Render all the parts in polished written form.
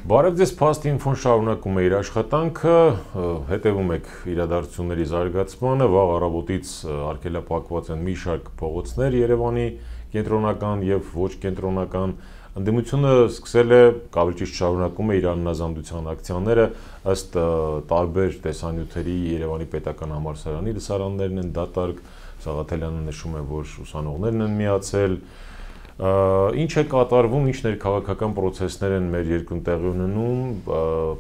Բարև ձեզ, Փաստ ինֆոն շարունակում է իր աշխատանքը, հետևում եք իրադարձությունների զարգացմանը, վաղ առավոտից արգելափակված են մի շարք փողոցներ Երևանի կենտրոնական եւ ոչ կենտրոնական ընդդիմությունը սկսել է ավելի ճիշտ շարունակում է իր անհնազանդության ակցիաները ըստ տարբեր տեսանյութերի Երևանի պետական համալսարանի լսարաններն են դատարկ, Սաղաթելյանը նշում է, որ ուսանողներն են միացել Ինչ է կատարվում, ինչ ներքաղաքական պրոցեսներ են մեր երկրում տեղի ունենում,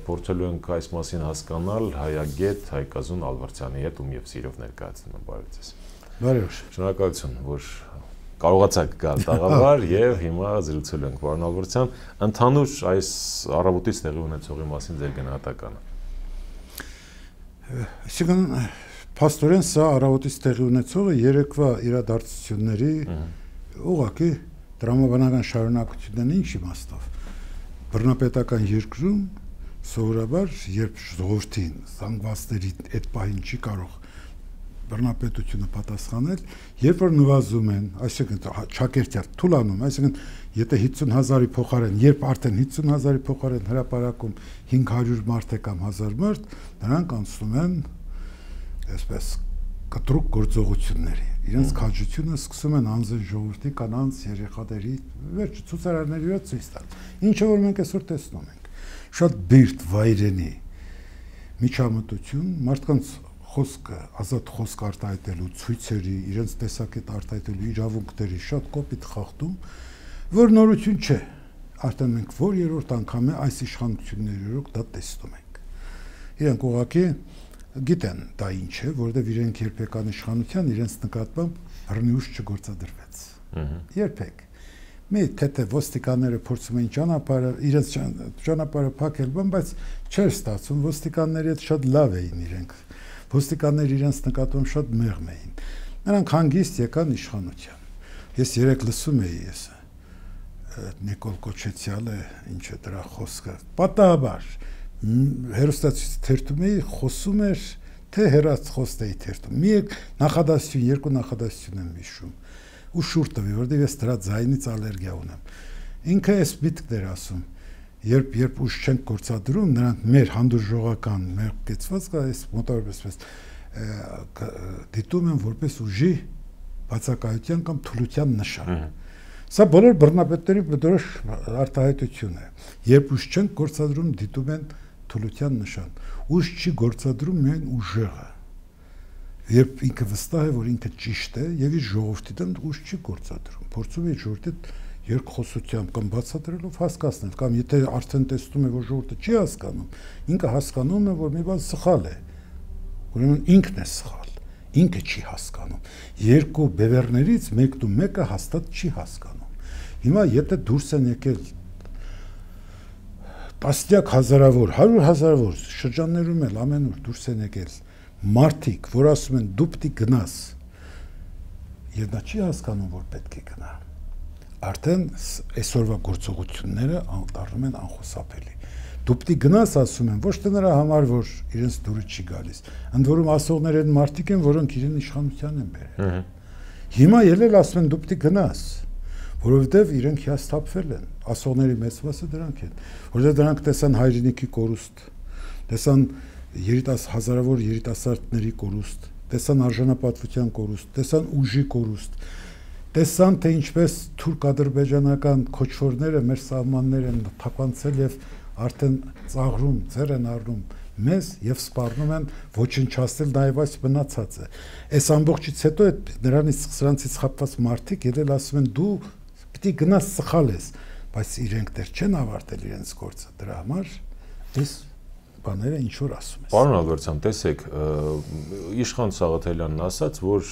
փորձելու ենք այս մասին հասկանալ հայագետ Հայկազուն Ալվարդյանի հետ, ում եւ սիրով ներկայացնում եմ, բարև ձեզ։ Բարև։ Շնորհակալություն, որ կարողացաք գալ տաղավար եւ հիմա զրուցելու ենք, պարոն Ալվարդյան, ընդհանուր այս առավոտից տեղի ունեցողի մասին ձեր գնահատականը։ Այսինքն, փաստորեն սա առավոտից տեղի ունեցողը երեկվա իրադարձությունների ուղղակի Տրամաբանական շարունակությունն ինչ իմաստով բռնապետական երկրում սովորաբար երբ ժողովրդին զանգվածների այդ պահին չի կարող բռնապետությունը պատասխանել, երբ որ նվազում են, այսինքն ճակերտյալ թուլանում, այսինքն եթե 50,000-ի փոխարեն, երբ արդեն 50,000-ի փոխարեն հրապարակում 500 մարդ է կամ 1000 մարդ, նրանք անցնում են այսպես կտրուկ գործողությունների իրենց քաջությունը սկսում են անձն ժողովրդի կանանց երեխաների վերջ ցուցարարների վրա ցույց տալ ինչը որ մենք այսօր տեսնում ենք շատ բիրտ վայրենի միջամտություն մարդկանց խոսքը ազատ խոսք արտահայտելու ցույցերի իրենց տեսակետ արտահայտելու իրավունքների շատ կոպիտ խախտում որ նորություն չէ արդեն մենք որ երրորդ անգամ է այս իշխանությունների օրոք դա տեսնում ենք իրենք ուղղակի գիտեն դա ինչ է, որովհետև իրենք երբեկան իշխանության իրենց նկատմամբ բռնիուշ չգործադրվեց։ Երբեք։ Մի թե ոստիկանները փորձում էին ճանապարհը, իրենց ճանապարհը փակել, բայց չէր ստացվում, ոստիկանների հետ շատ լավ էին իրենք։ Ոստիկանները իրենց նկատմամբ շատ մեղմ էին։ Նրանք հանգիստ եկան իշխանության։ Ես երեք լսում էի ես Նիկոլ Կոչեցյալը, ինչ է դրա խոսքը։ Պատահաբար հերոստացույցի թերթում էի խոսում էր թե հերացխոստ էի թերթում մի նախադասություն երկու նախադասություն եմ հիշում ու շուռ տվի որովհետև ես դրա ձայնից ալերգիա ունեմ ինքը էս միտքն էր ասում երբ ուժ չենք գործադրում նրանք մեր հանդուրժողական մեր կեցվածքը այս մոտավորապես դիտում են որպես ուժի բացակայության կամ թուլության նշան Սա բոլոր բռնապետների բնորոշ արտահայտություն է երբ ուժ չենք գործադրում դիտում են թուլության նշան ուժ չի գործադրում միայն ուժեղը երբ ինքը վստահ է որ ինքը ճիշտ է եւ իր ժողովրդի դեմ ուժ չի գործադրում փորձում է ժողովրդի երկխոսությամբ կամ բացատրելով հասկացնել կամ եթե արդեն տեսնում է որ ժողովուրդը չի հասկանում ինքը հասկանում է որ մի բան սխալ է ուրեմն ինքն է սխալ ինքը չի հասկանում երկու բևեռներից մեկն ու մեկը հաստատ չի հասկանում հիմա եթե դուրս են եկել տասնյակ հազարավոր, 100,000-ավոր շրջաններում էլ ամենուր դուրս են եկել մարդիկ, որ ասում են դու պիտի գնաս եւ նա չի հասկանում, որ պետք է գնա արդեն այսօրվա գործողությունները դառնում են անխուսափելի դու պիտի գնաս ասում են ոչ թե նրա համար, որ իրենց դուրը չի գալիս ընդ որում ասողները են մարդիկ են, որոնք իրեն իշխանության են բերել հիմա ելել ասում են դու պիտի գնաս որովհետև իրենք հիասթափվել են ասողների մեծ մասը դրանք են որովհետև դրանք տեսան հայրենիքի կորուստ տեսան հազարավոր երիտասարդների կորուստ տեսան արժանապատվության կորուստ տեսան ուժի կորուստ տեսան թե ինչպես թուրք-ադրբեջանական քոչվորները մեր սահմաններ են թափանցել եւ արդեն ծաղրում ձեր են առնում մեզ եւ սպառնում են ոչնչացնել նաեւ այս մնացածը այս ամբողջից հետո նրանից սրանցից խապված մարդիկ ելել ասում են դու պիտի գնաս սխալ ես բայց իրենք դեռ չեն ավարտել իրենց գործը դրա համար այս բաները ինչ որ ասում ես Պարոն Ալվարդյան տեսեք իշխան Սաղաթելյանն ասաց որ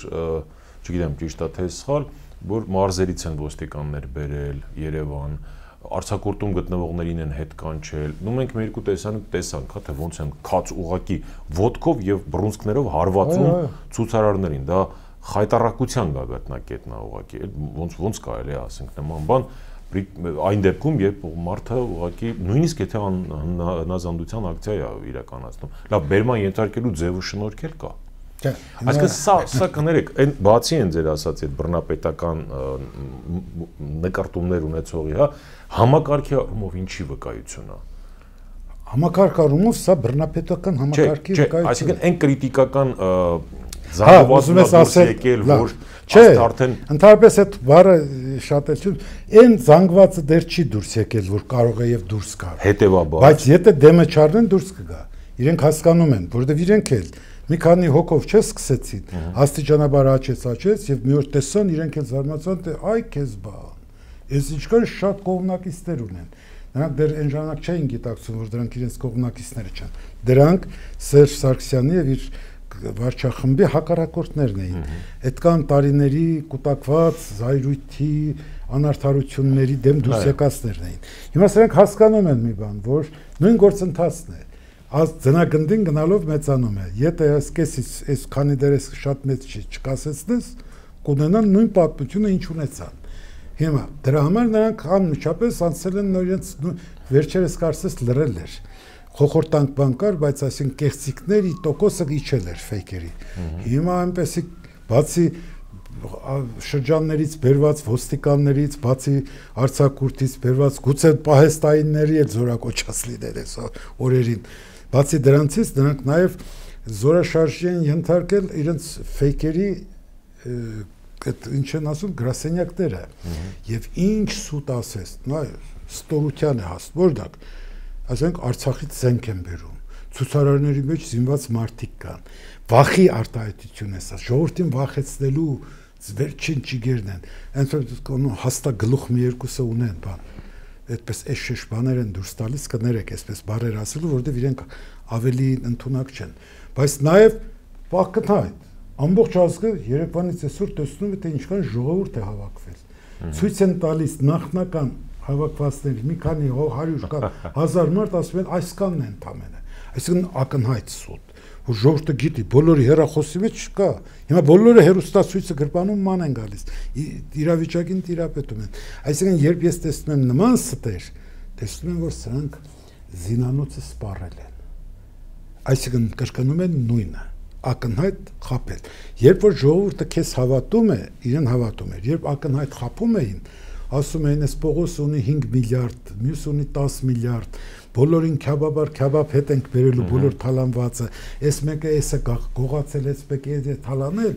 չգիտեմ ճիշտ է թե սխալ որ մարզերից են ոստիկաններ բերել Երևան Արցակուրտում գտնվողներին են հետ կանչել նու մենք մեր երկու տեսանյութ տեսանք հա թե ոնց են քաց ուղակի ոտքով եւ բռունցքներով հարվածում ցուցարարներին դա խայտարակության գագաթնակետն է ուղղակի ոնց կարելի է ասենք նման բան այն դեպքում երբ մարդը ուղղակի նույնիսկ եթե հնազանդության ակցիա է իրականացնում լավ բերման ենթարկելու ձևը շնորհքել կա այսինքն սա կներեք այն բացի են ձեր ասած այդ բռնապետական նկարտումներ ունեցողի հա համակարգի առումով ինչի վկայություն է Համակարգառումով սա բռնապետական համակարգի վկայություն է։ Այսինքն այն կրիտիկական զանգվածը դուրս եկել, որ արդեն ընդհանրապես այդ բառը շատ էլ չի, այն զանգվածը դեռ չի դուրս եկել, որ կարող է եւ դուրս գա։ Հետևաբար։ Բայց եթե դեմը չառնեն դուրս կգա։ Իրենք հասկանում են, որովհետեւ իրենք էլ մի քանի հոգով չսկսեցին, աստիճանաբար աճեց եւ մի օր տեսան իրենք էլ զարմացան, թե այ քեզ բան։ Ես ինչքան շատ կողմնակիցներ ունեն։ Նրանք դեռ այն ժամանակ չէին գիտակցում, որ դրանք իրենց կողմնակիցները չեն։ Դրանք Սերժ Սարգսյանի եւ իր վարչախմբի հակառակորդներն էին։ Այդքան տարիների կուտակված զայրույթի, անարդարությունների դեմ դուրս եկածներն էին։ Հիմա սրանք հասկանում են մի բան, որ նույն գործընթացն է։ Ձնագնդին գնալով մեծանում է։ Եթե այս քանի դեռ շատ մեծ չի, չկասեցնես, կունենան նույն պատմությունը, ինչ ունեցան։ Հիմա դրա համար նրանք անմիջապես անցել են նորից վերջերս կարծես լրել էր։ Խոխորտանք բան կար, բայց այսինքն կեղծիքների տոկոսը իջել էր ֆեյքերի։ Հիմա այնպեսի բացի շրջաններից բերված ոստիկաններից, բացի արձակուրդից բերված գուցե պահեստայինների էլ զորակոչած լինել այս օրերին։ Բացի դրանցից նրանք նաև զորաշարժի են ենթարկել իրենց ֆեյքերի այդ ինչ են ասում գրասենյակները եւ ինչ սուտ ասես նա ստորության է հաստ որտակ ասենք Արցախից զենք են բերում ցուցարարների մեջ զինված մարդիկ կան վախի արտահայտություն է սա ժողովրդին վախեցնելու վերջին ճիգերն են այնպես հաստատ գլուխ մի երկուսը ունեն բան այդպես էշ բաներ են դուրս տալիս կներեք այսպես բարեր ասելու որովհետեւ իրենք ավելի ընդունակ չեն բայց նաեւ պակթայ ամբողջ ազգը Երևանից այսօր տեսնում է թե ինչքան ժողովուրդ է հավաքվել ցույց են տալիս նախնական հավաքվածների մի քանի 100 կամ 1000 մարդ ասում են այսքանն են ընդամենը այսինքն ակնհայտ սուտ որ ժողովուրդը գիտի բոլորի հերախոսի մեջ չկա հիմա բոլորը հերոստացույցը գրպանում ման են գալիս իրավիճակին տիրապետում են այսինքն երբ ես տեսնում եմ նման ստեր տեսնում եմ որ սրանք զինանոցը սպառել են այսինքն կրկնում են նույնը ակնհայտ խապել երբ որ ժողովուրդը քեզ հավատում է իրեն հավատում էր երբ ակնհայտ խապում էին ասում էին այս Պողոս ունի 5 միլիարդ մյուս ունի 10 միլիարդ բոլորին քյաբաբար քյաբաբ հետ ենք բերելու բոլոր թալանվածը այս մեկը էսը գողացել այս մեկը է թալանել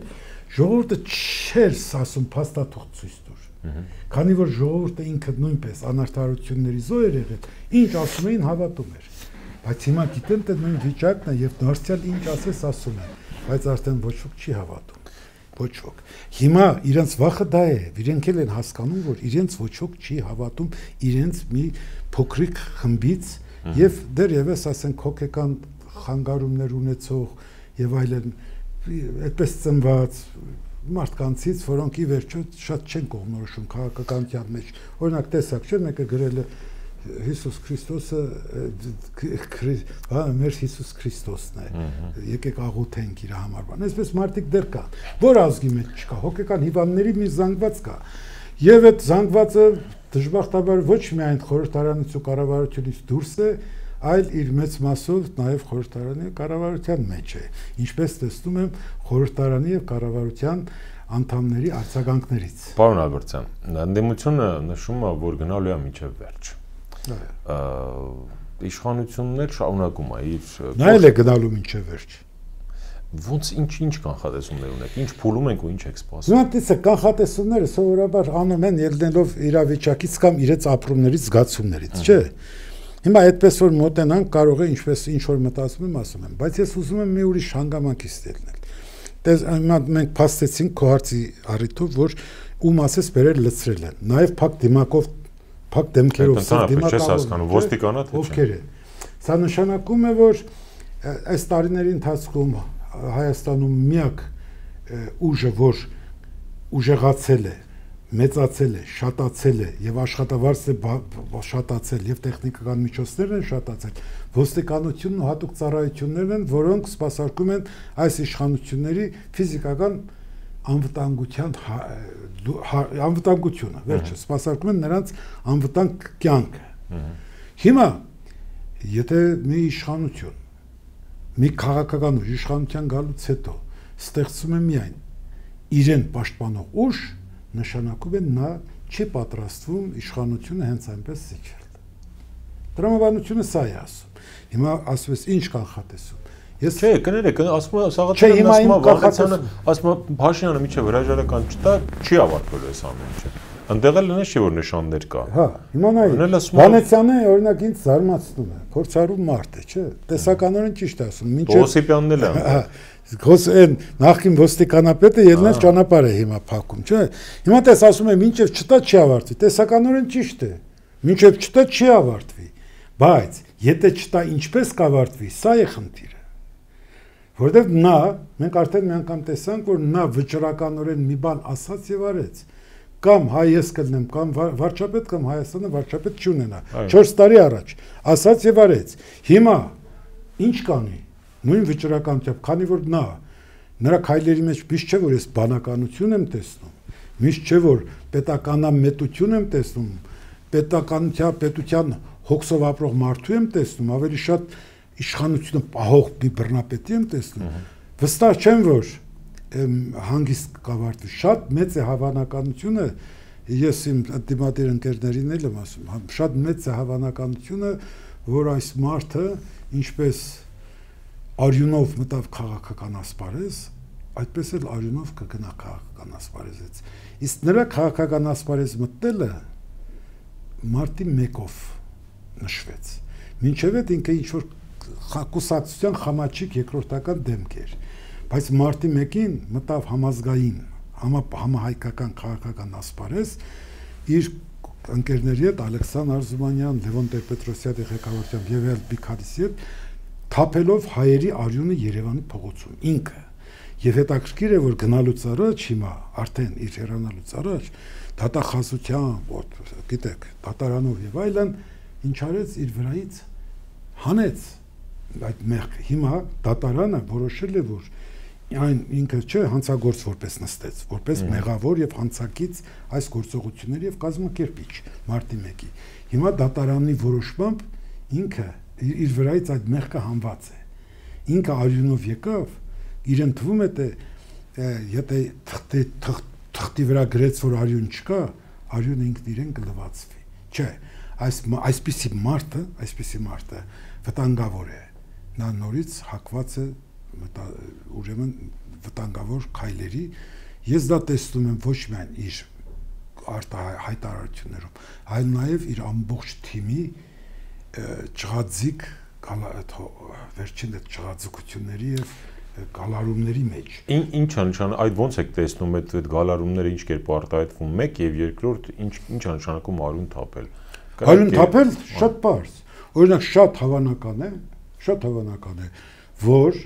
ժողովուրդը չէր ասում փաստաթուղթ ցույց տուր քանի որ ժողովուրդը ինքը նույնպես անարդարությունների զոհ էր եղել ինչ ասում էին հավատում էր բայց հիմա գիտեն թե նույն վիճակն է եւ դարձյալ ինչ ասես ասում են բայց արդեն ոչ ոք չի հավատում ոչ ոք հիմա իրենց վախը դա է իրենք էլ են հասկանում որ իրենց ոչ ոք չի հավատում իրենց մի փոքրիկ խմբից եւ դեռևս ասենք հոգեկան խանգարումներ ունեցող եւ այլն այդպես ծնված մարդկանցից որոնք ի վերջո շատ չեն կողմնորոշում քաղաքականության մեջ օրինակ տեսակ չէ մեկը գրել է Հիսուս Քրիստոսը մեր Հիսուս Քրիստոսն է եկեք աղոթենք իր համար բան այսպես մարդիկ դեռ կան որ ազգի մեջ չկա հոգեկան հիվանդների մի զանգված կա եւ այդ զանգվածը դժբախտաբար ոչ միայն խորհրդարանից ու կառավարությունից դուրս է այլ իր մեծ մասով նաեւ խորհրդարանի կառավարության մեջ է ինչպես տեսնում եմ խորհրդարանի եւ կառավարության անդամների արձագանքներից Պարոն Ալբերտյան ընդդիմությունը նշում է որ գնալու է մինչեւ վերջ իշխանություններ շարունակում է իր նայել է գնալու մինչև վերջ ոնց ինչ կանխատեսումներ ունեք ինչ փուլում ենք ու ինչ եք սպասում Նույնպես կանխատեսումները սովորաբար անում են ելնելով իրավիճակից կամ իրենց ապրումներից զգացումներից չէ հիմա այդպես որ մոտենանք կարող է ինչպես ինչ որ մտածում եմ ասում եմ բայց ես ուզում եմ մի ուրիշ հանգամանքից դելնել դες հիմա մենք փաստեցինք քո հարցի առիթով որ ում ասես բերել լցրել են նաև փակ դիմակով փակ դեմքերով դիմակով ոստիկանա թե ովքեր է սա նշանակում է որ այս տարիների ընթացքում Հայաստանում միակ ուժը որ ուժեղացել է մեծացել է շատացել է եւ աշխատավարձը շատացել եւ տեխնիկական միջոցներն են շատացել ոստիկանությունն ու հատուկ ծառայություններն են որոնք սպասարկում են այս իշխանությունների ֆիզիկական անվտանգությունը վերջը սպասարկում են նրանց անվտանգ կյանքը հիմա եթե մի իշխանություն մի քաղաքական ուժ իշխանության գալուց հետո ստեղծում է միայն իրեն պաշտպանող ուժ նշանակում է նա չի պատրաստվում իշխանությունը հենց այնպես զիջել տրամաբանությունը սա է ասում Հիմա ասվես ինչ կանխատեսում։ Ես չէ, կներեք, ասում եմ Սաղաթյանը, ասում եմ Փաշինյանը միջև հրաժարական չտա, չի ավարտվելու այս ամեն ինչը։ Այնտեղ էլ նշի որ նշաններ կա։ Հա, հիմա նայ, Վանեցյանը օրինակ ինձ զարմացնում է, փորձառու մարդ է, չէ՞։ Տեսականորեն ճիշտ է ասում, մինչև Օսիպյանն էլ է։ Հա, այն նախին ոստիկանապետը ելնած ճանապարհ է հիմա փակում, չէ՞։ Հիմա տես ասում եմ, մինչև չտա չի ավարտվի, տեսականորեն ճիշտ է։ Մինչև չտա չի ավարտվի, բայց եթե չտա ինչպես կավարտվի, սա է խնդիրը։ Որտեվ նա, մենք արդեն մի անգամ տեսանք, որ նա վճռականորեն մի բան ասաց եւ արեց։ Կամ հայ ես կլնեմ, կամ վարչապետ, կամ Հայաստանը վարչապետ չունենա։ 4 տարի առաջ ասաց եւ արեց։ Հիմա ինչ կանի։ Նույն վճռականությամբ, քանի որ նրա քայլերի մեջ միշտ չէ որ ես բանականություն եմ տեսնում, միշտ չէ որ պետականամետություն եմ տեսնում, պետության հոգսով ապրող մարդու եմ տեսնում, ավելի շատ իշխանությունը պահող մի բռնապետի եմ տեսնում։ Վստահ չեմ որ հանգիստ կավարտվի, շատ մեծ է հավանականությունը, ես իմ դիմադիր ընկերներին էլ եմ ասում, շատ մեծ է հավանականությունը, որ այս մարդը ինչպես արյունով մտավ քաղաքական ասպարեզ, այդպես էլ արյունով կգնա քաղաքական ասպարեզից։ Իսկ նրա քաղաքական ասպարեզ մտնելը մարտի 1-ով նշվեց։ Մինչև այդ ինքը ինչ որ կուսակցության խամաչիկ երկրորդական դեմք էր, բայց մարտի 1-ին մտավ համազգային, համահայկական քաղաքական ասպարեզ իր ընկերների հետ Ալեքսանդր Արզումանյան, Լևոն Տեր-Պետրոսյանի ղեկավարությամբ եւ այլ մի քանիսի հետ թափելով հայերի արյունը Երևանի փողոցում ինքը։ Եվ հետաքրքիր է որ գնալուց առաջ հիմա արդեն իր հեռանալուց առաջ դատախազությամբ, գիտեք, դատարանով եւ այլն ինչ արեց իր վրայից հանեց այդ մեղքը։ Հիմա դատարանը որոշել է որ այն ինքը չէ հանցագործ որպես նստեց, որպես մեղավոր եւ հանցակից այս գործողությունների եւ կազմակերպիչ մարտի 1-ի։ Հիմա դատարանի որոշմամբ ինքը իր վրայից այդ մեղքը հանված է։ Ինքը արյունով եկավ, իրեն թվում է թե եթե թղթի վրա գրեց որ արյուն չկա, արյունը ինքն իրեն կլվացվի։ Չէ, այսպիսի մարդը վտանգավոր է։ Նա նորից հակված է ուրեմն վտանգավոր քայլերի։ Ես դա տեսնում եմ ոչ միայն իր հայտարարություններում, այլ նաև իր ամբողջ թիմի ճղածիկ վերջին այդ ճղածիկությունների եւ գալարումների մեջ։ Ինչ անշան այդ ոնց եք տեսնում այդ գալարումները ինչ կերպ արտահայտվում մեկ եւ երկրորդ ինչ անշանակում արյուն թափել։ Արյուն թափել շատ բարձ։ Օրինակ շատ հավանական է, որ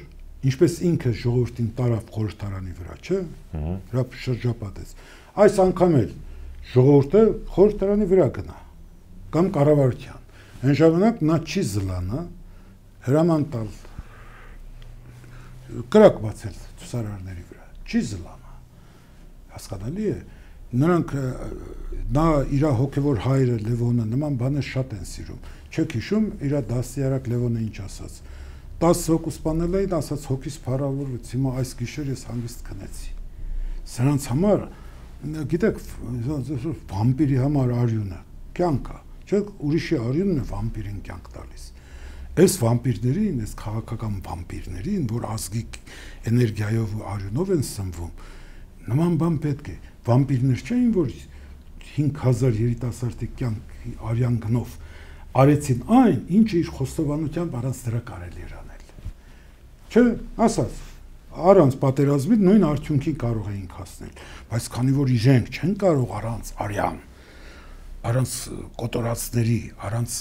ինչպես ինքը ժողովրդին տարավ խորհրդարանի վրա, չէ՞։ Հրա շրջապատեց։ Այս անգամ էլ ժողովուրդը խորհրդարանի վրա գնա կամ կառավարության։ Այն ժամանակ նա չի զլանա հրաման տալ կրակ բացել ցուսարարների վրա, չի զլանա։ Հասկանալի է, նրանք նա իր հոգևոր հայրը Լևոնը նման բաներ շատ են սիրում։ Չեք հիշում իր դաստիարակ Լևոնը ինչ ասաց։ 10 հոգու սպանել էին, ասաց հոգիս փառավորվեց, հիմա այս գիշեր ես հանգիստ քնեցի։ Սրանց համար, գիտեք, վամպիրի համար արյունը կյանք է, չէ՞, ուրիշի արյունն է վամպիրին կյանք տալիս։ Այս վամպիրներին, այս քաղաքական վամպիրներին, որ ազգի էներգիայով ու արյունով են սնվում, նման բան պետք է։ Վամպիրներ չէին, որ 5000 երիտասարդի կյանքի արյան գնով արեցին այն, ինչը իր խոստովանությամբ առանց դրա կարելի էր անել։ Չէ, ասած, առանց պատերազմի նույն արդյունքի կարող էինք հասնել, բայց քանի որ իրենք չեն կարող առանց արյան, առանց կոտորածների, առանց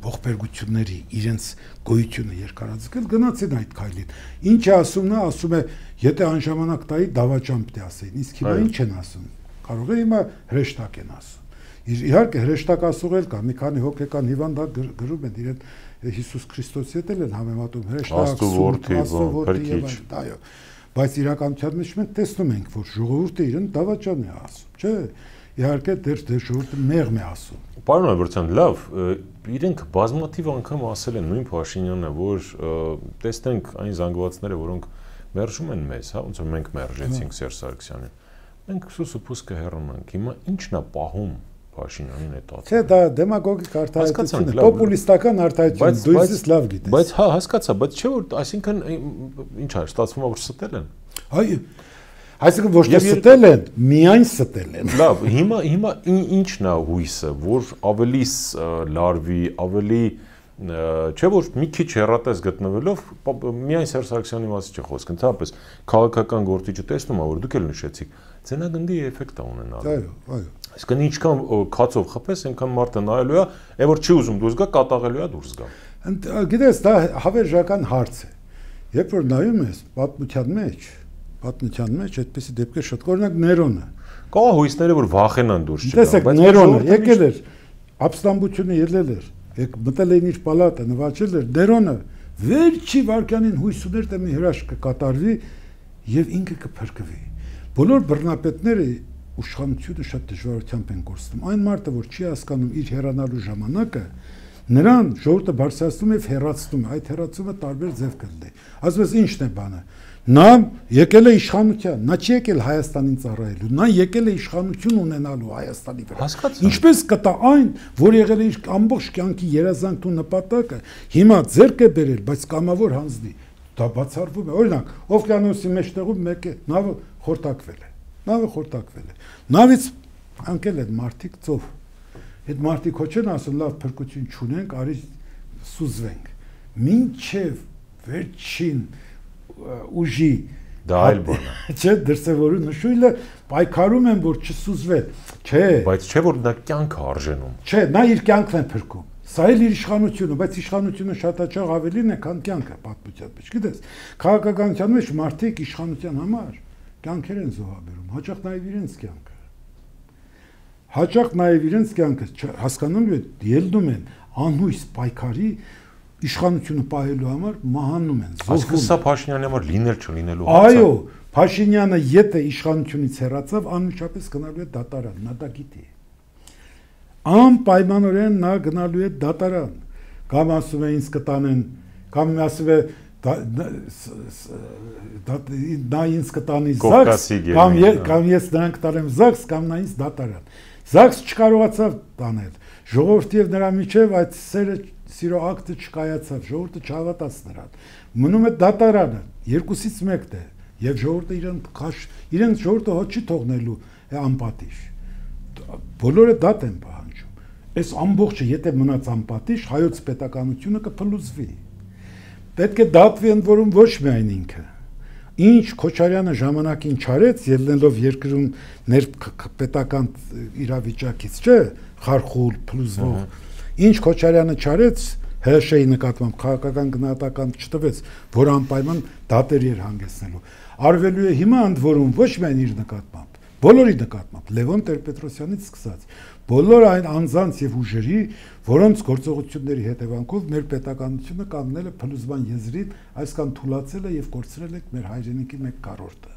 ողբերգությունների իրենց գոյությունը երկարաձգել գնացին այդ քայլին։ Ինչ է ասում նա, ասում է, եթե այն ժամանակ տայի դավաճան պետք է ասեին, իսկ հիմա ինչ են ասում։ Կարող է հիմա հրեշտակ են ասում։ Իհարկե հրեշտակ ասողել կա, մի քանի հոգեկան հիվանդ գրում են իրեն Հիսուս Քրիստոսի հետ են համեմատում հրեշտակ, որդի, այո։ Բայց իրականության մեջ մենք տեսնում ենք, որ ժողովուրդը իրեն դավաճան է ասում, չէ՞։ Իհարկե դեր ժողովուրդը մեղմ է ասում։ Պարոն Ալբերտյան, լավ, իրենք բազմաթիվ անգամ ասել են նույն Փաշինյանը, որ տեսնենք այն զանգվածները, որոնք մերժում են մեզ, հա, ոնց որ մենք մերժեցինք Սերժ Սարգսյանին։ Մենք սուսուփուս կհեռանանք։ Հիմա ի՞նչն է պահում Փաշինյանին այդ տածը։ Չէ, դա դեմագոգիկ արտահայտություն է, պոպուլիստական արտահայտություն, դու ես լավ գիտես։ Բայց հա, հասկացա, բայց չէ որ, այսինքն ինչ է, ստացվում է որ ստել են։ Այո։ Այսինքն ոչ թե ստել են, միայն ստել են։ Լավ, հիմա ի՞նչն է հույսը, որ ավելի լարվի, ավելի չէ որ մի քիչ հեռատես գտնվելով միայն Սերժ Սարգսյանի մասին չի խոսք, ընդհանրապես քաղաքական գործիչը տեսնում է որ դուք էլ նշեցիք, ցենագնդի էֆեկտ է ունենալու։ Այո, այո։ Այսինքն ինչքան քացով խփես, այնքան մարդը նայելու է, այն որ չի ուզում դուրս գա, կատաղելու է դուրս գա։ Գիտես, դա հավերժական հարց է։ Երբ որ նայում ես պատմության մեջ այդպեսի դեպքեր շատ, օրինակ Ներոնը։ Կա հույսները որ վախենան դուրս չգան, բայց Ներոնը եկել էր, ապստամբությունը ելել էր, մտել էին իր պալատը, նվաճել էր, Ներոնը վերջի վարքյանին հույս ուներ թե մի հրաշք կկատարվի եւ ինքը կփրկվի։ Բոլոր բռնապետները ուշխանությունը շատ դժվարությամբ են կորցնում։ Այն մարդը, որ չի հասկանում իր հեռանալու ժամանակը, նրան ժողովուրդը բարձրացնում եւ հեռացնում է, այդ հեռացումը տարբեր ձև կլինի։ Ասես ինչն է բանը։ Նա եկել է իշխանության, նա չի եկել Հայաստանին ծառայելու, նա եկել է իշխանություն ունենալու Հայաստանի վրա։ Ինչպես կտա այն, որ եղել է իր ամբողջ կյանքի երազանքն ու նպատակը, հիմա ձեռք է բերել, բայց կամավոր հանձնի։ Դա բացառվում է։ Օրինակ, օվկիանոսի մեջտեղում մեկը նավը խորտակվել է։ Նավից անկել են մարդիկ ծով։ Այդ մարդիկ ոչ են ասում լավ փրկություն չունենք, արի սուզվենք։ Մինչև վերջին ուժի դա այլ բան է։ Չէ, դրսևորու նշույլը պայքարում են որ չսուզվեն։ Չէ։ Բայց չէ որ դա կյանքը արժենում։ Չէ, նա իր կյանքն է փրկում։ Սա էլ իր իշխանությունը, բայց իշխանությունը շատ հաճախ ավելին է, քան կյանքը պատմության մեջ։ Գիտես, քաղաքականության մեջ մարդիկ իշխանության համար կյանքեր են զոհաբերում, հաճախ նաև իրենց կյանքը հասկանում են, ելնում են անհույս պայքարի իշխանությունը պահելու համար մահանում են, զոհվում։ Այսինքն սա Փաշինյանի համար լինել չլինելու հարց է։ Այո, Փաշինյանը եթե իշխանությունից հեռացավ, անմիջապես գնալու է դատարան, նա դա գիտի։ Անպայմանորեն նա գնալու է դատարան, կամ ասում է ինձ կտանեն, կամ ասում է նա ինձ կտանի ԶԱԳՍ, կամ ես նրան կտանեմ ԶԱԳՍ, կամ նա ինձ դատարան։ ԶԱԳՍ չկարողացավ տանել, ժողովրդի եւ նրա միջև այդ սիրո ակտը չկայացավ, ժողովուրդը չհավատաց նրան։ Մնում է դատարանը, երկուսից մեկն է, եւ ժողովուրդը իրեն ժողովուրդը հոտ չի թողնելու անպատիժ։ Բոլորը դատ են պահանջում։ Այս ամբողջը եթե մնաց անպատիժ, հայոց պետականությունը կփլուզվի։ Պետք է դատվի ընդ որում ոչ միայն ինքը։ Ինչ Քոչարյանը ժամանակին չարեց, ելնելով երկրում ներպետական իրավիճակից, չէ, խարխուլ, փլուզվող։ Ինչ Քոչարյանը չարեց, ՀՇ-ի նկատմամբ քաղաքական գնահատական չտվեց, որ անպայման դատերի էր հանգեցնելու։ Արվելու է հիմա ընդ որում ոչ միայն իր նկատմամբ, բոլորի նկատմամբ, Լևոն Տեր-Պետրոսյանից սկսած, բոլոր այն անձանց եւ ուժերի, որոնց գործողությունների հետևանքով մեր պետականությունը կանգնել է փլուզման եզրին, այսքան թուլացել է եւ կորցրել է մեր հայրենիքի 1/4-ը։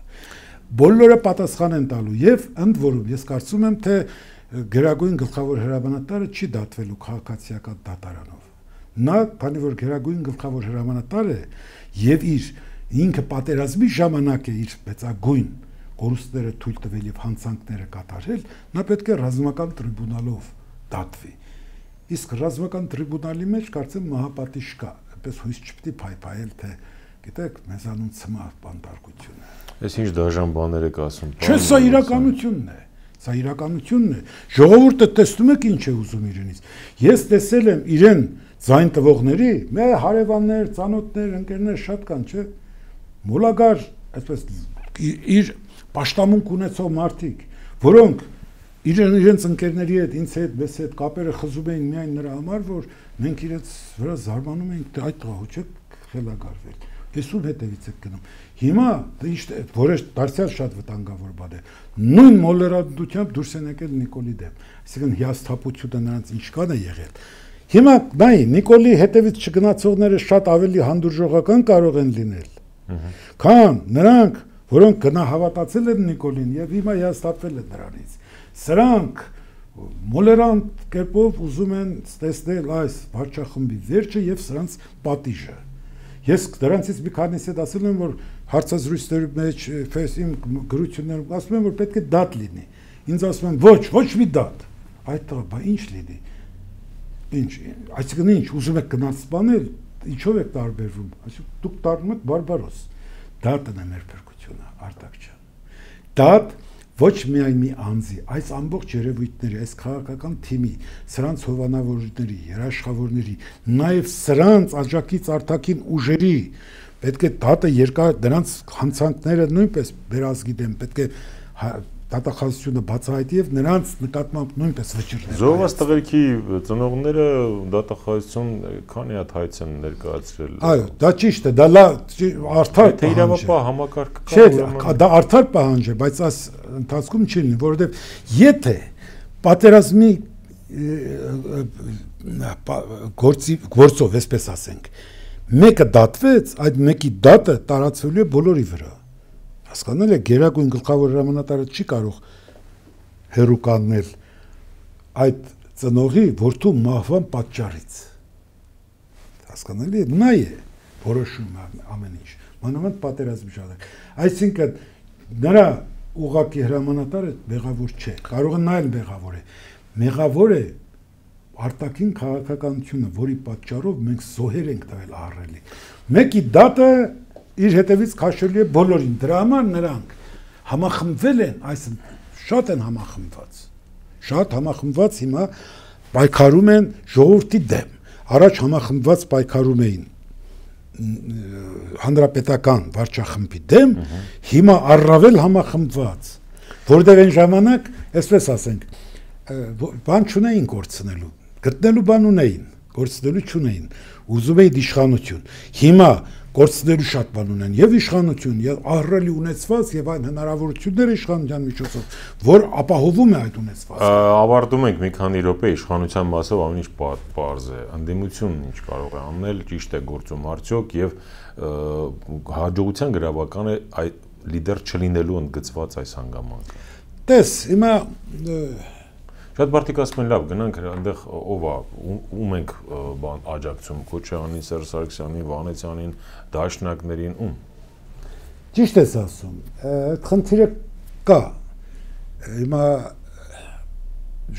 Բոլորը պատասխան են տալու եւ ընդ որում ես կարծում եմ թե Գերագույն գլխավոր հրամանատարը չի դատվելու քաղաքացիական դատարանով։ Նա, քանի որ Գերագույն գլխավոր հրամանատար է եւ ինքը պատերազմի ժամանակ է իր մեծագույն կորուստները թույլ տվել եւ հանցանքները կատարել, նա պետք է ռազմական տրիբունալով դատվի։ Իսկ ռազմական տրիբունալի մեջ կարծեմ մահապատիժ կա, այնպես հույս չպետք է փայփայել, թե գիտեք, մեզանում ցմահ բանտարկություն է։ Այս ինչ դաժան բաներ եք ասում։ Չէ, սա իրականությունն է։ Սա իրականությունն է։ Ժողովուրդը տեսնում եք ինչ է ուզում իրենից։ Ես տեսել եմ իրեն ձայն տվողների, մեր հարևաններ, ծանոթներ, ընկերներ շատ կան, չէ։ Մոլագար, այսպես իր պաշտամունք ունեցող մարդիկ, որոնք իրենց ընկերների հետ, ինձ հետ, մեզ հետ կապերը խզում էին միայն նրա համար, որ մենք իրենց վրա զարմանում ենք, թե այդ տղա չէ խելագարվել։ Ես ում հետևից եք գնում։ Հիմա որը դարձյալ շատ վտանգավոր բան է։ Նույն մոլերանդությամբ դուրս են եկել Նիկոլի դեմ։ Այսինքն հիասթափությունը նրանց ինչքան է եղել։ Հիմա նայ Նիկոլի հետևից չգնացողները շատ ավելի հանդուրժողական կարող են լինել։ Քան նրանք, որոնք գնահավատացել են Նիկոլին եւ հիմա հիասթափվել են նրանից։ Սրանք մոլերանտ կերպով ուզում են տեսնել այս վարչախմբի վերջը եւ սրանց պատիժը։ Ես դրանցից մի քանիսի հետ ասել եմ, որ հարցազրույցների մեջ իմ գրություններում ասում եմ, որ պետք է դատ լինի։ Ինձ ասում են ոչ մի դատ։ այդ բա ինչ լինի։ Ինչ, այսինքն ինչ, ուզում եք գնաց սպանել, ինչով եք տարբերվում։ Այսինքն դուք դառնում եք բարբարոս։ Դատն է մեր փրկությունը, Արտակ ջան։ Դատ ոչ միայն մի անձի, այս ամբողջ երևույթների, այս քաղաքական թիմի, սրանց հովանավորների, երաշխավորների, նաև սրանց աջակից արտաքին ուժերի պետք է դատը երկար դրանց հանցանքները նույնպես վերազգի դեմ պետք է դատախազությունը բացահայտի եւ նրանց նկատմամբ նույնպես վճիռներ։ Զոհված տղերքի ծնողները դատախազություն քանի հատ հայց են ներկայացրել։ Այո, դա ճիշտ է, դա արդար թե իրավապահ համակարգ կա։ Չէ, դա արդար պահանջ է, բայց այս ընթացքում չի լինի, որովհետեւ եթե պատերազմի գործով, այսպես ասենք, մեկը դատվեց, այդ մեկի դատը տարածվելու է բոլորի վրա։ Հասկանալի է, գերագույն գլխավոր հրամանատարը չի կարող հերու կանգնել այդ ծնողի որդու մահվան պատճառից։ Հասկանալի է, նա է որոշում ամեն ինչ, մանավանդ պատերազմի ժամանակ։ Այսինքն նրա ուղղակի հրամանատարը մեղավոր չէ, կարող է նա էլ մեղավոր է։ Մեղավոր է արտաքին քաղաքականությունը, որի պատճառով մենք զոհեր ենք տվել ահռելի։ Մեկի դատը իր հետևից քաշելու է բոլորին, դրա համար նրանք համախմբվել են, այսինքն շատ են համախմբված հիմա պայքարում են ժողովրդի դեմ։ Առաջ համախմբված պայքարում էին հանրապետական վարչախմբի դեմ, հիմա առավել համախմբված, որտեղ այն ժամանակ, այսպես ասենք, բան չունեին կորցնելու, գտնելու բան ունեին, կորցնելու չունեին, ուզում էին իշխանություն։ Հիմա կորցնելու շատ բան ունեն, եւ իշխանություն, եւ ահռելի ունեցված, եւ այն հնարավորությունները իշխանության միջոցով, որ ապահովում է այդ ունեցվածքը։ Ավարտում ենք մի քանի րոպե իշխանության մասով ամեն ինչ պարզ է։ Ընդդիմությունն ինչ կարող է անել, ճիշտ է գործում արդյոք եւ հաջողության գրավական է այդ լիդեր չլինելու ընդգծված այս հանգամանքը։ Տես, հիմա շատ բարդիկ ասում են լավ, գնանք այնտեղ ով է, ում ենք աջակցում, Քոչարյանին, Սերժ Սարգսյանին, Վանեցյանին, դաշնակներին, ում։ Ճիշտ ես ասում, այդ խնդիրը կա։ Հիմա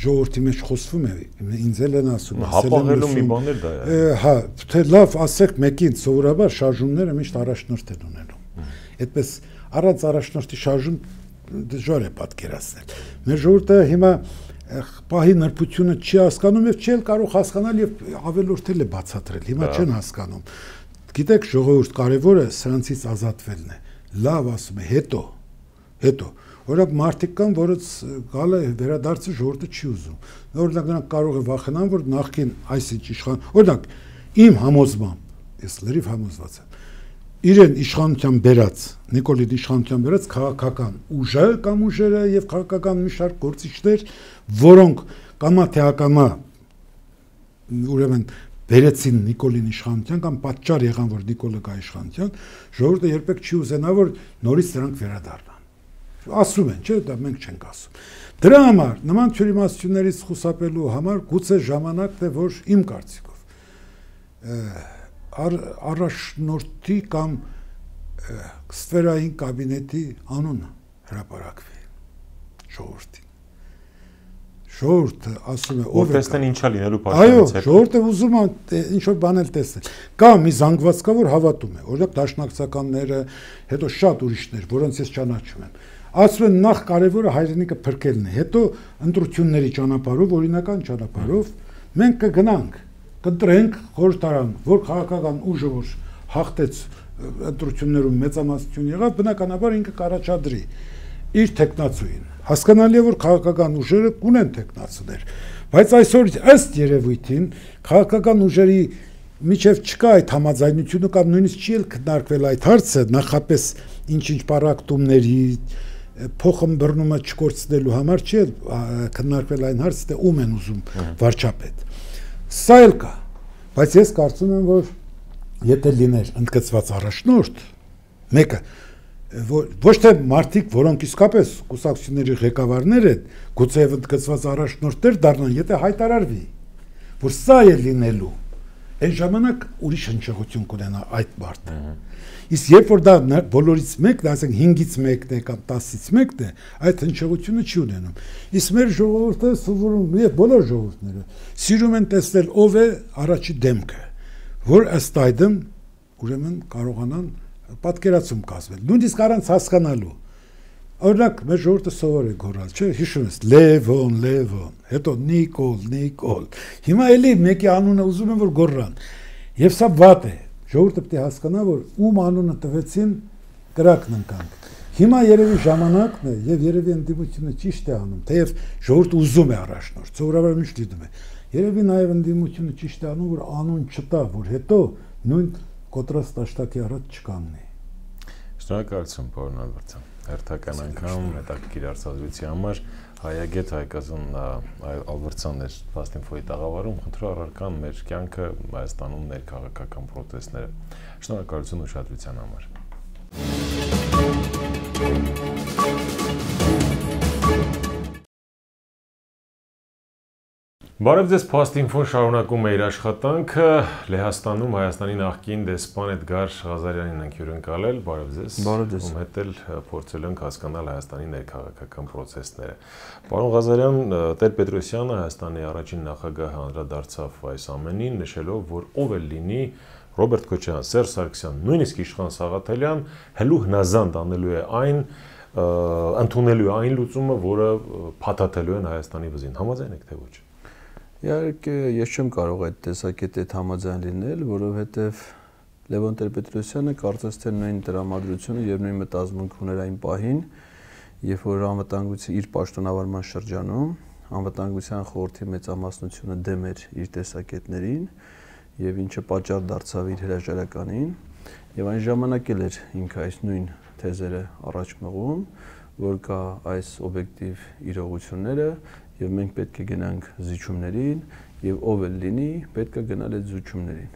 ժողովրդի մեջ խոսվում է, ինձ էլ են ասում, հապաղելու մի բան էլ դա է։ Հա, թե լավ ասեք մեկին, սովորաբար շարժումները միշտ առաջնորդ են ունենում։ Այդպես առանց առաջնորդի շարժում դժվար է պատկերացնել։ Մեր ժողովուրդը հիմա պահի նրբությունը չի հասկանում եւ չի կարող հասկանալ եւ ավելորդել է բացատրել։ Հիմա չեն հասկանում։ Գիտեք, ժողովուրդ կարևորը սրանցից ազատվելն է։ Լավ ասում է, հետո օրինակ մարդիկ կան, որոնց գալը վերադարձը ժողովուրդը չի ուզում։ Օրինակ նրանք կարող է վախենան, որ նախքին այսինչ իշխան, օրինակ իմ համոզմամբ, ես լրիվ համոզված եմ, իրեն իշխանության բերած, Նիկոլին իշխանության բերած քաղաքական ուժը կամ ուժերը եւ քաղաքական մի շարք գործիչներ, որոնք կամա թե ակամա ուրեմն բերեցին Նիկոլին իշխանության կամ պատճառ եղան, որ Նիկոլը գա իշխանության, ժողովուրդը երբեք չի ուզենա, որ նորից նրանք վերադառնան։ Ասում են, չէ՞, դա մենք չենք ասում։ Դրա համար նման թյուրիմացություններից խուսափելու համար գուցե ժամանակն է, որ իմ կարծիքով առաջնորդի կամ ստվերային կաբինետի անունը հրապարակվի ժողովրդին։ Ժողովուրդը ասում է ով է տեսնեն ինչա լինելու պատճառից հետո։ Այո, ժողովուրդը ուզում է ինչ որ բան էլ տեսնել։ Կա մի զանգված կա, որ հավատում է, օրինակ դաշնակցականները, հետո շատ ուրիշներ, որոնց ես ճանաչում եմ։ Ասում են նախ կարևորը հայրենիքը փրկելն է, հետո ընտրությունների ճանապարհով, օրինական ճանապարհով մենք կգնանք, կընտրենք խորհրդարան, որ քաղաքական ուժը որ հաղթեց ընտրություններում մեծամասնություն եղավ, բնականաբար ինքը կառաջադրի իր տեխնացուին։ Հասկանալի է, որ քաղաքական ուժերը կունեն տեխնացուներ, բայց այսօր ըստ երևույթին քաղաքական ուժերի միջև չկա այդ համաձայնությունը կամ նույնիսկ չի էլ քննարկվել այդ հարցը, նախապես ինչ-ինչ պարակտումների փոխըմբռնումը չկորցնելու համար չի քննարկվել այն հարցը, թե ում են ուզում վարչապետ։ Սա էլ կա, բայց ես կարծում եմ, որ եթե լիներ ընդգծված առաջնորդ, մեկը ոչ թե մարդիկ, որոնք իսկապես կուսակցությունների ղեկավարներ են, գուցե ընդգծված առաջնորդներ դառնան, եթե հայտարարվի, որ սա է լինելու, Այն ժամանակ ուրիշ հնչողություն կունենա այդ բարդը։ Իսկ երբ որ դա բոլորից մեկն է, ասենք 5-ից 1-ն է կամ 10-ից 1-ն է, այդ հնչողությունը չի ունենում։ Իսկ մեր ժողովուրդը սովորում է, բոլոր ժողովուրդները սիրում են տեսնել ով է առաջի դեմքը, որ ըստ այդմ ուրեմն կարողանան պատկերացում կազմել, նույնիսկ առանց հասկանալու։ Օրինակ, մեր ժողովուրդը սովոր է գոռալ, չէ՞, հիշում ես, Լևոն, հետո Նիկոլ։ Հիմա էլի մեկի անունը ուզում են որ գոռան։ Եվ սա վատ է։ Ժողովուրդը պետք է հասկանա, որ ում անունը տվեցին կրակն ընկանք։ Հիմա երևի ժամանակն է եւ երևի ընդդիմությունը ճիշտ է անում, թեև ժողովուրդը ուզում է առաջնորդ, սովորաբար միշտ դիտում է։ Երևի նաեւ ընդդիմությունը ճիշտ է անում, որ անուն չտա, որ հետո նույն կոտրած տաշտակի առաջ չկանգնի։ Շնորհակալություն, պարոն Ալբերտյան։ Հերթական անգամ հետաքրքիր արձազրույցի համար հայագետ Հայկազն Ալբերտյանն էր Fast-Info-ի տաղավարում, խնդրում առարկան մեր կյանքը Հայաստանում ներքաղաքական պրոտեստները։ Շնորհակալություն ուշադրության համար։ Բարև ձեզ, Fast-Info-ն շարունակում է իր աշխատանքը, Լեհաստանում Հայաստանի նախկին դեսպան Էդգար Ղազարյանին ենք հյուրընկալել, բարև ձեզ, ում հետ էլ փորձել ենք հասկանալ Հայաստանի ներքաղաքական պրոցեսները։ Պարոն Ղազարյան, Տեր-Պետրոսյանը Հայաստանի առաջին նախագահը անդրադարձավ այս ամենին, նշելով, որ ով էլ լինի, Ռոբերտ Քոչարյան, Սերժ Սարգսյան, նույնիսկ Իշխան Սաղաթելյան հելու հնազանդ անելու է այն, ընդունելու է այն լուծումը, որը փաթաթելու են Հայաստանի վզին։ Համաձայն եք թե ոչ։ Իհարկե, ես չեմ կարող այդ տեսակետի հետ համաձայն լինել, որովհետև Լևոն Տեր-Պետրոսյանը կարծես թե նույն տրամադրությունը եւ նույն մտածմունքը ուներ այն պահին, երբ որ անվտանգության իր պաշտոնավարման շրջանում անվտանգության խորհրդի մեծամասնությունը դեմ էր իր տեսակետներին եւ ինչը պատճառ դարձավ իր հրաժարականին եւ այն ժամանակ էլ էր ինքը այս նույն թեզերը առաջ մղում, որ կա այս օբյեկտիվ իրողությունները եւ մենք պետք է գնանք զիջումներին եւ ով էլ լինի պետք է գնալ այդ զիջումներին։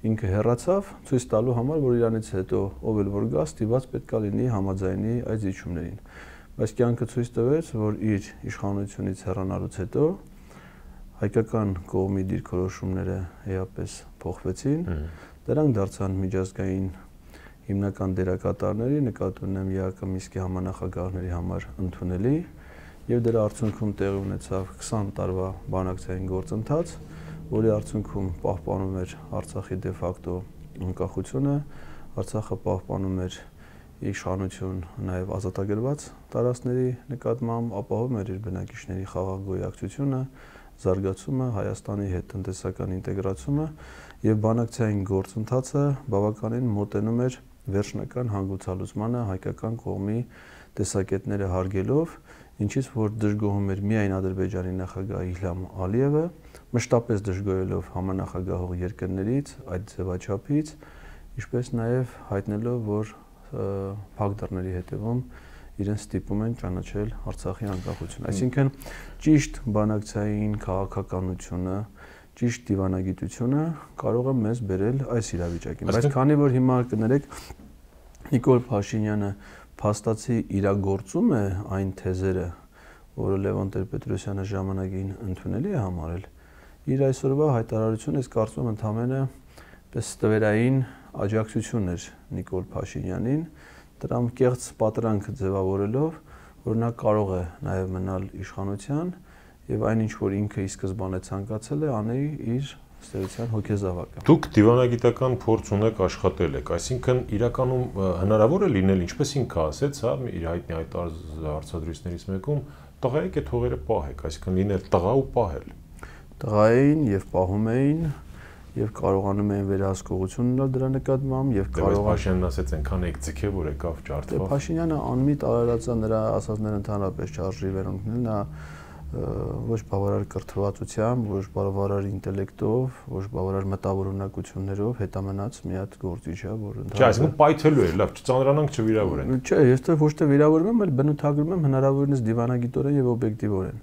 Ինքը հեռացավ ցույց տալու համար, որ իրանից հետո ով էլ որ գա, ստիված պետք է լինի համաձայնի այդ զիջումներին։ Բայց կյանքը ցույց տվեց, որ իր իշխանությունից հեռանալուց հետո հայկական կողմի դիրքորոշումները էապես փոխվեցին, դրանք դարձան միջազգային հիմնական դերակատարների, նկատի ունեմ ԵԱԿ Մինսկի համանախագահների համար ընդունելի եւ դրա արդյունքում տեղի ունեցավ 20 տարվա բանակցային գործընթաց, որի արդյունքում պահպանում էր Արցախի դե ֆակտո անկախությունը, Արցախը պահպանում էր իշխանություն նաեւ ազատագրված տարածքների նկատմամբ, ապահովում էր իր բնակիչների խաղաղ գոյակցությունը, զարգացումը, Հայաստանի հետ տնտեսական ինտեգրացումը եւ բանակցային գործընթացը բավականին մոտենում էր վերջնական հանգուցալուծմանը հայկական կողմի տեսակետները հարգելով, ինչից որ դժգոհում էր միայն Ադրբեջանի նախագահ Իլհամ Ալիևը, մշտապես դժգոհելով համանախագահող երկրներից, այդ ձևաչափից, ինչպես նաև հայտնելով, որ փակ դռների հետևում իրեն ստիպում են ճանաչել Արցախի անկախությունը։ Այսինքն ճիշտ բանակցային քաղաքականությունը, ճիշտ դիվանագիտությունը կարող է մեզ բերել այս իրավիճակին։ Բայց քանի որ հիմա կներեք Նիկոլ Փաշինյանը փաստացի իրագործում է այն թեզերը, որը Լևոն Տեր-Պետրոսյանը ժամանակին ընդունելի է համարել, իր այսօրվա հայտարարությունը ես կարծում եմ ընդհանրապես պես ստվերային աջակցություն էր Նիկոլ Փաշինյանին, դրամ կեղծ պատրանք ձևավորելով, որ նա կարող է նաև մնալ իշխանության եւ այնինչ որ ինքը ի սկզբանե ցանկացել է անել իր ստերության հոգեզավակը։ Դուք դիվանագիտական փորձ ունեք, աշխատել եք, այսինքն իրականում հնարավոր է լինել, ինչպես ինքը ասեց, հա, իր հայտնի այդ հարցադրույցներից մեկում տղայեք այդ հողերը պահեք, այսինքն լինել տղա ու պահել։ Տղա էին եւ պահում էին եւ կարողանում էին վերահսկողություն ունենալ դրա նկատմամբ եւ կարող Փաշինյանն ասեց այնքան եք ձգե որ եկավ ջարդվավ։ Փաշինյանը անմիտ արարածա նրա ասածները ընդհանրապես չարժի վերոնքնել, նա ոչ բավարար կրթվածությամբ, ոչ բավարար ինտելեկտով, ոչ բավարար մտավորունակություններով հետամնաց մի հատ գործիչ է, որ ընդհանրապես Չէ, այսինքն պայթելու է, լավ, չծանրանանք չվիրավորենք։ Չէ, ես թե ոչ թե վիրավորում եմ, այլ բնութագրում եմ հնարավորինս դիվանագիտորեն եւ օբյեկտիվորեն։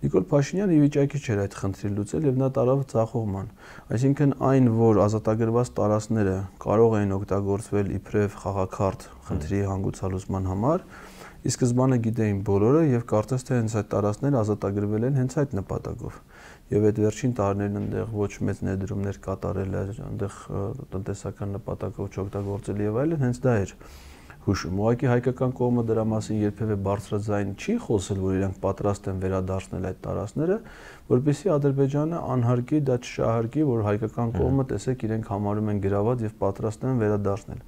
Նիկոլ Փաշինյանը ի վիճակի չէր այդ խնդրի լուծել եւ նա տարավ ցախողման։ Այսինքն այն, որ ազատագրված տարածքները կարող էին օգտագործվել իբրև խաղաքարտ խնդրի հանգուցալուծման համար, ի սկզբանե գիտեին բոլորը եւ կարծես թե հենց այդ տարածքները ազատագրվել են հենց այդ նպատակով։ եւ այդ վերջին տարիներն այնտեղ ոչ մեծ ներդրումներ կատարել էր, այնտեղ տնտեսական նպատակով չօգտագործել եւ այլն, հենց դա էր հուշում։ Ուղղակի հայկական կողմը դրա մասին երբևէ բարձրաձայն չի խոսել, որ իրենք պատրաստ են վերադարձնել այդ տարածքները, որպեսզի Ադրբեջանը անհարկի դա չշահարկի, որ հայկական կողմը տեսեք իրենք համարում են գրաված եւ պատրաստ են վերադարձնել։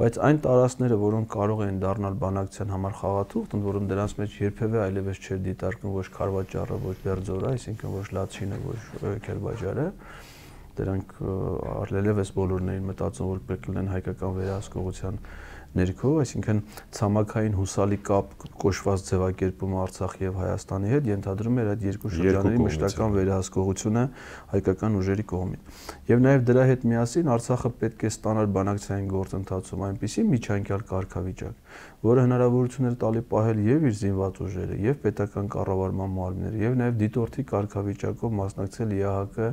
Բայց այն տարածքները, որոնք կարող են դառնալ բանակցության համար խաղաթուղթ, ընդ որում դրանց մեջ երբևէ այլևս չէր դիտարկվում ոչ Խարվաճարը, ոչ Բերձորը, այսինքն ոչ Լաչինը, ոչ Քերբաջարը, դրանք առլելևս բոլորն էին մտածում, որ պետք է լինեն հայկական վերահսկողության ներքո, այսինքն ցամաքային հուսալի կապ կոչված ձևակերպումը Արցախի եւ Հայաստանի հետ ենթադրում էր այդ երկու շրջանների մշտական վերահսկողությունը հայկական ուժերի կողմից։ Եվ նաեւ դրա հետ միասին Արցախը պետք է ստանար բանակցային գործընթացում այնպիսի միջանկյալ կարգավիճակ, որը հնարավորություն էր տալի պահել եւ իր զինված ուժերը, եւ պետական կառավարման մարմինները, եւ նաեւ դիտորդի կարգավիճակով մասնակցել ԵԱՀԿ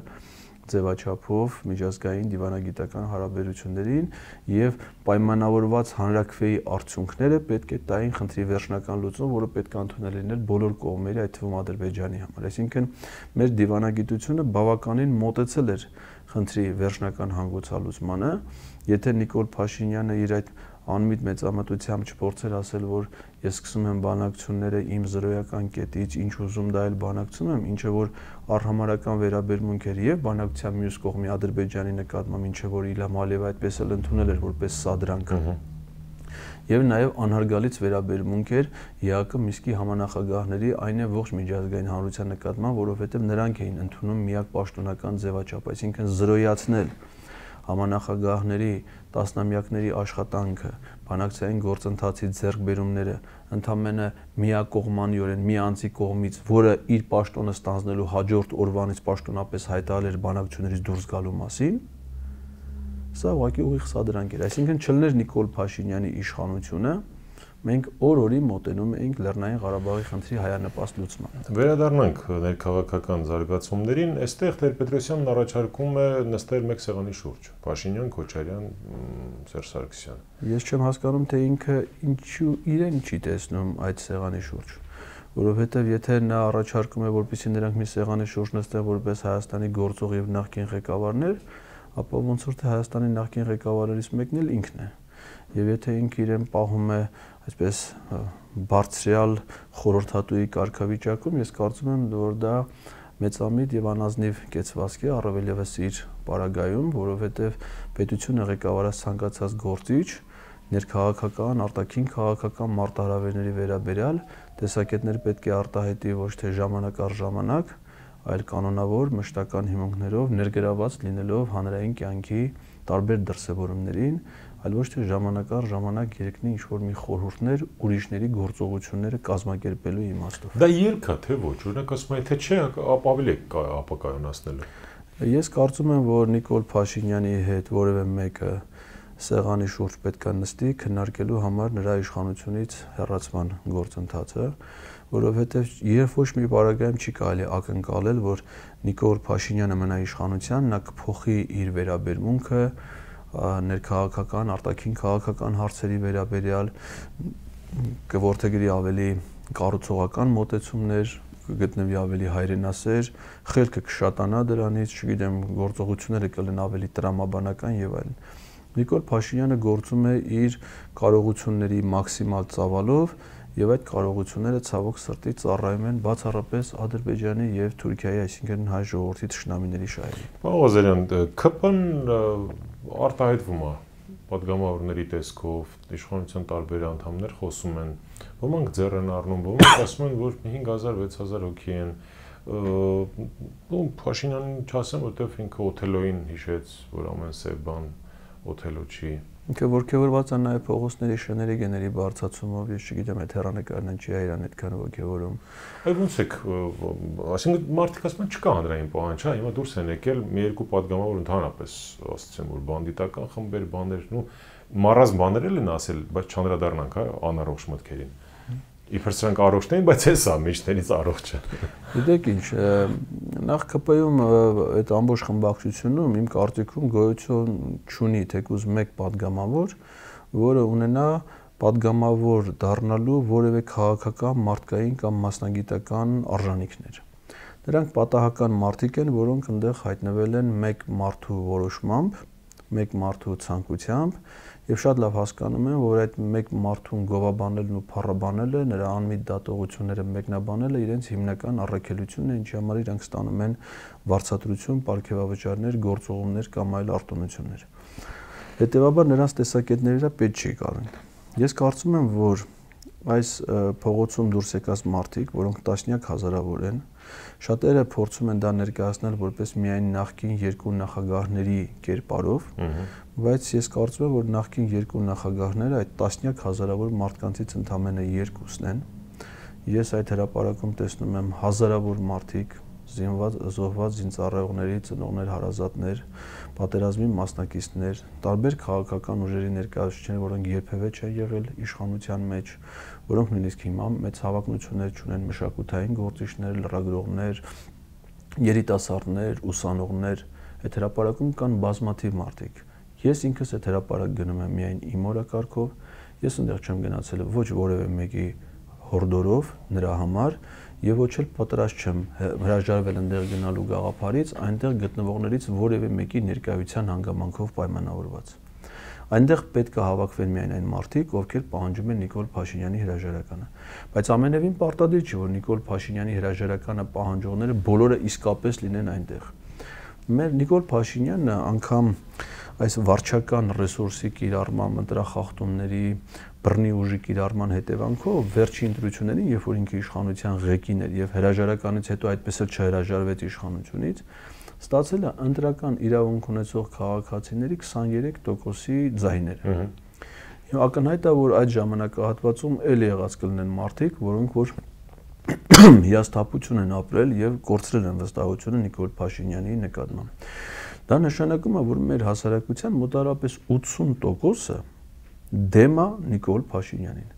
ձևաչափով միջազգային դիվանագիտական հարաբերություններին եւ պայմանավորված հանրաքվեի արդյունքները պետք է տային խնդրի վերջնական լուծում, որը պետք է ընդունել լիներ բոլոր կողմերի, այդ թվում Ադրբեջանի համար։ Այսինքն մեր դիվանագիտությունը բավականին մոտեցել էր խնդրի վերջնական հանգուցալուծմանը, եթե Նիկոլ Փաշինյանը իր այդ անմիտ մեծամտությամբ չփորձեր ասել, որ ես սկսում եմ բանակցությունները իմ զրոյական կետից, ինչ ուզում դա էլ բանակցում եմ, ինչը որ առհամարական վերաբերմունք էր եւ բանակցության մյուս կողմի Ադրբեջանի նկատմամբ, ինչը որ Իլհամ Ալիևը այդպես էլ ընդունել էր որպես սադրանք։ Եվ նաեւ անհարգալից վերաբերմունք էր ԵԱՀԿ Միսկի համանախագահների այն է ողջ միջազգային հանրության նկատմամբ, որովհետեւ նրանք էին ընդունում միակ պաշտոնական ձևաչափ, այսինքն զրոյացնել համանախագահների տասնամյակների աշխատանքը, բանակցային գործընթացի ձեռքբերումները ընդամենը միակողմանիորեն մի անձի կողմից, որը իր պաշտոնը ստանձնելու հաջորդ օրվանից պաշտոնապես հայտարարել էր բանակցություններից դուրս գալու մասին, սա ուղղակի ուղիղ սադրանք էր, այսինքն չլներ Նիկոլ Փաշինյանի իշխանությունը, մենք օր-օրի մոտենում էինք Լեռնային Ղարաբաղի խնդրի հայանպաստ լուծմանը։ Վերադառնանք ներքաղաքական զարգացումներին, այստեղ Տեր-Պետրոսյանն առաջարկում է նստել մեկ սեղանի շուրջ, Փաշինյան, Քոչարյան, Սերժ Սարգսյան։ Ես չեմ հասկանում, թե ինքը ինչու իրեն չի տեսնում այդ սեղանի շուրջ, որովհետև եթե նա առաջարկում է, որպեսզի նրանք մի սեղանի շուրջ նստեն որպես Հայաստանի գործող եւ նախկին ղեկավարներ, ապա ոնց որ թե Հայաստանի նախկին ղեկավարներից մեկն էլ ինքն է։ Եվ եթե ինքը իրեն պահում է այսպես բարձրյալ խորհրդատուի կարգավիճակում, ես կարծում եմ, որ դա մեծամիտ եւ անազնիվ կեցվածք է, առավել եւս իր պարագայում, որովհետեւ պետությունը ղեկավարած ցանկացած գործիչ ներքաղաքական, արտաքին քաղաքական մարտահրավերների վերաբերյալ տեսակետներ պետք է արտահայտի ոչ թե ժամանակ առ ժամանակ, այլ կանոնավոր մշտական հիմունքներով ներգրաված լինելով հանրային կյանքի տարբեր դրսևորումներին, այլ ոչ թե ժամանակ առ ժամանակ երկնի ինչ-որ մի խորհուրդներ ուրիշների գործողությունները կազմակերպելու իմաստով։ Դա ելք է, թե ոչ, օրինակ ասում եմ, թե չէ, ապա ավելի ապակայունացնելու։ Ես կարծում եմ, որ Նիկոլ Փաշինյանի հետ որևէ մեկը սեղանի շուրջ պետք է նստի քննարկելու համար նրա իշխանությունից հեռացման գործընթացը, որովհետև երբ ոչ մի բaragայում չի կարելի ակնկալել, որ Նիկոլ Փաշինյանը մնա իշխանության, նա կփոխի իր վերաբերմունքը ներքաղաքական, արտաքին քաղաքական հարցերի վերաբերյալ, կորդեգրի ավելի կառուցողական մոտեցումներ, կգտնվի ավելի հայրենասեր, խելքը կշատանա դրանից, չգիտեմ, գործողությունները կլինեն ավելի տրամաբանական եւ այլն։ Նիկոլ Փաշինյանը գործում է իր կարողությունների մաքսիմալ ծավալով եւ այդ կարողությունները ցավոք սրտի ծառայում են բացառապես Ադրբեջանի եւ Թուրքիայի, այսինքն հայ ժողովրդի թշնամիների շահերին։ Ղազարյան, ԿՊ-ն արտահայտվում է պատգամավորների տեսքով, իշխանության տարբեր անդամներ խոսում են, ոմանք ձեռ են առնում, ոմանք ասում են, որ 5000-6000 հոգի են, ու Փաշինյանին չասեմ, որտեվ ինքը Օթելոյին հիշեց, որ ամեն սև բան Օթելո չի։ Ինքը ողջավորված է նաև փողոցների շների գների բարձրացումով, ես չգիտեմ, այդ հեռանկարն չի այրան այդքան ողջավորում։ Այ ոնց է, այսինքն մարդիկ ասում են չկա հանրային պահանջ, հա, հիմա դուրս են եկել մի երկու պատգամավոր ընդհանրապես, ասացեմ, որ բանդիտական խմբեր, բաներ, ու մառազ բաներ են ասել, բայց չանդրադառնանք, հա, անառողջ մտքերին։ Իբր սրանք առողջ են, բայց հեսա միջներից առողջ է։ Գիտեք ինչ, նախ ԿՊ-ում այդ ամբողջ խմբակցությունում իմ կարծիքում գոյություն չունի թեկուզ մեկ պատգամավոր, որը ունենա պատգամավոր դառնալու որևէ քաղաքական, մարդկային կամ մասնագիտական արժանինքներ։ Դրանք պատահական մարդիկ են, որոնք այնտեղ հայտնվել են մեկ մարդու որոշմամբ, մեկ մարդու ցանկությամբ եւ շատ լավ հասկանում են, որ այդ մեկ մարդուն գովաբանելն ու փառաբանելը, նրա անմիտ դատողությունները մեկնաբանելը իրենց հիմնական առաքելությունն է, ինչի համար իրանք ստանում են վարձատրություն, պարգևավճարներ, գործողումներ կամ այլ արտոնություններ։ Հետևաբար նրանց տեսակետները պետք չի գալին։ Ես կարծում եմ, որ այս փողոցում դուրս եկած մարդիկ, որոնք տասնյակ հազարավոր են, շատերը փորձում են դա ներկայացնել որպես միայն նախկին երկու նախագահների կերպարով, բայց ես կարծում եմ, որ նախկին երկու նախագահները այդ տասնյակ հազարավոր մարդկանցից ընդամենը երկուսն են։ Ես այդ հրապարակում տեսնում եմ հազարավոր մարդիկ, զոհված զինծառայողների ծնողներ, հարազատներ, պատերազմի մասնակիցներ, տարբեր քաղաքական ուժերի ներկայացուցիչներ, որոնք երբևէ չեն եղել իշխանության մեջ, որոնք նույնիսկ հիմա մեծ հավակնություններ չունեն, մշակութային գործիչներ, լրագրողներ, երիտասարդներ, ուսանողներ, այդ հրապարակում կան բազմաթիվ մարդիկ։ Ես ինքս այդ հրապարակ գնում եմ միայն իմ օրակարգով, ես այնտեղ չեմ գնացել ոչ որևէ մեկի հորդորով նրա համար եւ ոչ էլ պատրաստ չեմ հրաժարվել այնտեղ գնալու գաղափարից, այնտեղ գտնվողներից որևէ մեկի ներկայության հանգամանքով պայմանավորված։ Այնտեղ պետք է հավաքվեն միայն այն մարդիկ, ովքեր պահանջում են Նիկոլ Փաշինյանի հրաժարականը։ Բայց ամենևին պարտադիր չի, որ Նիկոլ Փաշինյանի հրաժարականը պահանջողները բոլորը իսկապես լինեն այնտեղ։ Մեր Նիկոլ Փաշինյանը անգամ այս վարչական ռեսուրսի կիրառման, ընտրախախտումների, բռնի ուժի կիրառման հետևանքով վերջին ընտրություններին, երբ որ ինքը իշխանության ղեկին էր եւ հրաժարականից հետո այդպես էլ չհրաժարվեց իշխանությունից, ստացել է ընտրական իրավունք ունեցող քաղաքացիների 23%-ի ձայները։ Հիմա ակնհայտ է, որ այդ ժամանակահատվածում էլ եղած կլինեն մարդիկ, որոնք որ հիասթափություն են ապրել եւ կորցրել են վստահությունը Նիկոլ Փաշինյանի նկատմամբ։ Դա նշանակում է, որ մեր հասարակության մոտավորապես 80%-ը դեմ է Նիկոլ Փաշինյանին։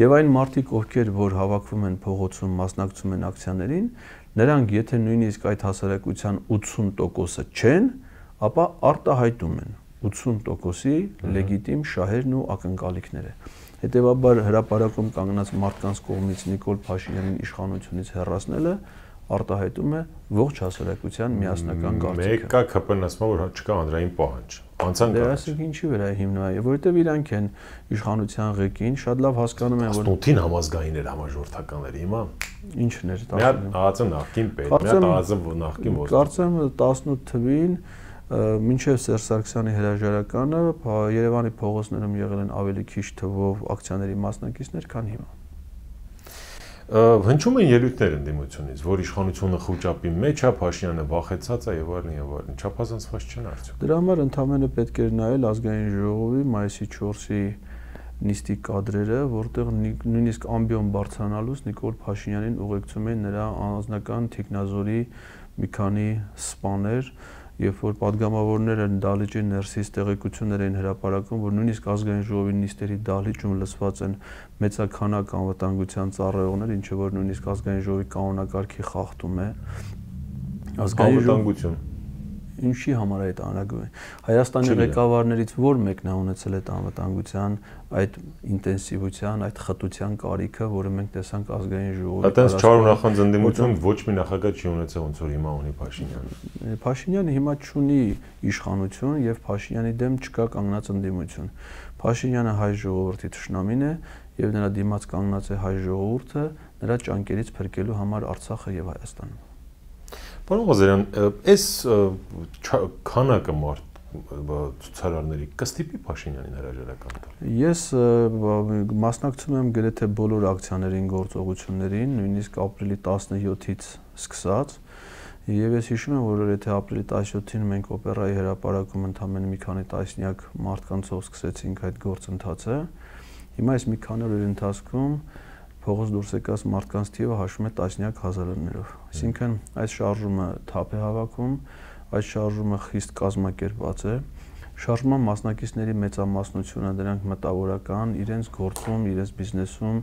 Եվ այն մարդիկ, ովքեր որ հավաքվում են փողոցում, մասնակցում են ակցիաներին, նրանք եթե նույնիսկ այդ հասարակության 80%-ը չեն, ապա արտահայտում են 80%-ի լեգիտիմ շահերն ու ակնկալիքները։ Հետևաբար հրապարակում կանգնած մարդկանց կողմից Նիկոլ Փաշինյանին իշխանությունից հեռացնելը արտահայտում է ողջ հասարակության միասնական կարծիքը։ Մեկը ԿՊՆՍ-ը որ չկա հանրային պահանջ։ Անցան կա։ Դրանք ինչի վրա է հիմնված, որովհետև իրանք են իշխանության ղեկին, շատ լավ հասկանում են, որ 18-ին համազգային էր համաժողովրդականները, հիմա ինչն էր 18։ Մի հատ ԱԱԾ նախկին պետ, մի հատ ԱԱԾ նախկին ոստիկ։ Կարծեմ 18 թվին մինչև Սերժ Սարգսյանի հրաժարականը Երևանի փողոցներում եղել են ավելի քիչ թվով ակցիաների մասնակիցներ, քան հիմա։ Հնչում են ելույթներ ընդդիմությունից, որ իշխանությունը խոճապի մեջ է, Փաշինյանը վախեցած է եւ այլն եւ այլն։ Չափազանցված չեն արդյոք։ Դրա համար ընդհանրապես պետք էր նայել ազգային ժողովի մայիսի 4-ի նիստի կադրերը, որտեղ նույնիսկ ամբիոն բարձրանալուց Նիկոլ Փաշինյանին ուղեկցում էին նրա անձնական թիկնազորի մի քանի սպաներ, երբ որ падգամավորները դահլիճի ներսից տեղեկություններ էին հրապարակում, որ նույնիսկ ազգային ժողովի նիստերի դահլիճում լսված են մեծաքանակ անվտանգության ծառայողներ, ինչը որ նույնիսկ ազգային ժողովի կանոնակարգի խախտում է։ Անվտանգություն Ինչի համար է այդ անհրաժեշտ։ Հայաստանի ղեկավարներից ո՞ր մեկն է ունեցել այդ անվտանգության, այդ ինտենսիվության, այդ խտության կարիքը, որը մենք տեսանք ազգային ժողովի։ Այդտենց չար նախանձ ընդդիմություն ոչ մի նախագահ չի ունեցել, ոնց որ հիմա ունի Փաշինյանը։ Փաշինյանը հիմա չունի իշխանություն եւ Փաշինյանի դեմ չկա կանգնած ընդդիմություն։ Փաշինյանը հայ ժողովրդի թշնամին է եւ նրա դիմաց կանգնած է հայ ժողովուրդը նրա ճանկերից փրկելու համար Արցախը եւ Հայաստանը։ Պարոն Ղազարյան, այս քանակը ցուցարարների կստիպի Փաշինյանին հրաժարական տալ։ Ես մասնակցում եմ գրեթե բոլոր ակցիաներին, գործողություններին, նույնիսկ ապրիլի 17-ից սկսած, եւ ես հիշում եմ, որ եթե ապրիլի 17-ին մենք օպերայի հրապարակում ընդամենը մի քանի տասնյակ մարդկանցով սկսեցինք այդ գործընթացը, հիմա այս մի քանի օրերի ընթացքում փողոց դուրս եկած մարդկանց թիվը հաշվում է տասնյակ հազարներով։ Այսինքն այս շարժումը թափ է հավաքում, այս շարժումը խիստ կազմակերպված է։ Շարժման մասնակիցների մեծամասնությունը դրանք մտավորական, իրենց գործում, իրենց բիզնեսում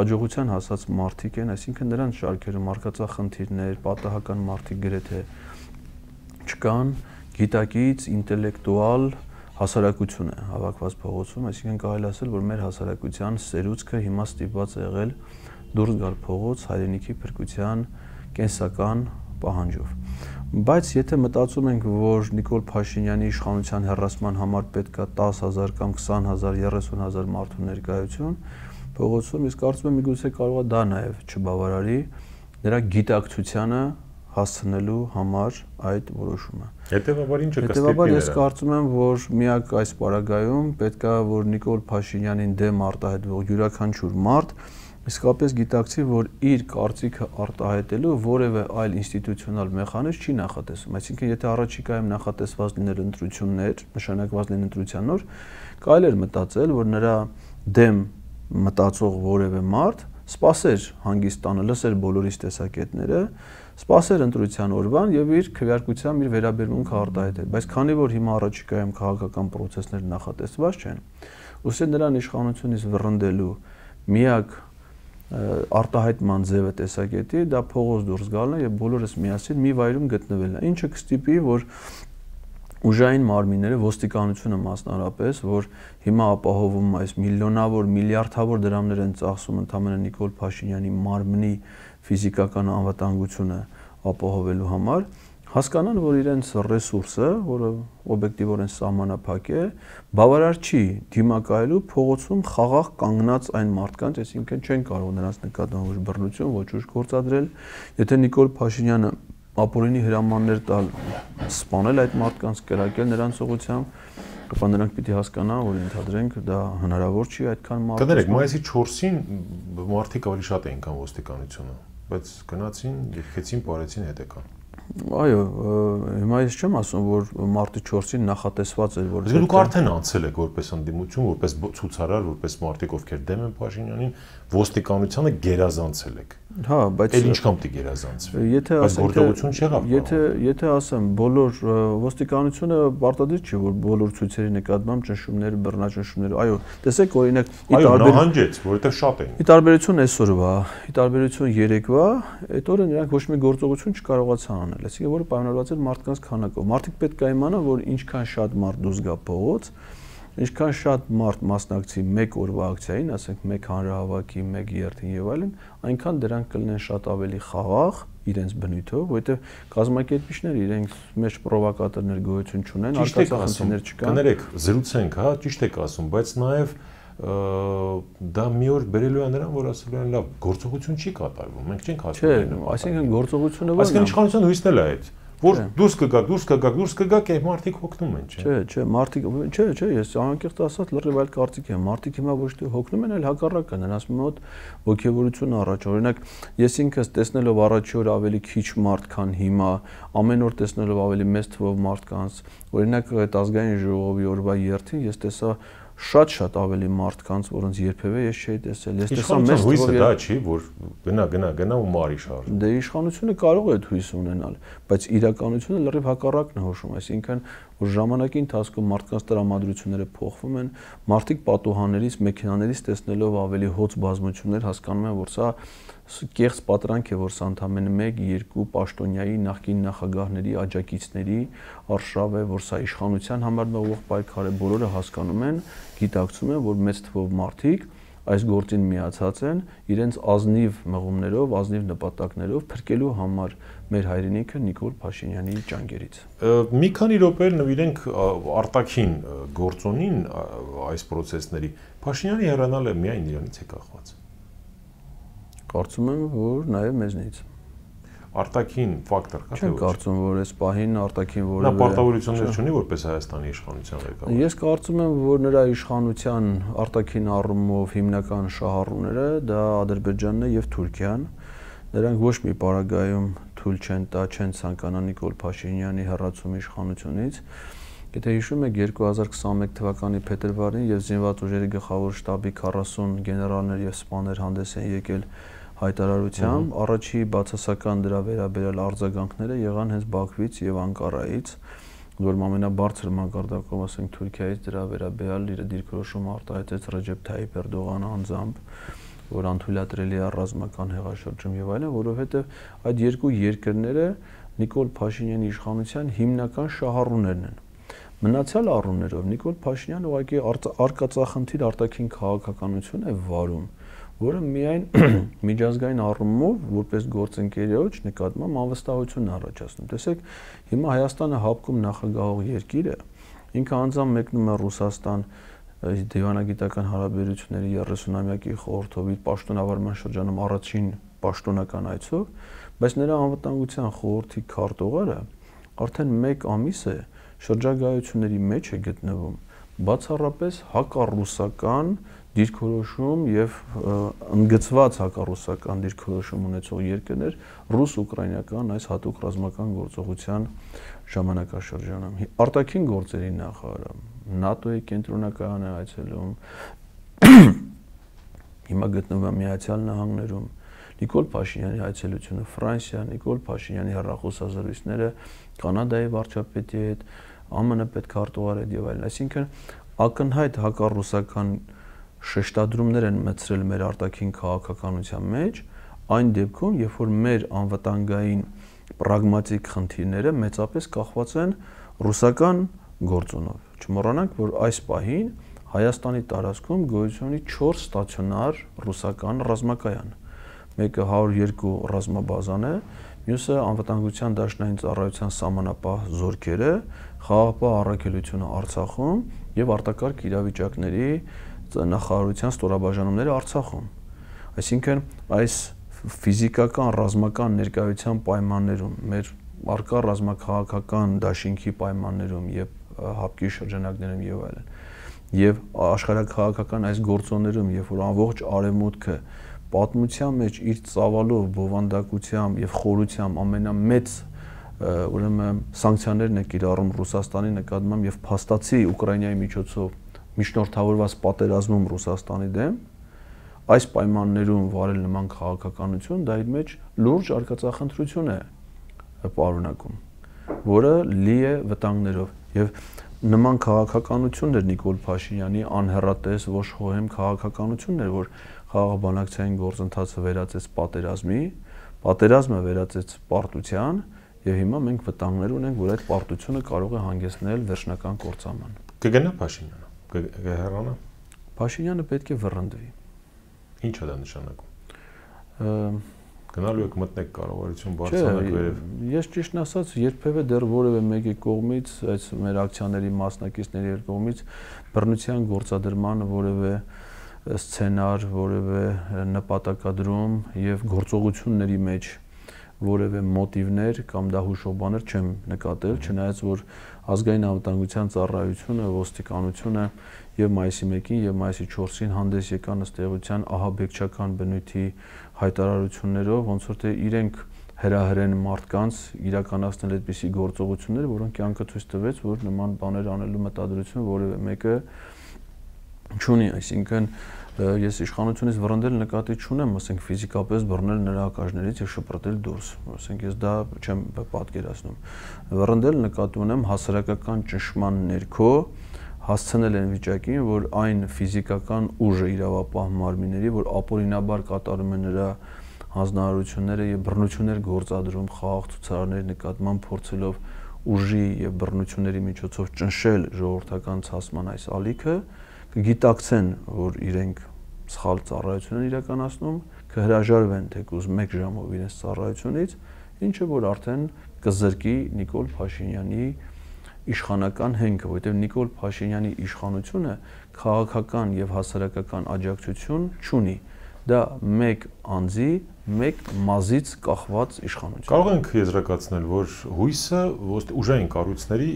հաջողության հասած մարդիկ են, այսինքն նրանց շարքերում արկածախնդիրներ, պատահական մարդիկ գրեթե չկան, գիտակից, ինտելեկտուալ հասարակություն է հավաքված փողոցում, այսինքն կարելի ասել, որ մեր հասարակության սերուցքը հիմա ստիպված է եղել դուրս գալ փողոց հայրենիքի փրկության կենսական պահանջով։ Բայց եթե մտածում ենք, որ Նիկոլ Փաշինյանի իշխանության հեռացման համար պետք է 10,000 կամ 20,000, 30,000 մարդու ներկայություն փողոցում, իսկ կարծում եմ միգուցե կարող է դա նաև չբավարարի նրա գիտակցությանը հասցնելու համար այդ որոշումը։ Հետևաբար ինչը կստիպի Հետևաբար ես կարծում եմ, որ միակ այս պարագայում պետք է որ Նիկոլ Փաշինյանին դեմ արտահայտվող յուրաքանչյուր մարդ իսկապես գիտակցի, որ իր կարծիքը արտահայտելու որևէ այլ ինստիտուցիոնալ մեխանիզմ չի նախատեսում։ Այսինքն, եթե առաջիկայում նախատեսված լիներ ընտրություններ, նշանակված լինեն ընտրության օր, կարելի էր մտածել, որ նրա դեմ մտածող որևէ մարդ սպասեր հանգիստ տանը, լսեր բոլորիս տեսակետները, սպասեր ընտրության օրվան եւ իր քվեարկությամբ իր վերաբերմունքը արտահայտել։ Բայց քանի որ հիմա առաջիկայում քաղաքական process-ներ նախատեսված չեն, ուստի նրան իշխանությունից վռնդելու միակ արտահայտման ձևը տեսակետի դա փողոց դուրս գալն է եւ բոլորս միասին մի վայրում գտնվելն է, ինչը կստիպի, որ ուժային մարմինները, ոստիկանությունը մասնարարպես, որ հիմա ապահովում այս միլիոնավոր, միլիարդավոր դրամներ են ծախսում ընդհանրապես Նիկոլ Փաշինյանի մարմնի ֆիզիկական անվտանգությունը ապահովելու համար, հասկանան, որ իրենց ռեսուրսը, որը օբյեկտիվորեն սահմանափակ է, բավարար չի դիմակայելու փողոցում խաղաղ կանգնած այն մարդկանց, այսինքն չեն կարող նրանց նկատմամբ ոչ բռնություն, ոչ ուժ գործադրել, եթե Նիկոլ Փաշինյանը ապօրինի հրամաններ տալ, սպանել այդ մարդկանց, կրակել նրանց ուղղությամբ, ապա նրանք պիտի հասկանան, որ ընդհանրենք դա հնարավոր չի այդքան մարդ։ Կներեք, մայիսի 4-ին մարդիկ ավելի շատ էին, քան ոստիկանությունը, բայց գնացին, եկեցին, պարեցին, հետ եկան։ Այո, հիմա ես չեմ ասում, որ մարտի 4-ին նախատեսված էր, որ դուք արդեն անցել եք որպես ընդդիմություն, որպես ցուցարար, որպես մարդիկ, ովքեր դեմ են Փաշինյանին, ոստիկանությանը գերազանցել եք։ Հա, բայց էլ ինչքան պիտի գերազանցվի։ Եթե գործողություն չեղավ։ Եթե ասեմ, բոլոր ոստիկանությունը պարտադիր չի, որ բոլոր ցույցերի նկատմամբ ճնշումներ, բռնաճնշումներ, այո, տեսեք օրինակ նահանջեց, որովհետև շատ էին։ Ի տարբերություն այսօրվա, ի տարբերություն երեկվա, այդ օրը նրանք ոչ մի գործողություն չկարողացան անել, այսինքն որը պայմանավորված էր մարդկանց քանակով։ Մարդիկ պետք է իմանան, որ ինչքան շատ մարդ դուրս գա փողոց, ինչքան շատ մարդ մասնակցի մեկ օրվա ակցիային, ասենք մեկ հանրահավաքի, մեկ երթին եւ այլն, այնքան դրանք կլինեն շատ ավելի խաղաղ իրենց բնույթով, որովհետեւ կազմակերպիչները իրենց մեջ պրովոկատորներ գոյություն չունեն, արկածախնդիրներ չկան։ Կներեք, զրուցենք, հա, ճիշտ եք ասում, բայց նաեւ դա մի օր բերելու է նրան, որ ասելու են լավ, գործողություն չի կատարվում, մենք չենք հասնում։ Չէ, այսինքն գործողությունը ո՞րն է։ Այսինքն իշխանության հույսն էլ է այդ, որ դուրս կգաք, այդ մարդիկ հոգնում են, չէ։ Չէ, մարդիկ, չէ, ես անկեղծ ասած լրիվ այլ կարծիք եմ։ Մարդիկ հիմա ոչ թե հոգնում են, այլ հակառակը, նրանց մոտ ոգևորություն առաջ։ Օրինակ, ես ինքս տեսնելով առաջի օր ավելի քիչ մարդ, քան հիմա, ամեն օր տեսնելով ավելի մեծ թվով մարդկանց, օրինակ այդ ազգային ժողովի օրվա երթին ես տեսա շատ ավելի մարդկանց, որոնց երբևէ ես չէի տեսել։ Ես տեսա մեծ հույսը դա չի, որ գնա ու մարի շարժ։ Դե իշխանությունը կարող է այդ հույս ունենալ, բայց իրականությունը լրիվ հակառակն է հոշում, այսինքն որ ժամանակի ընթացքում մարդկանց տրամադրությունները փոխվում են, մարդիկ պատուհաններից, մեքենաներից տեսնելով ավելի հոծ բազմություններ հասկանում են, որ սա կեղծ պատրանք է, որ սա ընդամենը 1-2 պաշտոնյայի նախկին նախագահների աջակիցների արշավ է, որ սա իշխանության համար ուղղ պայքար է, բոլորը հասկանում են, գիտակցում են, որ մեծ թվով մարդիկ այս գործին միացած են իրենց ազնիվ մղումներով, ազնիվ նպատակներով փրկելու համար մեր հայրենիքը Նիկոլ Փաշինյանի ճանկերից։ Մի քանի րոպե նվիրենք արտաքին գործոնին այս process-ների։ Փաշինյանի հեռանալը միայն իրանից է կախված։ Կարծում եմ, որ նաև մեզնից։ Արտաքին ֆակտոր կա թե ոչ։ Չեմ կարծում, որ այս պահին արտաքին որևէ նա պարտավորություններ չունի որպես Հայաստանի իշխանության ղեկավար։ Ես կարծում եմ, որ նրա իշխանության արտաքին առումով հիմնական շահառուները դա Ադրբեջանն է եւ Թուրքիան։ Նրանք ոչ մի պարագայում թույլ չեն տա, չեն ցանկանա Նիկոլ Փաշինյանի հեռացում իշխանությունից։ Եթե հիշում եք 2021 թվականի փետրվարին եւ զինված ուժերի գլխավոր շտաբի 40 գեներալներ եւ սպաներ հանդես են եկել հայտարարությամբ, առաջի բացասական դրա վերաբերյալ արձագանքները եղան հենց Բաքվից եւ Անկարայից, որ ամենաբարձր մակարդակով, ասենք Թուրքիայից դրա վերաբերյալ իր դիրքորոշումը արտահայտեց Ռեջեփ Թայիփ Էրդողանը անձամբ, որ անթույլատրելի է ռազմական հեղաշրջում եւ այլն, որովհետեւ այդ երկու երկրները Նիկոլ Փաշինյանի իշխանության հիմնական շահառուներն են։ Մնացյալ առումներով Նիկոլ Փաշինյանը ուղղակի արկածախնդիր արտաքին քաղաքականություն է վարում, որը միայն միջազգային առումով որպես գործընկերոջ նկատմամբ անվստահություն է առաջացնում։ Տեսեք, հիմա Հայաստանը հապկում նախագահող երկիր է, ինքը անձամբ մեկնում է Ռուսաստան դիվանագիտական հարաբերությունների 30-ամյակի խորհրդով իր պաշտոնավարման շրջանում առաջին պաշտոնական այցով, բայց նրա անվտանգության խորհրդի քարտուղարը արդեն 1 ամիս է շրջագայությունների մեջ է գտնվում բացառապես հակառուսական դիրքորոշում եւ ընդգծված հակառուսական դիրքորոշում ունեցող երկրներ ռուս-ուկրաինական այս հատուկ ռազմական գործողության ժամանակաշրջանում արտաքին գործերի նախարարը ՆԱՏՕ-ի կենտրոնակայանը այցելում հիմա գտնվում է Միացյալ Նահանգներում Նիկոլ Փաշինյանի այցելությունը Ֆրանսիա, Նիկոլ Փաշինյանի հեռախոսազրույցները Կանադայի վարչապետի հետ, ԱՄՆ պետքարտուղարի հետ եւ այլն, այսինքն ակնհայտ հակառուսական շեշտադրումներ են մտցրել մեր արտաքին քաղաքականության մեջ, այն դեպքում, երբ որ մեր անվտանգային պրագմատիկ խնդիրները մեծապես կախված են ռուսական գործոնով։ Չմոռանանք, որ այս պահին Հայաստանի տարածքում գոյություն ունի 4 ստացիոնար ռուսական ռազմակայան։ Մեկը 102 ռազմաբազան է, մյուսը անվտանգության դաշնային ծառայության սահմանապահ զորքերը, խաղաղապահ առաքելությունը Արցախում եւ արտակարգ իրավիճակների նախարարության ստորաբաժանումները Արցախում։ Այսինքն այս ֆիզիկական ռազմական ներկայության պայմաններում, մեր արկա ռազմաքաղաքական դաշինքի պայմաններում եւ հապկի շրջանակներում եւ այլն, եւ աշխարհաքաղաքական այս գործոններում, երբ որ ամբողջ արևմուտքը պատմության մեջ իր ծավալով, բովանդակությամբ եւ խորությամբ ամենամեծ ուրեմն սանկցիաներն է կիրառում Ռուսաստանի նկատմամբ եւ փաստացի Ուկրաինայի միջոցով միջնորդավորված պատերազմում Ռուսաստանի դեմ, այս պայմաններում վարել նման քաղաքականություն դա իր մեջ լուրջ արկածախնդրություն է պարունակում, որը լի է վտանգներով եւ նման քաղաքականություններ Նիկոլ Փաշինյանի անհեռատես ոչ խոհեմ քաղաքականություններ, որ խաղաղբանակցային գործընթացը վերածեց պատերազմի, պատերազմը վերածեց պարտության եւ հիմա մենք վտանգներ ունենք, որ այդ պարտությունը կարող է հանգեցնել վերջնական կործանման։ Կգնա Փաշինյանը, կհեռանա։ Փաշինյանը պետք է վռնդվի։ Ինչ է դա նշանակում։ Գնալու եք մտնեք կառավարություն բարձրանաք վերև։ Ես ճիշտն ասած երբևէ դեռ որևէ մեկի կողմից, այս մեր ակցիաների մասնակիցների կողմից բռնության գործադրման որևէ սցենար, որևէ նպատակադրում եւ գործողությունների մեջ որևէ մոտիվներ կամ դա հուշող բաներ չեմ նկատել, չնայած որ ազգային անվտանգության ծառայությունը, ոստիկանությունը եւ մայիսի 1-ին եւ մայիսի 4-ին հանդես եկան ըստ էության ահաբեկչական բնույթի հայտարարություններով, ոնց որ թե իրենք հրահրեն մարդկանց իրականացնել այդպիսի գործողություններ, որոնք կյանքը ցույց տվեց, որ նման բաներ անելու մտադրություն որևէ մեկը չունի, այսինքն ես իշխանությունից վռնդել նկատի չունեմ, ասենք ֆիզիկապես բռնել նրա հակաժներից եւ շպրտել դուրս, ասենք ես դա չեմ պատկերացնում։ Վռնդել նկատի ունեմ հասարակական ճնշման ներքո հասցնել են վիճակին, որ այն ֆիզիկական ուժը իրավապահ մարմինների, որ ապօրինաբար կատարում են նրա հանձնարարությունները եւ բռնություններ գործադրում խաղաղ ցուցարարների նկատմամբ փորձելով ուժի եւ բռնությունների միջոցով ճնշել ժողովրդական ցասման այս ալիքը, կգիտակցեն, որ իրենք սխալ ծառայություն են իրականացնում, կհրաժարվեն թեկուզ 1 ժամով իրենց ծառայությունից, ինչը որ արդեն կզրկի Նիկոլ Փաշինյանի իշխանական հենքը, որովհետև Նիկոլ Փաշինյանի իշխանությունը քաղաքական եւ հասարակական աջակցություն չունի։ Դա մեկ անձի, մեկ մազից կախված իշխանություն։ Կարող ենք եզրակացնել, որ հույսը ուժային կառույցների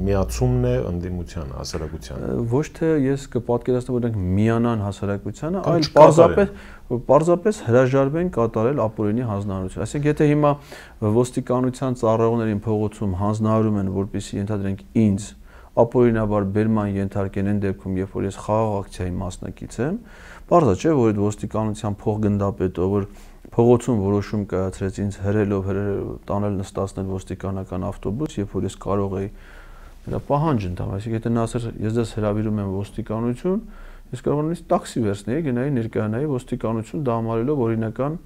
միացումն է ընդդիմության հասարակությանը։ Ոչ թե ես կպատկերացնեմ, որ նրանք միանան հասարակությանը, այլ պարզապես հրաժարվեն կատարել ապօրինի հանձնարարություն։ Այսինքն, եթե հիմա ոստիկանության ծառայողներին փողոցում հանձնարարում են, որպեսզի ենթադրենք ինձ ապօրինաբար բերման ենթարկեն այն դեպքում, երբ որ ես խաղաղ ակցիայի մասնակից եմ, պարզ է, չէ, որ այդ ոստիկանության փոխգնդապետը, որ փողոցում որոշում կայացրեց ինձ հրելով տանել նստացնել ոստիկանական ավտոբուս, երբ որ ես կարող էի նրա պահանջ ընդունել, այսինքն եթե նա ասեր ես դες հրավիրում եմ ոստիկանություն, ես կարող եմ նույնիսկ տաքսի վերցնեի, գնայի ներկայանայի ոստիկանություն դա համարելով օրինական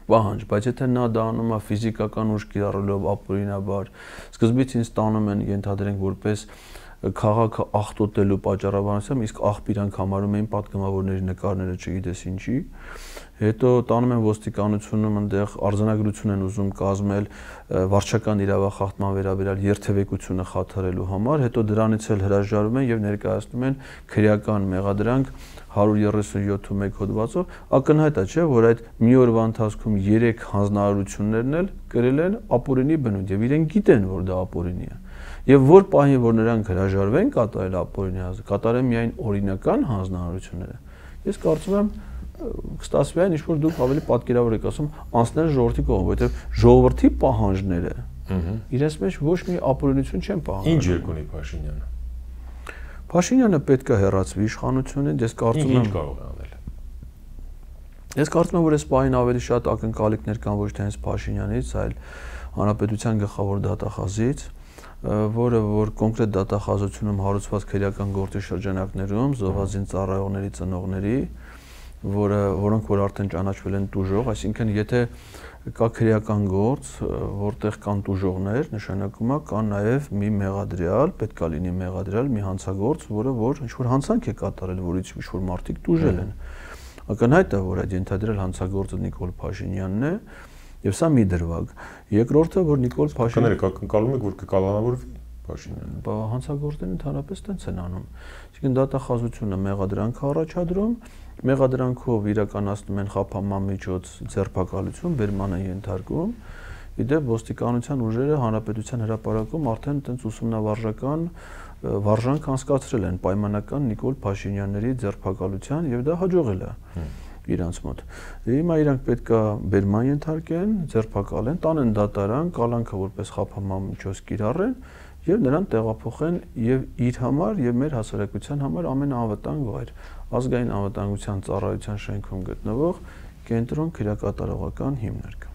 պահանջ, բայց եթե նա դա անում է ֆիզիկական ուժ կիրառելով ապօրինաբար, սկզբից ինձ տանում են ենթադրենք որպես քաղաքը աղտոտելու պատճառաբանությամբ, իսկ աղբ իրանք համարում էին պատգամավորների նկարները չգիտես ինչի։ Հետո տանում են ոստիկանությունում այնտեղ արձանագրություն են ուզում կազմել վարչական իրավախախտման վերաբերյալ երթևեկությունը խաթարելու համար, հետո դրանից էլ հրաժարվում են եւ ներկայացնում են քրեական մեղադրանք 137 հոդվածով, ակնհայտ է, չէ, որ այդ մի օրվա ընթացքում 3 հանձնարարություններն էլ կրել են ապօրինի բնույթ եւ իրենք գիտեն, որ դա ապօրինի է։ Եվ որ պահին, որ նրանք հրաժարվեն կատարել ապօրինի հանձնարարությունը, կատարեն միայն օրինական հանձնարարությունները։ Ես կարծում եմ կստացվի այն, ինչ որ դուք ավելի պատկերավոր եք ասում, անցնել ժողովրդի կողմը, որովհետեւ ժողովրդի պահանջները իրենց մեջ ոչ մի ապօրինություն չեն պահանջում։ Ինչ երկ ունի Փաշինյանը։ Փաշինյանը պետք է հեռացվի իշխանությունից, ես կարծում եմ ինչ կարող է անել։ Ես կարծում եմ, որ այս պահին ավելի շատ ակնկալիքներ կան ոչ թե հենց Փաշինյանից, այլ հանրապետության գլխավոր դատախազից, որը որ կոնկրետ դատախազությունում հարուցված քրեական գործի շրջանակներում զոհվածին ծառայողների ծնողների, որոնք որ արդեն ճանաչվել են տուժող, այսինքն եթե կա քրեական գործ, որտեղ կան տուժողներ, նշանակում է կա նաև մի մեղադրյալ, պետքա լինի մեղադրյալ, մի հանցագործ, որը որ ինչ որ հանցանք է կատարել, որից ինչ որ մարդիկ տուժել են։ Ակնհայտ է, որ այդ ենթադրյալ հանցագործը Նիկոլ Փաշինյանն է, եւ սա մի դրվագ։ Երկրորդը, որ Նիկոլ Փաշինյանը ակնկալում եք, որ կկալանավորվի Փաշինյանը։ Բա հանցագործներն ընդհանրապես տենց են անում։ Այսինքն դատախազությունը մեղադրանք առաջադրում, մեղադրանքով իրականացնում են խափանման միջոց ձերբակալություն, բերման են ենթարկում։ Իդեպ ոստիկանության ուժերը հանրապետության հրապարակում արդեն տենց ուսումնավարժական վարժանք անցկացրել են պայմանական Նիկոլ Փաշինյանների ձերբակալության եւ դա հաջողել է իրանց մոտ։ Հիմա իրանք պետքա բերման ենթարկեն, ձերբակալեն, տանեն դատարան, կալանքը որպես խափանման միջոց կիրառեն եւ նրան տեղափոխեն եւ իր համար եւ մեր հասարակության համար ամենաանվտանգ վայր, ազգային անվտանգության ծառայության շենքում գտնվող կենտրոն քրեակատարողական հիմնարկ։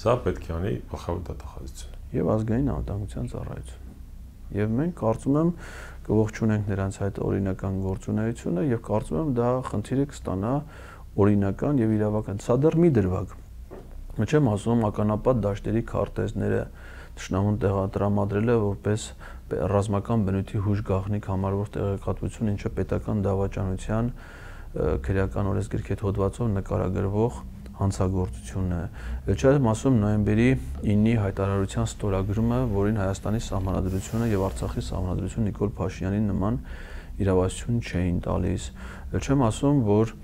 Սա պետք է անի գլխավոր դատախազությունը եւ ազգային անվտանգության ծառայություն։ Եվ մենք կարծում եմ կողջունենք նրանց այդ օրինական գործունեությունը եւ կարծում եմ դա խնդիրը կստանա օրինական եւ իրավական։ Սա դեռ մի դրվագ։ Չեմ ասում ականապատ դաշտերի քարտեզները Տշնամուն տրամադրել է որպես ռազմական բնույթի հուժ գաղտնիք համարվող տեղեկատվություն, ինչը պետական դավաճանության քրեական օրենսգրքի հետ հոդվածով նկարագրվող հանցագործությունն է։ Չեմ ասում նոյեմբերի 9-ի հայտարարության ստորագրումը, որին Հայաստանի Սահմանադրությունը եւ Արցախի Սահմանադրությունը Նիկոլ Փաշինյանին նման իրավասություն չէին տալիս։ Չեմ ասում, որ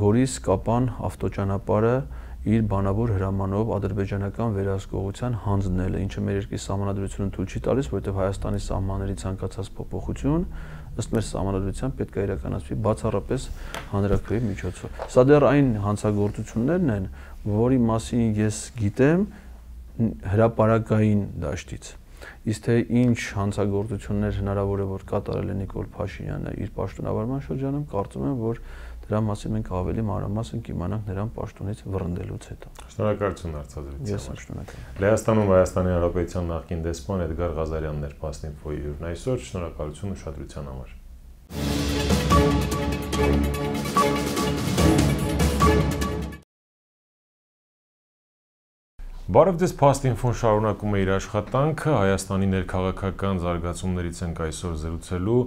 Գորիս-Կապան ավտոճանապարհը իր բանավոր հրամանով ադրբեջանական վերահսկողության հանձնել է, ինչը մեր երկրի սահմանադրությունը թույլ չի տալիս, որովհետև Հայաստանի սահմանների ցանկացած փոփոխություն ըստ մեր սահմանադրության պետք է իրականացվի բացառապես հանրաքվեի միջոցով։ Սա դեռ այն հանցագործություններն են, որի մասին ես գիտեմ հրապարակային դաշտից։ Իսկ թե ինչ հանցագործություններ հնարավոր է որ կատարել է Նիկոլ Փաշինյանը իր պաշտոնավարման շրջանում, կարծում եմ, որ դրա մասին մենք ավելի մանրամասն կիմանանք նրան պաշտոնից վռնդելուց հետո։ Շնորհակալություն հարցազրույցի համար։ Ես շնորհակալ եմ։ Լեհաստանում Հայաստանի Հանրապետության նախկին դեսպան Էդգար Ղազարյանն էր Պաստնինֆոյի հյուրն այսօր, շնորհակալություն ուշադրության համար։ Բարև ձեզ, Պաստնինֆոն շարունակում է իր աշխատանքը, Հայաստանի ներքաղաքական զարգացումներից ենք այսօր զրուցելու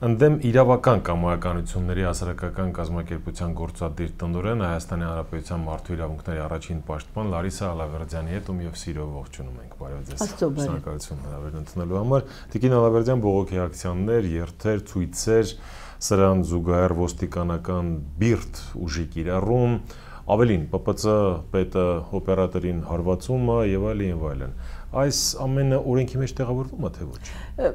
ընդդեմ իրավական կամայականությունների հասարակական կազմակերպության գործադիր տնօրեն Հայաստանի Հանրապետության մարդու իրավունքների առաջին պաշտպան Լարիսա Ալավերդյանի հետ ում եւ սիրով ողջունում ենք։ Բարև ձեզ։ Շնորհակալություն հրավերն ընդունելու համար։ Տիկին Ալավերդյան, բողոքի ակցիաներ, երթեր, ցույցեր, սրան զուգահեռ ոստիկանական բիրտ ուժի կիրառում, ավելին ՊՊՑ պետը օպերատորին հարվածումը եւ այլն։ Այս ամենը օրենքի մեջ տեղավորվում է թե ոչ։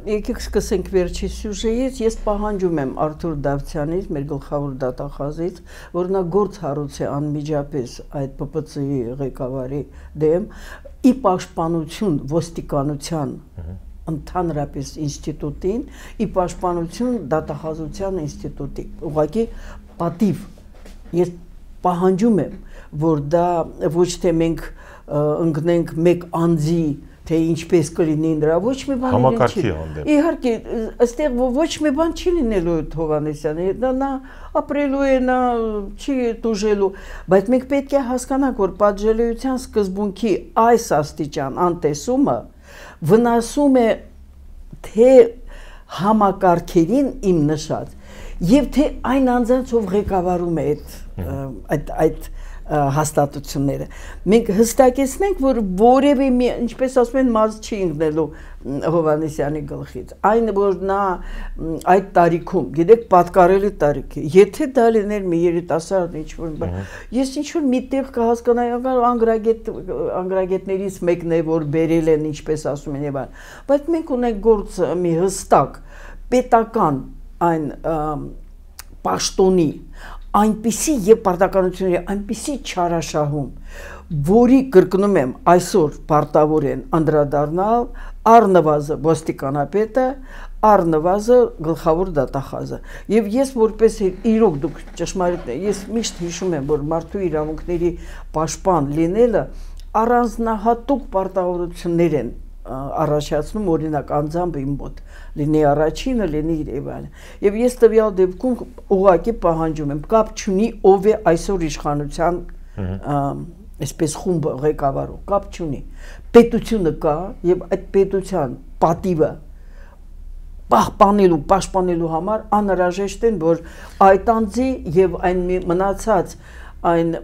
Եկեք սկսենք վերջի սյուժեից։ Ես պահանջում եմ Արթուր Դավթյանից, մեր գլխավոր դատախազից, որ նա գործ հարուցի անմիջապես այդ ՊՊՑ-ի ղեկավարի դեմ ի պաշտպանություն ոստիկանության ընդհանրապես ինստիտուտին, ի պաշտպանություն դատախազության ինստիտուտի։ Ուղղակի պատիվ ես պահանջում եմ, որ դա ոչ թե մենք ընկնենք մեկ անձի, թե ինչպես կլինի նրա, ոչ մի բան չի։ Իհարկե, այստեղ ոչ մի բան չի լինելու Հովհաննեսյանի, նա ապրելու է, նա չի տուժելու, բայց մենք պետք է հասկանանք, որ պատժելիության սկզբունքի այս աստիճան անտեսումը վնասում է թե համակարգերին իմ նշած եւ թե այն անձանց ով ղեկավարում է այդ հաստատությունները մենք հստակեցնենք որ որևէ ինչպես ասում են մազ չի ընկնելու Հովհաննիսյանի գլխից այն որ նա այդ տարիքում գիտեք պատկառելի տարիք է եթե դա լիներ մի երիտասարդ ինչ որ ես ինչ որ միտեղ կհասկանայի անգրագետներից մեկն է որ բերել են ինչպես ասում են եւ այլ բայց մենք ունենք գործ մի հստակ պետական այն պաշտոնի այնպիսի եւ պարտականությունների այնպիսի չարաշահում որի կրկնում եմ այսօր պարտավոր են անդրադառնալ առնվազն ոստիկանապետը առնվազն գլխավոր դատախազը եւ ես որպես իրոք դուք ճշմարիտ ես միշտ հիշում եմ որ մարդու իրավունքների պաշտպան լինելը առանձնահատուկ պարտավորություններ են առաջացնում օրինակ անձամբ իմ մոտ լինի առաջինը լինի եւ այլն եւ ես տվյալ դեպքում ուղղակի պահանջում եմ կապ չունի ով է այսօր իշխանության այսպես խումբը ղեկավարող կապ չունի պետությունը կա եւ այդ պետության պատիվը պաշտպանելու համար անհրաժեշտ են որ այդ անձի եւ այն մնացած այն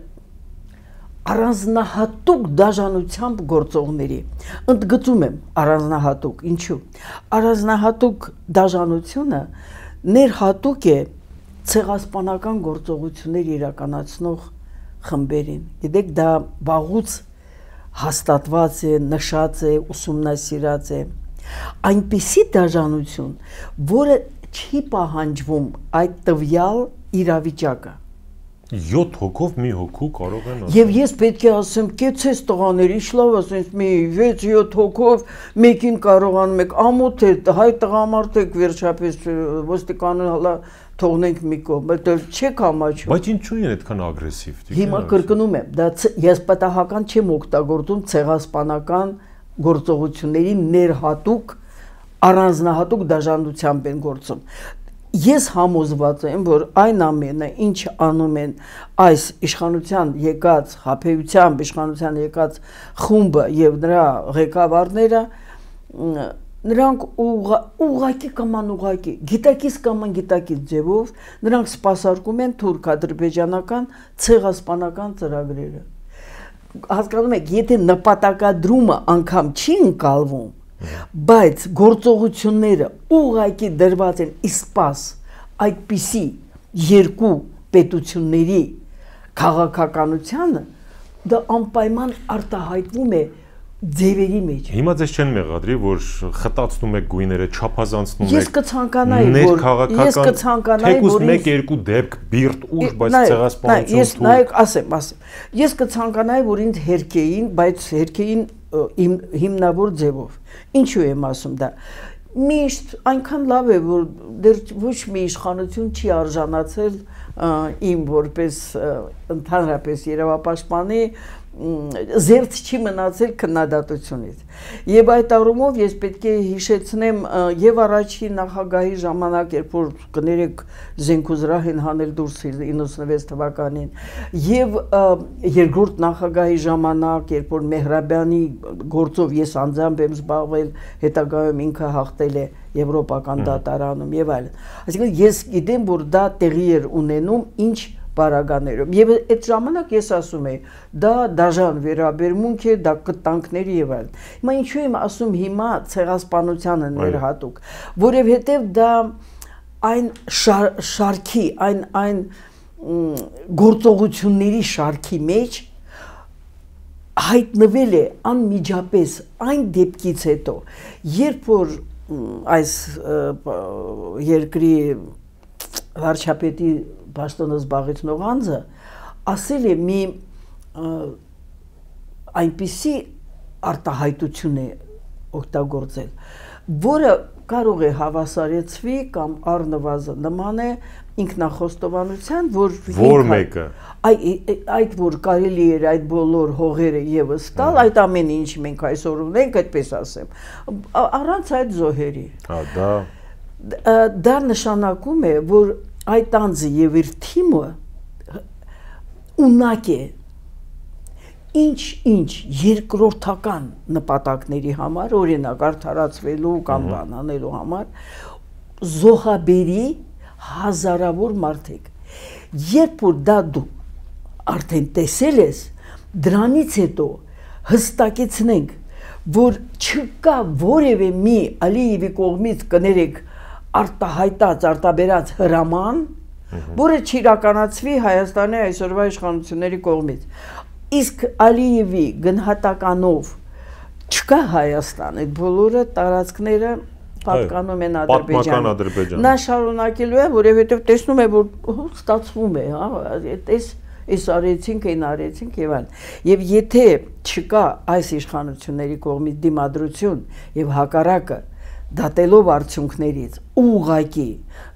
առանձնահատուկ դաժանությամբ գործողների ընդգծում եմ առանձնահատուկ ինչու առանձնահատուկ դաժանությունը ներհատուկ է ցեղասպանական գործողություններ իրականացնող խմբերին գիտեք դա վաղուց հաստատված է նշած է ուսումնասիրած է այնպիսի դաժանություն որը չի պահանջվում այդ տվյալ իրավիճակը 7 հոգով մի հոգու կարող են Եվ ես պետք է ասեմ, կեցես տղաներ, ինչ լավ ասենց մի 6-7 հոգով մեկին կարողանում եք ամոթ է, հայ տղամարդեք վերջապես ոստիկանը հալա թողնենք մի կողմ, բայց չեք համաչում։ Բայց ինչու են այդքան ագրեսիվ։ Հիմա կրկնում եմ, դա ես պատահական չեմ օգտագործում ցեղասպանական գործողությունների ներհատուկ առանձնահատուկ դաժանությամբ են գործում։ Ես համոզված եմ, որ այն ամենը, ինչ անում են այս իշխանության եկած, հապեյությամբ իշխանության եկած խումբը եւ նրա ղեկավարները, նրանք ուղղակի կամ անուղղակի, գիտակից կամ անգիտակից ձևով նրանք սպասարկում են թուրք-ադրբեջանական ցեղասպանական ծրագրերը։ Հասկանում եք, եթե նպատակադրումը անգամ չի ընկալվում, բայց գործողությունները ուղղակի դրված են իսպաս այդպիսի երկու պետությունների քաղաքականությանը դա անպայման արտահայտվում է ձևերի մեջ։ Հիմա ձեզ չեն մեղադրի, որ խտացնում եք գույները, չափազանցնում եք։ Ես կցանկանայի, որ թեկուզ 1-2 դեպք բիրտ ուժ, բայց ցեղասպանություն։ Ես նայեք, ասեմ։ Ես կցանկանայի, որ ինձ հերքեին, բայց հերքեին հիմնավոր ձևով։ Ինչու եմ ասում դա։ Միշտ այնքան լավ է, որ դեռ ոչ մի իշխանություն չի արժանացել իմ որպես ընդհանրապես երևապաշտպանի զերծ չի մնացել քննադատությունից։ Եվ այդ առումով ես պետք է հիշեցնեմ եւ առաջին նախագահի ժամանակ, երբ որ կներեք զենքուզրահ են հանել դուրս 96 թվականին, եւ երկրորդ նախագահի ժամանակ, երբ որ Մեհրաբյանի գործով ես անձամբ եմ զբաղվել, հետագայում ինքը հաղթել է եվրոպական դատարանում եւ այլն։ Այսինքն ես գիտեմ, որ դա տեղի էր ունենում ինչ բարագաներում եւ այդ ժամանակ ես ասում եի դա դաժան վերաբերմունք է դա կտանքների եւ այլն հիմա ինչու եմ ասում հիմա ցեղասպանությանը ներհատուկ որովհետեւ դա այն շարքի այն գործողությունների շարքի մեջ հայտնվել է անմիջապես այն դեպքից հետո երբ որ այս երկրի վարչապետի պաշտոնը զբաղեցնող անձը ասել է մի այնպիսի արտահայտություն է օգտագործել, որը կարող է հավասարեցվի կամ առնվազն նման է ինքնախոստովանության, որ մեկը այդ որ կարելի էր այդ բոլոր հողերը եւս տալ, այդ ամեն ինչ մենք այսօր ունենք, այդպես ասեմ, առանց այդ զոհերի։ Դա նշանակում է, որ այդ անձը եւ իր թիմը ունակ է ինչ երկրորդական նպատակների համար, օրինակ արդարացվելու կամ բանանելու համար զոհաբերի հազարավոր մարդիկ։ Երբ որ դա դու արդեն տեսել ես, դրանից հետո հստակեցնենք, որ չկա որևէ մի Ալիևի կողմից կներեք արտահայտած, արտաբերած հրաման, որը չիրականացվի Հայաստանի այսօրվա իշխանությունների կողմից։ Իսկ Ալիևի գնահատականով չկա Հայաստան, այդ բոլորը տարածքները պատկանում են Ադրբեջանին։ Նա շարունակելու է, որովհետև տեսնում է, որ ստացվում է, այս արեցինք, այն արեցինք եւ այլն։ Եվ եթե չկա այս իշխանությունների կողմից դիմադրություն եւ հակառակը դատելով արդյունքներից ուղղակի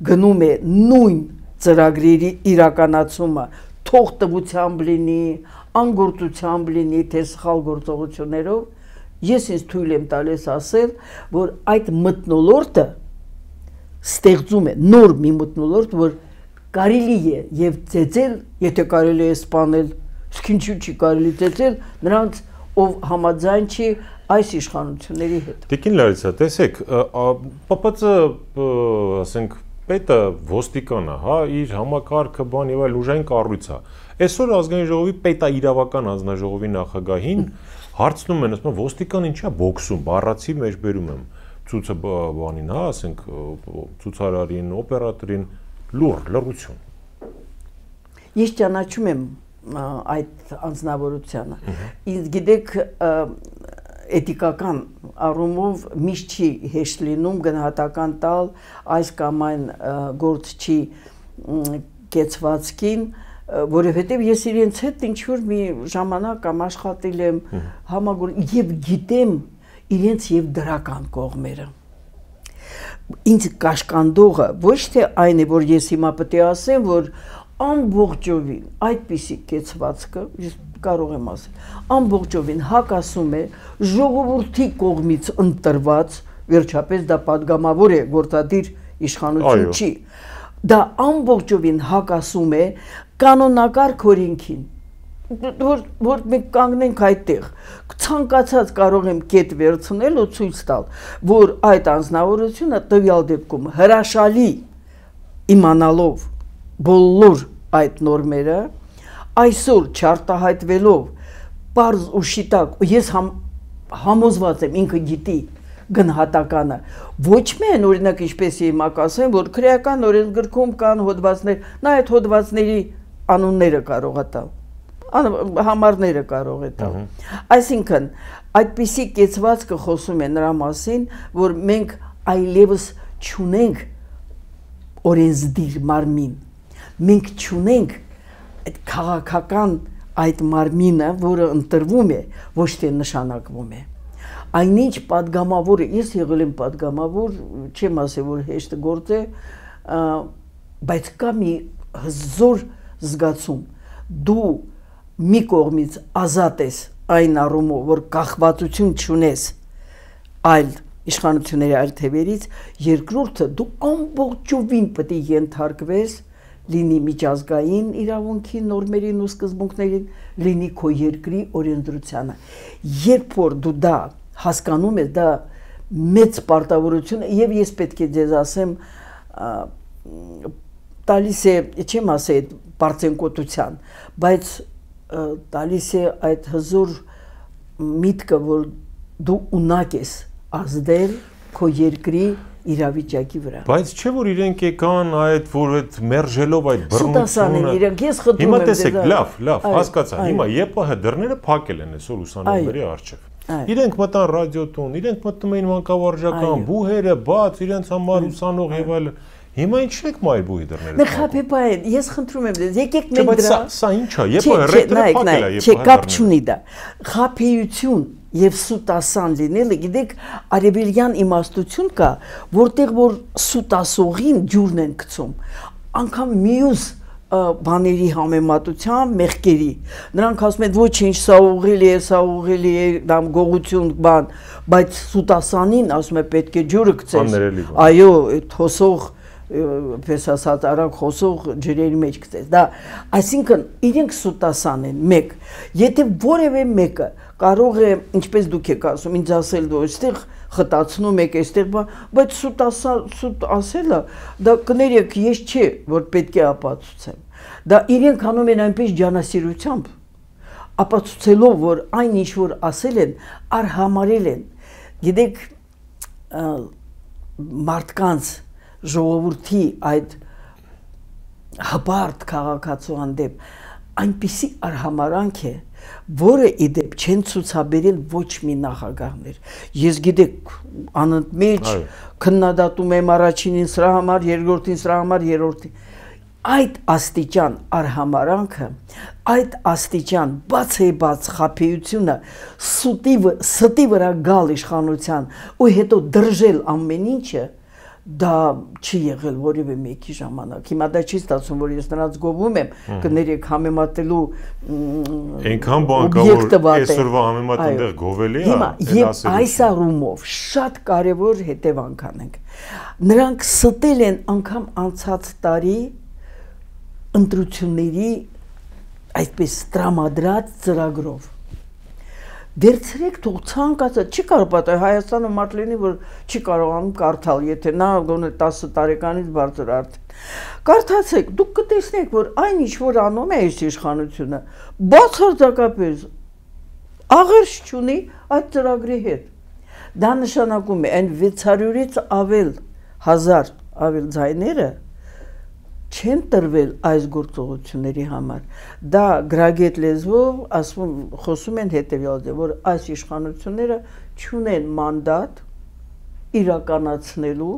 գնում է նույն ծրագրերի իրականացումը, թող տվությամբ լինի, անգործությամբ լինի, թե սխալ գործողություններով, ես ինձ թույլ եմ տալիս ասել, որ այդ մթնոլորտը ստեղծում է նոր մի մթնոլորտ, որ կարելի է եւ ծեծել, եթե կարելի է սպանել, իսկ ինչու՞ չի կարելի ծեծել նրանց, ով համաձայն չի այս իշխանությունների հետ։ Տիկին Լարիսա, տեսեք, ՊՊՑ, ասենք, պետը ոստիկանը, հա, իր համակարգը բան եւ այլ ուժային կառույց է։ Այսօր ազգային ժողովի պետաիրավական հանձնաժողովի նախագահին հարցնում են, ասում են, ոստիկան ինչա բոքսում, բառացի մեջ բերում եմ ցույցը բանին, հա, ասենք, ցուցարարին, օպերատորին, լռություն։ Ես ճանաչում եմ այդ անձնավորությունը։ Ինձ գիտեք, էթիկական առումով միշտ չի հեշտ լինում գնահատական տալ այս կամ այն գործչի կեցվածքին, որովհետև ես իրենց հետ ինչ-որ մի ժամանակ կամ աշխատել եմ եւ գիտեմ իրենց եւ դրական կողմերը։ Ինձ կաշկանդողը ոչ թե այն է, որ ես հիմա պետք է ասեմ, որ ամբողջովին այդպիսի կեցվածքը, ես կարող եմ ասել, ամբողջովին հակասում է ժողովրդի կողմից ընտրված, վերջապես դա պատգամավոր է, գործադիր իշխանություն չի, դա ամբողջովին հակասում է կանոնակարգ օրենքին, որ մենք կանգնենք այդտեղ, ցանկացած կարող եմ կետ վերցնել ու ցույց տալ, որ այդ անձնավորությունը տվյալ դեպքում հրաշալի իմանալով բոլոր այդ նորմերը, այսօր չարտահայտվելով պարզ ու շիտակ, ես համոզված եմ ինքը գիտի գնահատականը, ոչ միայն օրինակ ինչպես հիմա կասեմ, որ քրեական օրենսգրքում կան հոդվածներ, նա այդ հոդվածների անունները կարող է տալ, համարները կարող է տալ։ Այսինքն, այդպիսի կեցվածքը խոսում է նրա մասին, որ մենք այլևս չունենք օրենսդիր մարմին, մենք չունենք այդ քաղաքական այդ մարմինը, որը ընտրվում է, ոչ թե նշանակվում է։ Այնինչ պատգամավորը, ես եղել եմ պատգամավոր, չեմ ասել, որ հեշտ գործ է, բայց կա մի հզոր զգացում, դու մի կողմից ազատ ես այն առումով, որ կախվածություն չունես այլ իշխանությունների այլ թևերից, երկրորդը դու ամբողջովին պետք է ենթարկվես լինի միջազգային իրավունքի նորմերին ու սկզբունքներին, լինի քո երկրի օրենսդրությանը։ Երբ որ դու դա հասկանում ես, դա մեծ պարտավորություն է, եւ ես պետք է ձեզ ասեմ, տալիս է, չեմ ասել բարձենկոտության, բայց տալիս է այդ հզոր միտքը, որ դու ունակ ես ազդել քո երկրի իրավիճակի վրա։ Բայց չէ որ իրենք եկան այդ որ այդ մերժելով այդ բռնությունը։ Իրենք ես խնդրում եմ։ Հիմա տեսեք, լավ, հասկացա։ Հիմա ԵՊՀ դռները փակել են այսօր ուսանողների առջև։ Իրենք մտան ռադիոտուն, իրենք մտնում էին մանկավարժական, բուհերը բաց, իրենց համար ուսանող եւ այլն։ Հիմա ինչ եք մայր բուհի դռները։ Մեխապեպայ, ես խնդրում եմ ձեզ, եկեք մենք դրա։ Սա ինչ է, ԵՊՀ ռեյտերը փակել է, Չէ, կապ չունի դա։ Խափեություն եւ սուտասան լինելը, գիտեք, արևելյան իմաստություն կա, որտեղ որ սուտասողին ջուրն են գցում, անգամ մյուս բաների համեմատությամբ մեղքերի։ Նրանք ասում են ոչինչ, սա ուղղելի է, դա գողություն բան, բայց սուտասանին ասում է պետք է ջուրը գցես։ Այո, այդ հոսող, պես ասած, արագ խոսող ջրերի մեջ գցես։ Դա, այսինքն իրենք սուտասան են, մեկ։ Եթե որևէ մեկը կարող է, ինչպես դուք եք ասում, ինձ ասել, որ այստեղ խտացնում եք այստեղ, բայց սուտ ասելը դա կներեք, ես չէ, որ պետք է ապացուցեմ։ Դա իրենք անում են այնպես ջանասիրությամբ, ապացուցելով, որ այն ինչ որ ասել են, արհամարել են։ Գիտեք, մարդկանց ժողովրդի այդ հպարտ քաղաքացու հանդեպ այնպիսի արհամարանք է, որը իդեպ չեն ցուցաբերել ոչ մի նախագահներ։ Ես գիտեք, անընդմեջ քննադատում եմ առաջինին սրա համար, երկրորդին սրա համար, երրորդին։ Այդ աստիճան արհամարանքը, այդ աստիճան բացեբաց խաբեությունը, ստի վրա գալ իշխանության ու հետո դրժել ամեն ինչը, դա չի եղել որևէ մեկի ժամանակ։ Հիմա դա չի ստացվում, որ ես նրանց գովում եմ, կներեք համեմատելու այնքան բան կա, որ այսօրվա համեմատ այնտեղ գովելի է։ Եվ այս առումով շատ կարևոր հետևանք անենք։ Նրանք ստել են անգամ անցած տարի ընտրությունների այսպես տրամադրած ծրագրով։ Վերցրեք թող ցանկացած, չի կարող պատահել Հայաստանը մարդ լինի, որ չի կարողանում կարդալ, եթե նա գոնե 10 տարեկանից բարձր արդեն։ Կարդացեք, դուք կտեսնեք, որ այն ինչ որ անում է այս իշխանությունը, բացարձակապես աղերս չունի այդ ծրագրի հետ։ Դա նշանակում է այն 600-ից ավել ձայները չեն տրվել այս գործողությունների համար։ Դա գրագետ լեզվով ասում խոսում են հետևյալը, որ այս իշխանությունները չունեն մանդատ իրականացնելու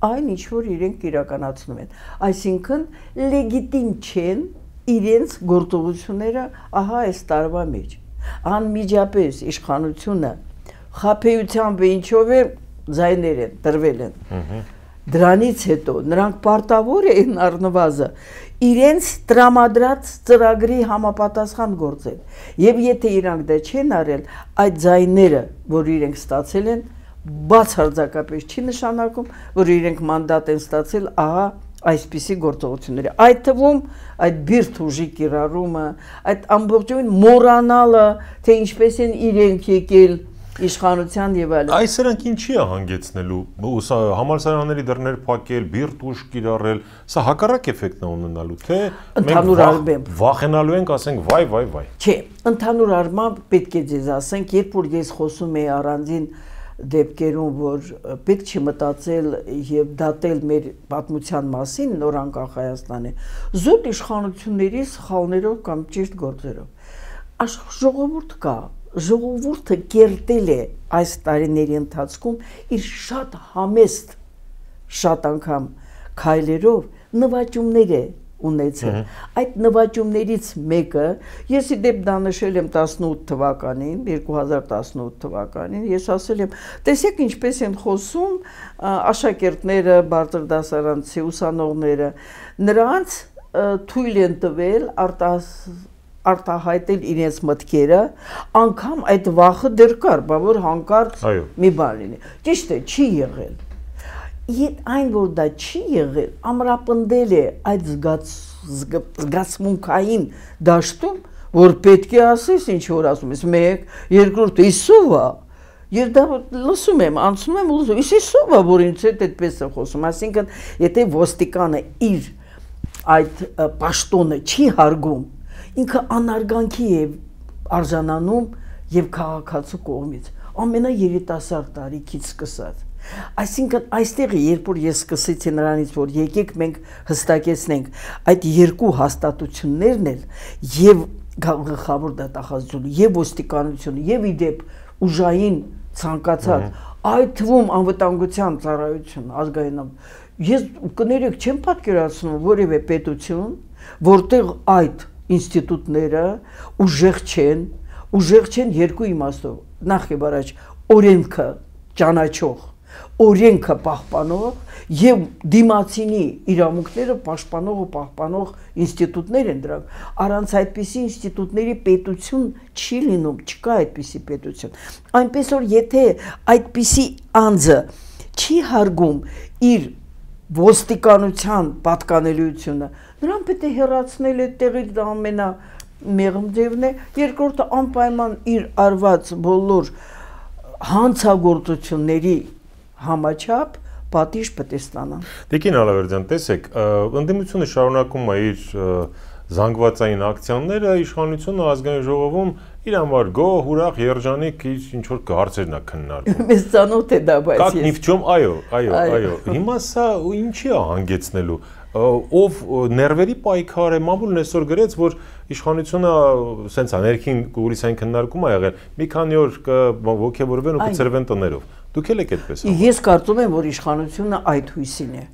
այն ինչ որ իրենք իրականացնում են։ Այսինքն լեգիտիմ չեն իրենց գործողությունները ահա այս տարվա մեջ։ Անմիջապես իշխանությունը խաբեությամբ ինչով է ձայներ են տրվել են։ Դրանից հետո նրանք պարտավոր են առնվազը իրենց տրամադրած ծրագրի համապատասխան գործել։ Եվ եթե իրանք դա չեն արել, այդ ձայները, որ իրենք ստացել են, բացարձակապես չի նշանակում, որ իրենք մանդատ են ստացել ահա այսպիսի գործողությունների։ Այդ թվում այդ բիրտ ուժի կիրառումը, այդ ամբողջովին մոռանալը, թե ինչպես են իրենք եկել իշխանության եւ այլն։ Այս սրանք ինչի է հանգեցնելու, համալսարանների դռներ փակել, բիրտ ուժ կիրառել, սա հակառակ էֆեկտն է ունենալու, թե մենք վախենալու ենք, ասենք վայ։ Չէ, ընդհանուր առմամբ պետք է ձեզ ասենք, երբ որ ես խոսում եի առանձին դեպքերում, որ պետք չի մտածել եւ դատել մեր պատմության մասին նորանկախ Հայաստանի, զուտ իշխանությունների սխալներով կամ ճիշտ գործերով։ Ժողովուրդ կա, ժողովուրդը կերտել է այս տարիների ընթացքում իր շատ համեստ, շատ անգամ քայլերով նվաճումներ է ունեցել։ Այդ նվաճումներից մեկը, ես իդեպ դա նշել եմ 18 թվականին, 2018 թվականին, ես ասել եմ, տեսեք ինչպես են խոսում աշակերտները, բարձր դասարանցի ուսանողները, նրանց թույլ են տվել արտահայտել իրենց մտքերը, անգամ այդ վախը դեռ կար, որ հանկարծ մի բան լինի։ Ճիշտ է, չի եղել։ Այն, որ դա չի եղել, ամրապնդել է այդ զգացմունքային դաշտում, որ պետք է ասես ինչ որ ասում ես, մեկ, երկրորդ, իսովա, ես դա լսում եմ, անցնում եմ ու լսում, իսովա, որ ինձ հետ այդպես է խոսում, այսինքն, եթե ոստիկանը իր այդ պաշտոնը չի հարգում, ինքը անարգանքի է արժանանում եւ քաղաքացու կողմից ամենաերիտասարդ տարիքից սկսած։ Այսինքն այստեղ երբ որ ես սկսեցի նրանից որ եկեք մենք հստակեցնենք այդ երկու հաստատություններն էլ եւ գլխավոր դատախազությունը եւ ոստիկանությունը եւ իդեպ ուժային ցանկացած այդ թվում անվտանգության ծառայություն ազգային ես կներեք չեմ պատկերացնում որևէ պետություն որտեղ այդ ինստիտուտները ուժեղ չեն երկու իմաստով նախ եւ առաջ օրենքը ճանաչող օրենքը պահպանող եւ դիմացինի իրավունքները պաշտպանող ու պահպանող ինստիտուտներ են դրանք առանց այդպիսի ինստիտուտների պետություն չի լինում չկա այդպիսի պետություն այնպես որ եթե այդպիսի անձը չի հարգում իր ոստիկանության պատկանելիությունը նրան պետք է հեռացնել այդ տեղից դա ամենամեղմ ձևն է երկրորդը անպայման իր արված բոլոր հանցագործությունների համաչափ պատիժ պետք է ստանան։ Տիկին Ալավերդյան, տեսեք, ընդդիմությունը շարունակում է իր զանգվածային ակցիաները, իշխանությունը ազգային ժողովում իր համար գոհ, ուրախ, երջանիկ ինչ որ հարցերն է քննարկում։ Մեզ ծանոթ է դա, բայց Как ни в чем, այո։ Հիմա սա ինչի է հանգեցնելու։ Ով ներվերի պայքար է, մամուլն այսօր գրեց, որ իշխանությունը սենց է ներքին կուրիսային քննարկում է եղել, մի քանի օր կոգևորվեն ու կծրվեն տներով։ Դուք եք այդպես։ Ես կարծում եմ, որ իշխանությունը այդ հույսին է։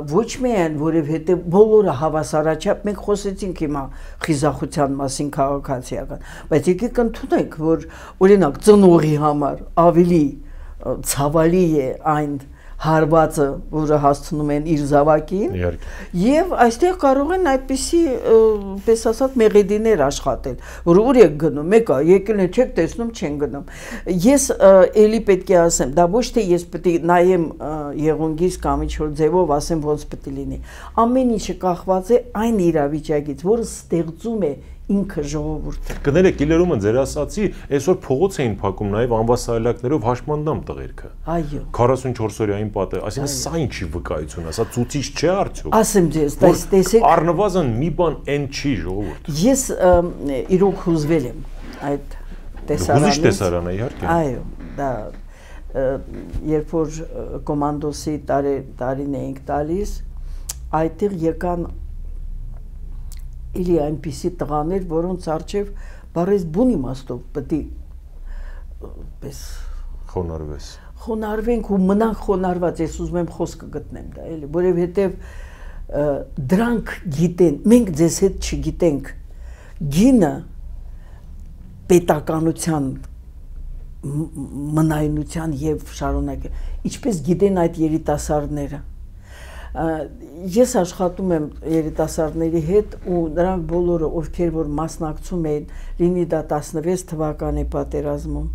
Ոչ միայն, որովհետև բոլորը հավասարաչափ, մենք խոսեցինք հիմա խիզախության մասին քաղաքացիական, բայց եկեք ընդունենք, որ օրինակ ծնողի համար ավելի ցավալի է այն հարվածը, որը հասցնում են իր զավակին, եւ այստեղ կարող են այդպիսի, պես ասած, մեղեդիներ աշխատել, որ ուր եք գնում, մեկը եկել է, չեք տեսնում, չեն գնում։ Ես էլի պետք է ասեմ, դա ոչ թե ես պետք է նայեմ եղունգից կամ ինչ-որ ձևով ասեմ ոնց պետք է լինի։ Ամեն ինչը կախված է այն իրավիճակից, որը ստեղծում է ինքը ժողովուրդը։ Կներեք, իլերումը ձեր ասացի, այսօր փողոց էին փակում նաև անվասայլակներով հաշմանդամ տղերքը։ Այո։ 44 օրյային պատը, այսինքն սա ինչի վկայություն է, սա ցուցիչ չէ արդյոք։ Ասեմ ձեզ, տեսեք, առնվազն մի բան այն չի ժողովուրդ։ Ես իրոք հուզվել եմ այդ տեսարանից։ Հուզիչ տեսարան է, իհարկե։ Այո, դա երբ որ կոմանդոսի տարին էինք տալիս, այդտեղ եկան Իլի այնպիսի տղաներ, որոնց առջև բարես բուն իմաստով պետք է պես խոնարհվենք ու մնանք խոնարհված, ես ուզում եմ խոսքը գտնեմ դա, էլի, որովհետև դրանք գիտեն, մենք ձեզ հետ չգիտենք, գինը պետականության մնայունության եւ շարունակել, ինչպես գիտեն այդ երիտասարդները։ Ես աշխատում եմ երիտասարդների հետ ու նրանք բոլորը, ովքեր որ մասնակցում էին, լինի դա 16 թվականի պատերազմում,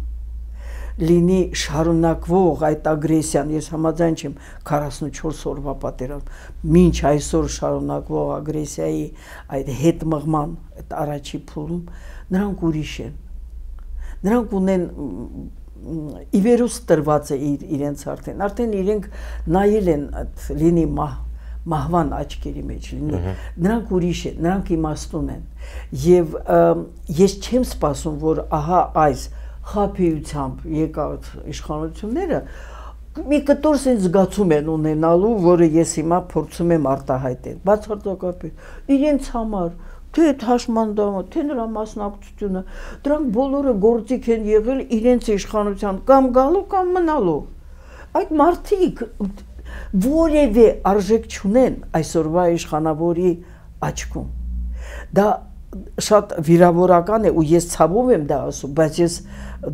լինի շարունակվող այդ ագրեսիան, ես համաձայն չեմ 44 օրվա պատերազմ, մինչ այսօր շարունակվող ագրեսիայի այդ հետ մղման այդ առաջի փուլում, նրանք ուրիշ են, նրանք ունեն իվերուս տրված է իրենց արդեն իրենք նայել են լինի մահվան աչքերի մեջ լինի, նրանք ուրիշ են, նրանք իմաստուն են եւ ես չեմ սպասում, որ ահա այս խաբեությամբ եկած իշխանությունները մի կտոր սենց զգացում են ունենալու, որը ես հիմա փորձում եմ արտահայտել, բացարձակապես իրենց համար թե հաշմանդամը, թե նրա մասնակցությունը, դրանք բոլորը գործիք են եղել իրենց իշխանության կամ գալու կամ մնալու։ Այդ մարդիկ որևէ արժեք չունեն այսօրվա իշխանավորի աչքում։ Դա շատ վիրավորական է ու ես ցավում եմ դա ասում, բայց ես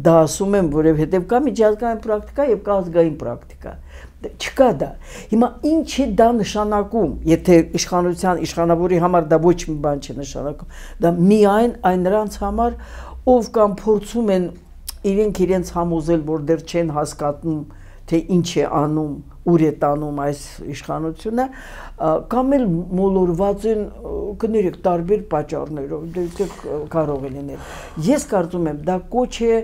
դա ասում եմ, որովհետև կա միջազգային պրակտիկա եւ կա ազգային պրակտիկա։ Չկա դա։ Հիմա ինչ է դա նշանակում, եթե իշխանավորի համար դա ոչ մի բան չի նշանակում, դա միայն այն նրանց համար, ով կամ փորձում են իրենց համոզել, որ դեռ չեն հասկանում, թե ինչ է անում, ուր է տանում այս իշխանությունը, կամ էլ մոլորված են, կներեք, տարբեր պատճառներով, դե կարող է լինել։ Ես կարծում եմ, դա կոչ է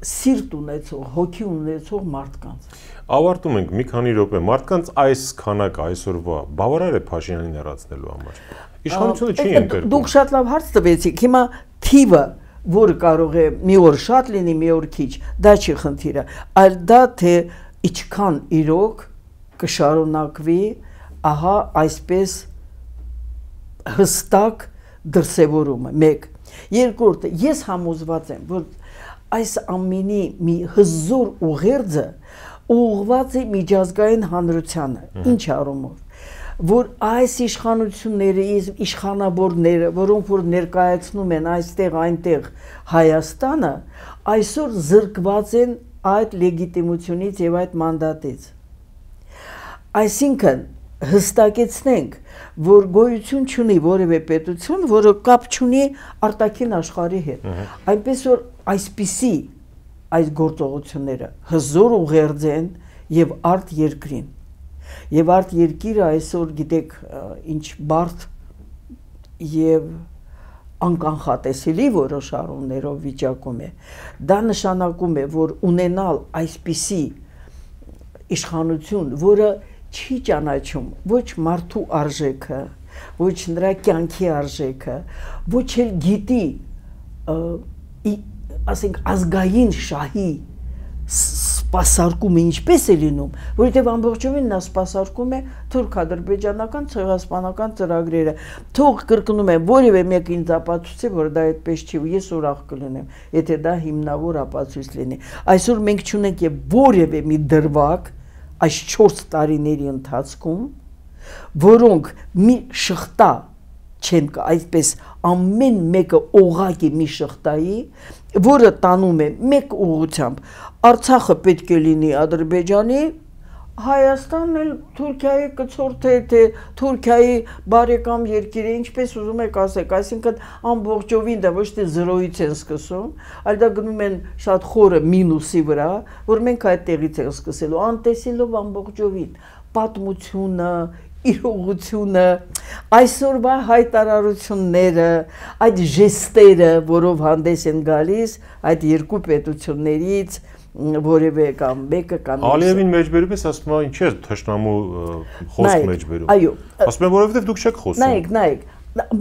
սիրտ ունեցող, հոգի ունեցող մարդկանց։ Ավարտում ենք մի քանի րոպե, մարդկանց այս քանակը այսօրվա բավարար է Փաշինյանին հեռացնելու համար։ Իշխանությունը չի ընկերում։ Դուք շատ լավ հարց տվեցիք, հիմա թիվը, որը կարող է մի օր շատ լինի, մի օր քիչ, դա չի խնդիրը, այլ դա թե ինչքան իրոք կշարունակվի, ահա այսպես հստակ դրսևորումը, մեկ։ Երկրորդը, ես համոզված եմ, որ այս ամենի մի հզոր ուղերձը ուղղված է միջազգային հանրությանը, ինչ առումով, որ այս իշխանությունները, իշխանավորները, որոնք որ ներկայացնում են այստեղ այնտեղ Հայաստանը, այսօր զրկված են այդ լեգիտիմությունից եւ այդ մանդատից։ Այսինքն հստակեցնենք, որ գոյություն չունի որևէ պետություն, որը կապ չունի արտաքին աշխարհի հետ։ Այնպես որ այսպիսի այս գործողությունները հզոր ուղերձ են եւ արդ երկրին։ Եվ արդ երկիրը այսօր գիտեք ինչ բարդ եւ անկանխատեսելի որոշ առումներով վիճակում է, դա նշանակում է, որ ունենալ այսպիսի իշխանություն, որը չի ճանաչում ոչ մարդու արժեքը, ոչ նրա կյանքի արժեքը, ոչ էլ գիտի ասենք ազգային շահի սպասարկումը ինչպես է լինում, որովհետև ամբողջովին նա սպասարկում է թուրք-ադրբեջանական ցեղասպանական ծրագրերը։ Թող կրկնում եմ, որևէ մեկ ինձ ապացուցի, որ դա այդպես չի, ու ես ուրախ կլինեմ, եթե դա հիմնավոր ապացույց լինի։ Այսօր մենք չունենք եւ որևէ մի դրվագ այս 4 տարիների ընթացքում, որոնք մի շղթա չեն կա, այսպես ամեն մեկը օղակի մի շղթայի, որը տանում է մեկ ուղղությամբ, Արցախը պետք է լինի Ադրբեջանի, Հայաստանն էլ Թուրքիայի կցորդը է, թե Թուրքիայի բարեկամ երկիր է, ինչպես ուզում եք ասեք, այսինքն ամբողջովին դա ոչ թե զրոյից են սկսում, այլ դա գնում են շատ խորը մինուսի վրա, որ մենք այդտեղից ենք սկսելու, անտեսելով ամբողջովին պատմությունը, իրողությունը, այսօրվա հայտարարությունները, այդ ժեստերը, որով հանդես են գալիս այդ երկու պետություններից որևէ կամ մեկը կամ Ալիևին մեջբերում ես, ասում է, ինչ է թշնամու խոսք մեջբերում։ Այո, ասում եմ, որովհետև դուք չեք խոսում։ Նայեք,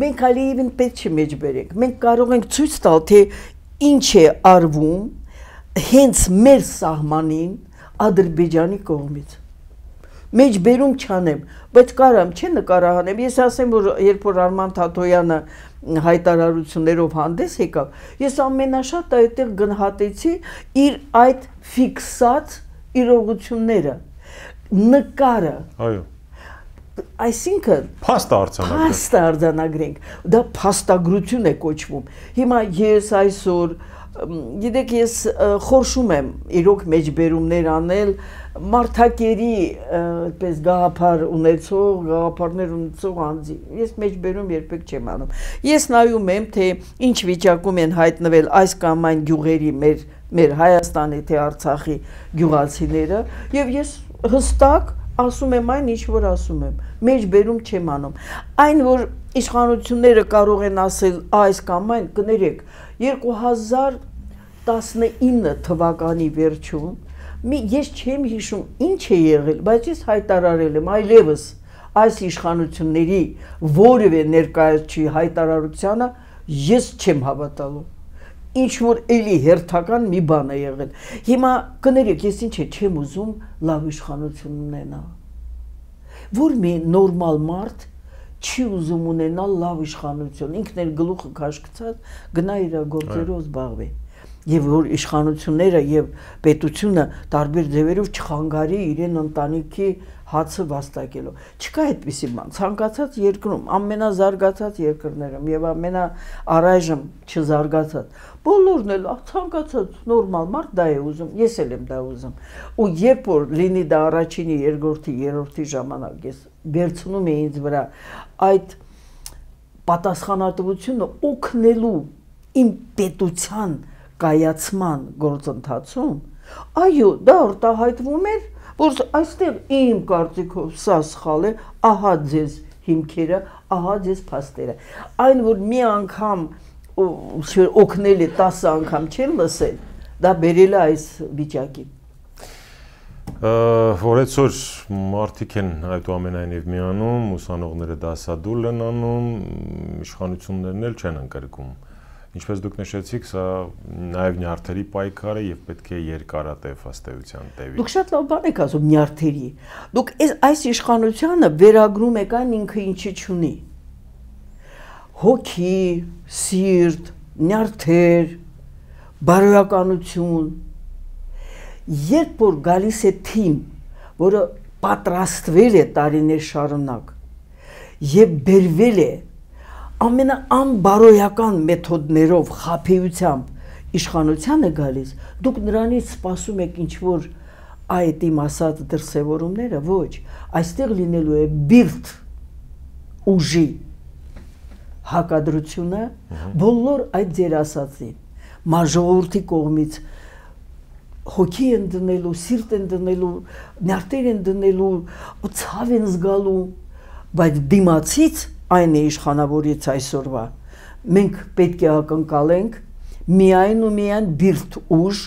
մենք Ալիևին պետք չի մեջբերենք։ Մենք կարող ենք ցույց տալ, թե ինչ է արվում հենց մեր սահմանին Ադրբեջանի կողմից։ Մեջբերում չանեմ, բայց կարամ չէ նկարահանեմ։ Ես ասեմ, որ երբ որ Արման Թաթոյանը հայտարարություններով հանդես եկավ, ես ամենաշատ այդտեղ գնահատեցի իր այդ ֆիքսած իրողությունները, նկարը։ Այո։ Այսինքն փաստ արձանագրենք, դա փաստագրություն է կոչվում։ Հիմա ես այսօր գիտեք, ես խորշում եմ իրոք մեջբերումներ անել մարդակերի այդպես գաղափար ունեցող, գաղափարներ ունեցող անձի։ Ես մեջբերում երբեք չեմ անում։ Ես նայում եմ, թե ինչ վիճակում են հայտնվել այս կամ այն գյուղերի մեր Հայաստանի թե Արցախի գյուղացիները, եւ ես հստակ ասում եմ այն, ինչ որ ասում եմ, մեջբերում չեմ անում։ Այն, որ իշխանությունները կարող են ասել այս կամ այն, կներեք, 2019 թվականի վերջում ես չեմ հիշում ինչ է եղել, բայց ես հայտարարել եմ այլևս այս իշխանությունների որևէ ներկայացուցիչի հայտարարությանը ես չեմ հավատալու։ Ինչ որ էլի հերթական մի բան է եղել։ Հիմա կներեք, ես ինչ չեմ ուզում լավ իշխանություն ունենալ։ Որ մի նորմալ մարդ չի ուզում ունենալ լավ իշխանություն, ինքն էլ գլուխը քաշքցած գնա իր գործերով զբաղվի։ Եվ որ իշխանությունները եւ պետությունը տարբեր ձևերով չխանգարի իրեն ընտանիքի հացը վաստակելով։ Չկա այդպիսի բան։ Ցանկացած երկրում, ամենազարգացած երկրներում եւ ամենաառայժմ չզարգացած, բոլորն էլ ցանկացած նորմալ մարդ դա է ուզում, ես էլ եմ դա ուզում։ Ու երբ որ լինի դա առաջինի, երկրորդի, երրորդի ժամանակ ես վերցնում եմ ինձ վրա այդ պատասխանատվությունը օգնելու իմ պետության կայացման գործընթացում, այո, դա արտահայտվում էր, որ այստեղ իմ կարծիքով սա սխալ է, ահա ձեզ հիմքերը, ահա ձեզ փաստերը։ Այն, որ մի անգամ օգնել է 10 անգամ չեն լսել, դա բերել է այս վիճակին։ Որ այսօր մարդիկ են այդուամենայնիվ միանում, ուսանողները դասադուլ են անում, իշխանություններն էլ չեն ընկրկում։ Ինչպես դուք նշեցիք, սա նաև նյարդերի պայքար է եւ պետք է երկարատև ըստեյության տևի։ Դուք շատ լավ բան եք ասում նյարդերի։ Դուք այս իշխանությանը վերագրում եք այն ինքը ինչի չունի։ Հոգի, սիրտ, նյարդեր, բարոյականություն։ Երբ որ գալիս է թիմ, որը պատրաստվել է տարիներ շարունակ եւ բերվել է ամենաանբարոյական մեթոդներով, խաբեությամբ իշխանության է գալիս, դուք նրանից սպասում եք ինչ-որ այդ իմ ասած դրսևորումները, ոչ, այստեղ լինելու է բիրտ ուժի հակադրությունը բոլոր այդ ձեր ասածին, մաժողովրդի կողմից հոգի են դնելու, սիրտ են դնելու, նյարդեր են դնելու, ցավ են զգալու, բայց դիմացից այն է իշխանավորից այսօրվա, մենք պետք է ակնկալենք միայն ու միայն բիրտ ուժ,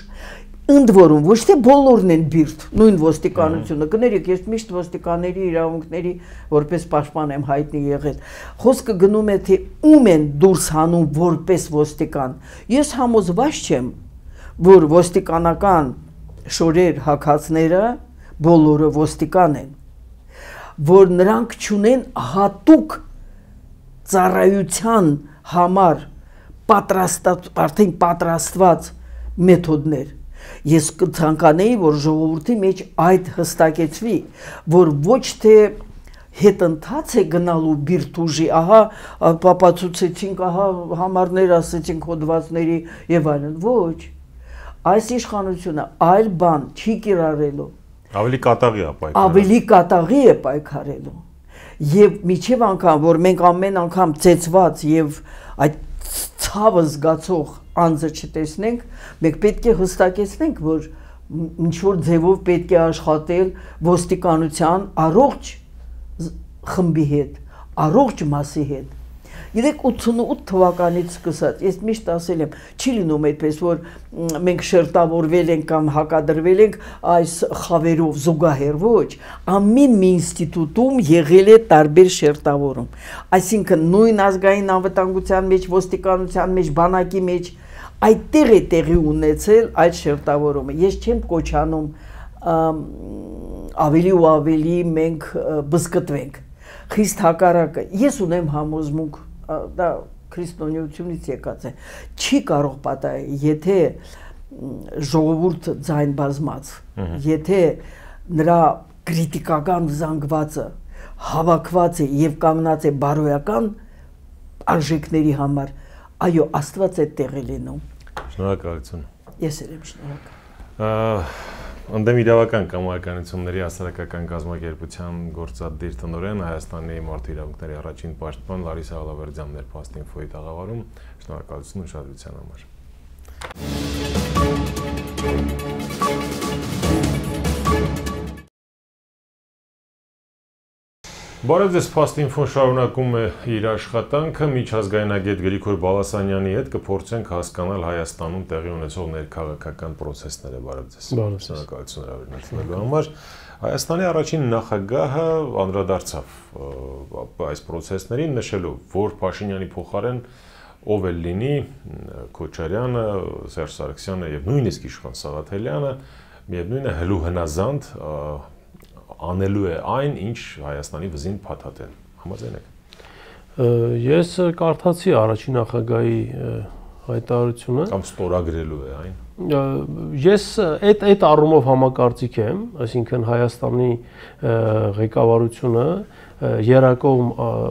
ընդ որում ոչ թե բոլորն են բիրտ, նույն ոստիկանությունը, կներեք, ես միշտ ոստիկանների իրավունքների որպես պաշտպան եմ հայտնի եղել, խոսքը գնում է թե ում են դուրս հանում որպես ոստիկան, ես համոզված չեմ, որ ոստիկանական շորեր հագածները բոլորը ոստիկան են, որ նրանք չունեն հատուկ ծառայության համար արդեն պատրաստված մեթոդներ։ Ես կցանկանեի, որ ժողովրդի մեջ այդ հստակեցվի, որ ոչ թե հետընթաց է գնալու բիրտ ուժի, ահա ապացուցեցինք, ահա համարներ ասեցինք հոդվածների եւ այլն, ոչ։ Այս իշխանությունը այլ բան չի կիրառելու։ Ավելի կատաղի է պայքարելու։ Ավելի կատաղի է պայքարելու։ Եվ միջև անգամ, որ մենք ամեն անգամ ծեծված եւ այդ ցավը զգացող անձը չտեսնենք, մենք պետք է հստակեցնենք, որ ինչ-որ ձևով պետք է աշխատել ոստիկանության առողջ խմբի հետ, առողջ մասի հետ։ Գիտեք 88 թվականից սկսած, ես միշտ ասել եմ, չի լինում այդպես, որ մենք շերտավորվել ենք կամ հակադրվել ենք այս խավերով զուգահեռ, ոչ, ամեն մի ինստիտուտում եղել է տարբեր շերտավորում, այսինքն նույն ազգային անվտանգության մեջ, ոստիկանության մեջ, բանակի մեջ, այդտեղ է տեղի ունեցել այդ շերտավորումը, ես չեմ կոչանում ավելի ու ավելի մենք բզկտվենք, խիստ հակառակը, ես ունեմ համոզմունք, դա քրիստոնեությունից եկած է, չի կարող պատահել, եթե ժողովուրդը ձայն բազմած, եթե նրա քրիտիկական զանգվածը հավաքված է եւ կանգնած է բարոյական արժեքների համար, այո, Աստված է տեղի լինում։ Շնորհակալություն։ Ես եմ շնորհակալ։ Ընդդեմ իրավական կամայականությունների հասարակական կազմակերպության գործադիր տնօրեն Հայաստանի մարդու իրավունքների առաջին պաշտպան Լարիսա Ալավերդյանն էր Fast-Info-ի տաղավարում, շնորհակալություն ուշադրության համար։ Բարև ձեզ, Fast-Info-ն շարունակում է իր աշխատանքը, միջազգայնագետ Գրիգոր Բալասանյանի հետ կփորձենք հասկանալ Հայաստանում տեղի ունեցող ներքաղաքական պրոցեսները, բարև ձեզ։ Շնորհակալություն հրավերնացնելու համար։ Հայաստանի առաջին նախագահը անդրադարձավ այս պրոցեսներին, նշելով, որ Փաշինյանի փոխարեն ով էլ լինի, Քոչարյանը, Սերժ Սարգսյանը եւ նույնիսկ Իշխան Սաղաթելյանը, միևնույն է հլու հնազանդ անելու է այն, ինչ Հայաստանի վզին փաթաթեն։ Համաձայն եք։ Ես կարդացի առաջին նախագահի հայտարարությունը։ Կամ ստորագրելու է այն։ Ես այդ առումով համակարծիք եմ, այսինքն Հայաստանի ղեկավարությունը երակողմ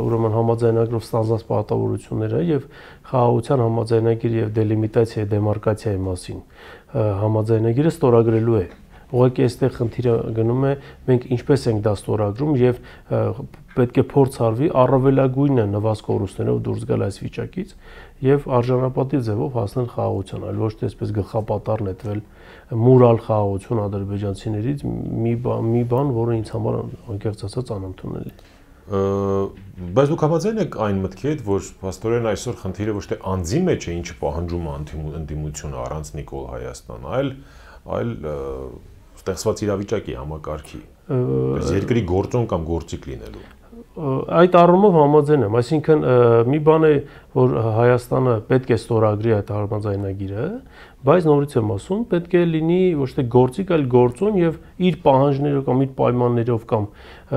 ուրեմն համաձայնագրով ստանձնած պարտավորությունները եւ խաղաղության համաձայնագիր եւ դելիմիտացիայի դեմարկացիայի մասին համաձայնագիրը ստորագրելու է։ Ուղղակի այստեղ խնդիրը գնում է մենք ինչպես ենք դա ստորագրում եւ պետք է փորձ արվի առավելագույնը նվազ կորուստներով դուրս գալ այս վիճակից եւ արժանապատիվ ձևով հասնել խաղաղության, այլ ոչ թե այսպես գլխապատառ նետվել մուրալ խաղաղություն ադրբեջանցիներից մի բան, որը ինձ համար անկեղծ ասած անընդունելի է։ Բայց դուք համաձայն եք այն մտքի հետ, որ փաստորեն այսօր խնդիրը ոչ թե անձի մեջ է, ինչը պահանջում է ընդդիմությունը առանց Նիկոլ Հայաստան, այլ ստեղծված իրավիճակի համակարգի, երկրի գործոն կամ գործիք լինելու։ Այդ առումով համաձայն եմ, այսինքն մի բան է, որ Հայաստանը պետք է ստորագրի այդ համաձայնագիրը, բայց նորից եմ ասում, պետք է լինի ոչ թե գործիք, այլ գործոն եւ իր պահանջներով կամ իր պայմաններով կամ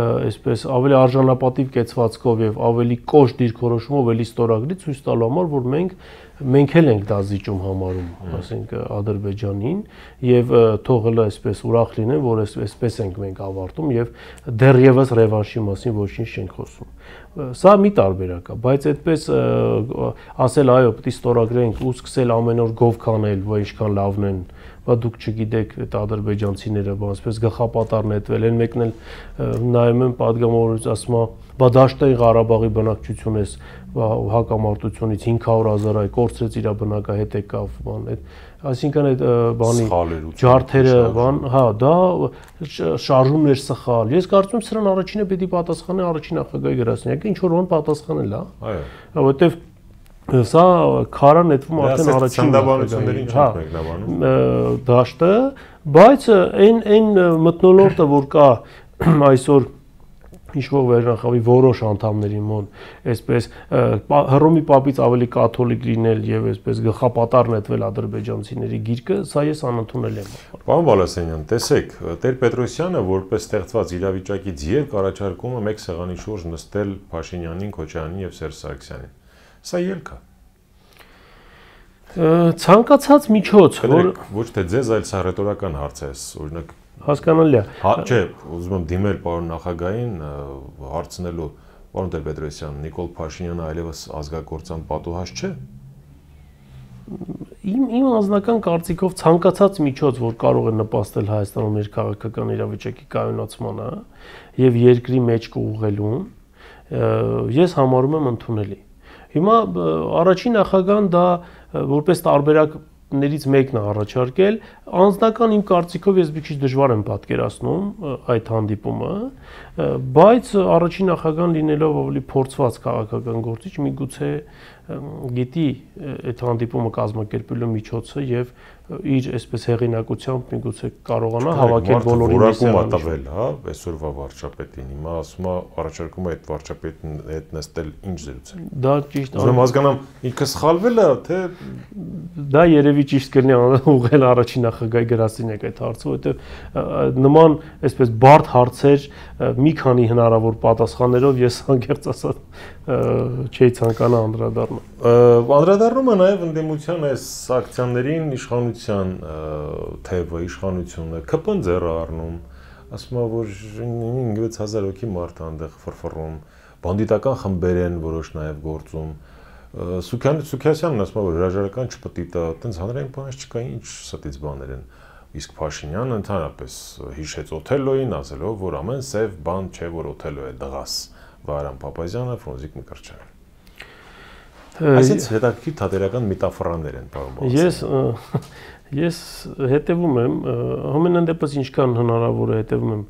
այսպես ավելի արժանապատիվ կեցվածքով եւ ավելի կոշտ դիրքորոշումով էլի ստորագրի ցույց տալու համար, որ մենք էլ ենք դա զիջում համարում, ասենք Ադրբեջանին եւ թող հələ այսպես ուրախ լինեն, որ այսպես ենք մենք ավարտում եւ դեռևս ռևանշի մասին ոչինչ չենք խոսում։ Սա մի տարբերակ է, բայց այդպես ասել այո, պետք է ստորագրենք ու սկսել ամեն օր գով քանել, որ ինչքան լավն են, բա դուք չգիտեք այդ ադրբեջանցիները, բա այսպես գլխապատառ նետվել են, մեկն էլ նայում են падգամավորից ասում է, բա Դաշտային Ղարաբաղի բնակչություն էս հակամարտությունից 500,000 այ կորցրեց իր բնակահետ եկավ, բան այդ այսինքն այդ բանի ջարդերը, բան, հա, դա շարժումներ սխալ։ Ես կարծում եմ սրան առաջինը պետք է պատասխանի առաջին նախագահի գրասենյակը, ինչ որ բան պատասխանել, հա։ Այո։ Որովհետև Սա քարը նետվում արդեն առաջին ցանդաբանություններին չենք մեկնաբանում դաշտը, բայց այն մթնոլորտը, որ կա այսօր իշխող վերնախավի որոշ անդամների մոտ, այսպես Հռոմի պապից ավելի կաթոլիկ լինել եւ այսպես գլխապատար նետվել ադրբեջանցիների գիրկը, սա ես անընդունել եմ։ Պարոն Բալասանյան, տեսեք, Տեր-Պետրոսյանը որպես ստեղծված իրավիճակից եւ առաջարկում է մեկ սեղանի շուրջ նստել Փաշինյանին, Քոչարյանին եւ Սերժ Սարգսյանին։ Սա ելք է։ Ցանկացած միջոց, որ ոչ թե ձեզ, այլ սա ռետորական հարց է, օրինակ հասկանալի է։ Չէ, ուզում եմ դիմել պարոն նախագահին հարցնելու, պարոն Տեր-Պետրոսյան, Նիկոլ Փաշինյանը այլևս ազգակործան պատուհաս չէ։ Իմ անձնական կարծիքով ցանկացած միջոց, որ կարող է նպաստել Հայաստանում ներքաղաքական իրավիճակի կայունացմանը եւ երկրի մեջ կուղղելուն, ես համարում եմ ընդունելի։ Հիմա առաջին նախագահան դա որպես տարբերակներից մեկն է առաջարկել, անձնական իմ կարծիքով ես մի քիչ դժվար եմ պատկերացնում այդ հանդիպումը, բայց առաջին նախագահան լինելով ավելի փորձված քաղաքական գործիչ, միգուցե գիտի այդ հանդիպումը կազմակերպելու միջոցը եւ իր այսպես հեղինակությամբ միգուցե կարողանա հավաքել բոլորի որակում հա, այսօրվա վարչապետին, հիմա ասում է առաջարկում է այդ վարչապետին հետ նստել ինչ զրուցել։ Դա ճիշտ է։ Ուրեմն հասկանամ, ինքը սխալվել է, թե դա երևի ճիշտ կլինի ուղղել առաջին նախագահի գրասենյակ այդ հարցը, որովհետեւ նման այսպես բարդ հարցեր մի քանի հնարավոր պատասխաններով ես անկեղծ ասած չի ցանկանա անդրադառնալ։ Անդրադառնում է նաև ընդդիմության այս ակցիաներին իշխանության թևը, իշխանությունը ԿՊ-ն ձեռը առնում, ասում է, որ 5-6000 հոգի մարդ է այնտեղ ֆրֆռում, բանդիտական խմբեր են որոշ նաև գործում։ Սուքիասյանն ասում է, որ հրաժարական չպետք է, այտենց հանրային բան չկա, ինչ ստից բաներ են։ Իսկ Փաշինյանը ընդհանրապես հիշեց Օթելլոյին, ասելով, որ ամեն սև բան չէ, որ Օթելլո է դղաս, Վահրամ Փափազյանը, Ֆրունզիկ Մկրտչյանը։ Այսինքն հետաքրքիր թատերական մետաֆորաներ են, պարոն Բալասանյան։ Ես հետևում եմ, ամենայն դեպս ինչքան հնարավոր է հետևում եմ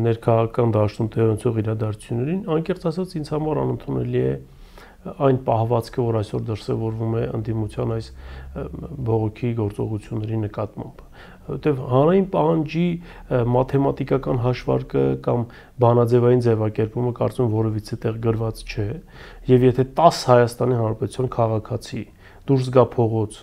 ներքաղաքական դաշտում տեղի ունեցող իրադարձություններին, անկեղծ ասած ինձ համար անընդունելի է այն պահվածքը, որ այսօր դրսևորվում է ընդդիմության այս բողոքի գործողությունների նկատմամբ, որտեղ հանրային պահանջի մաթեմատիկական հաշվարկը կամ բանաձևային ձևակերպումը կարծում եմ որևիցե տեղ գրված չէ, եւ եթե 10 Հայաստանի Հանրապետության քաղաքացի դուրս գա փողոց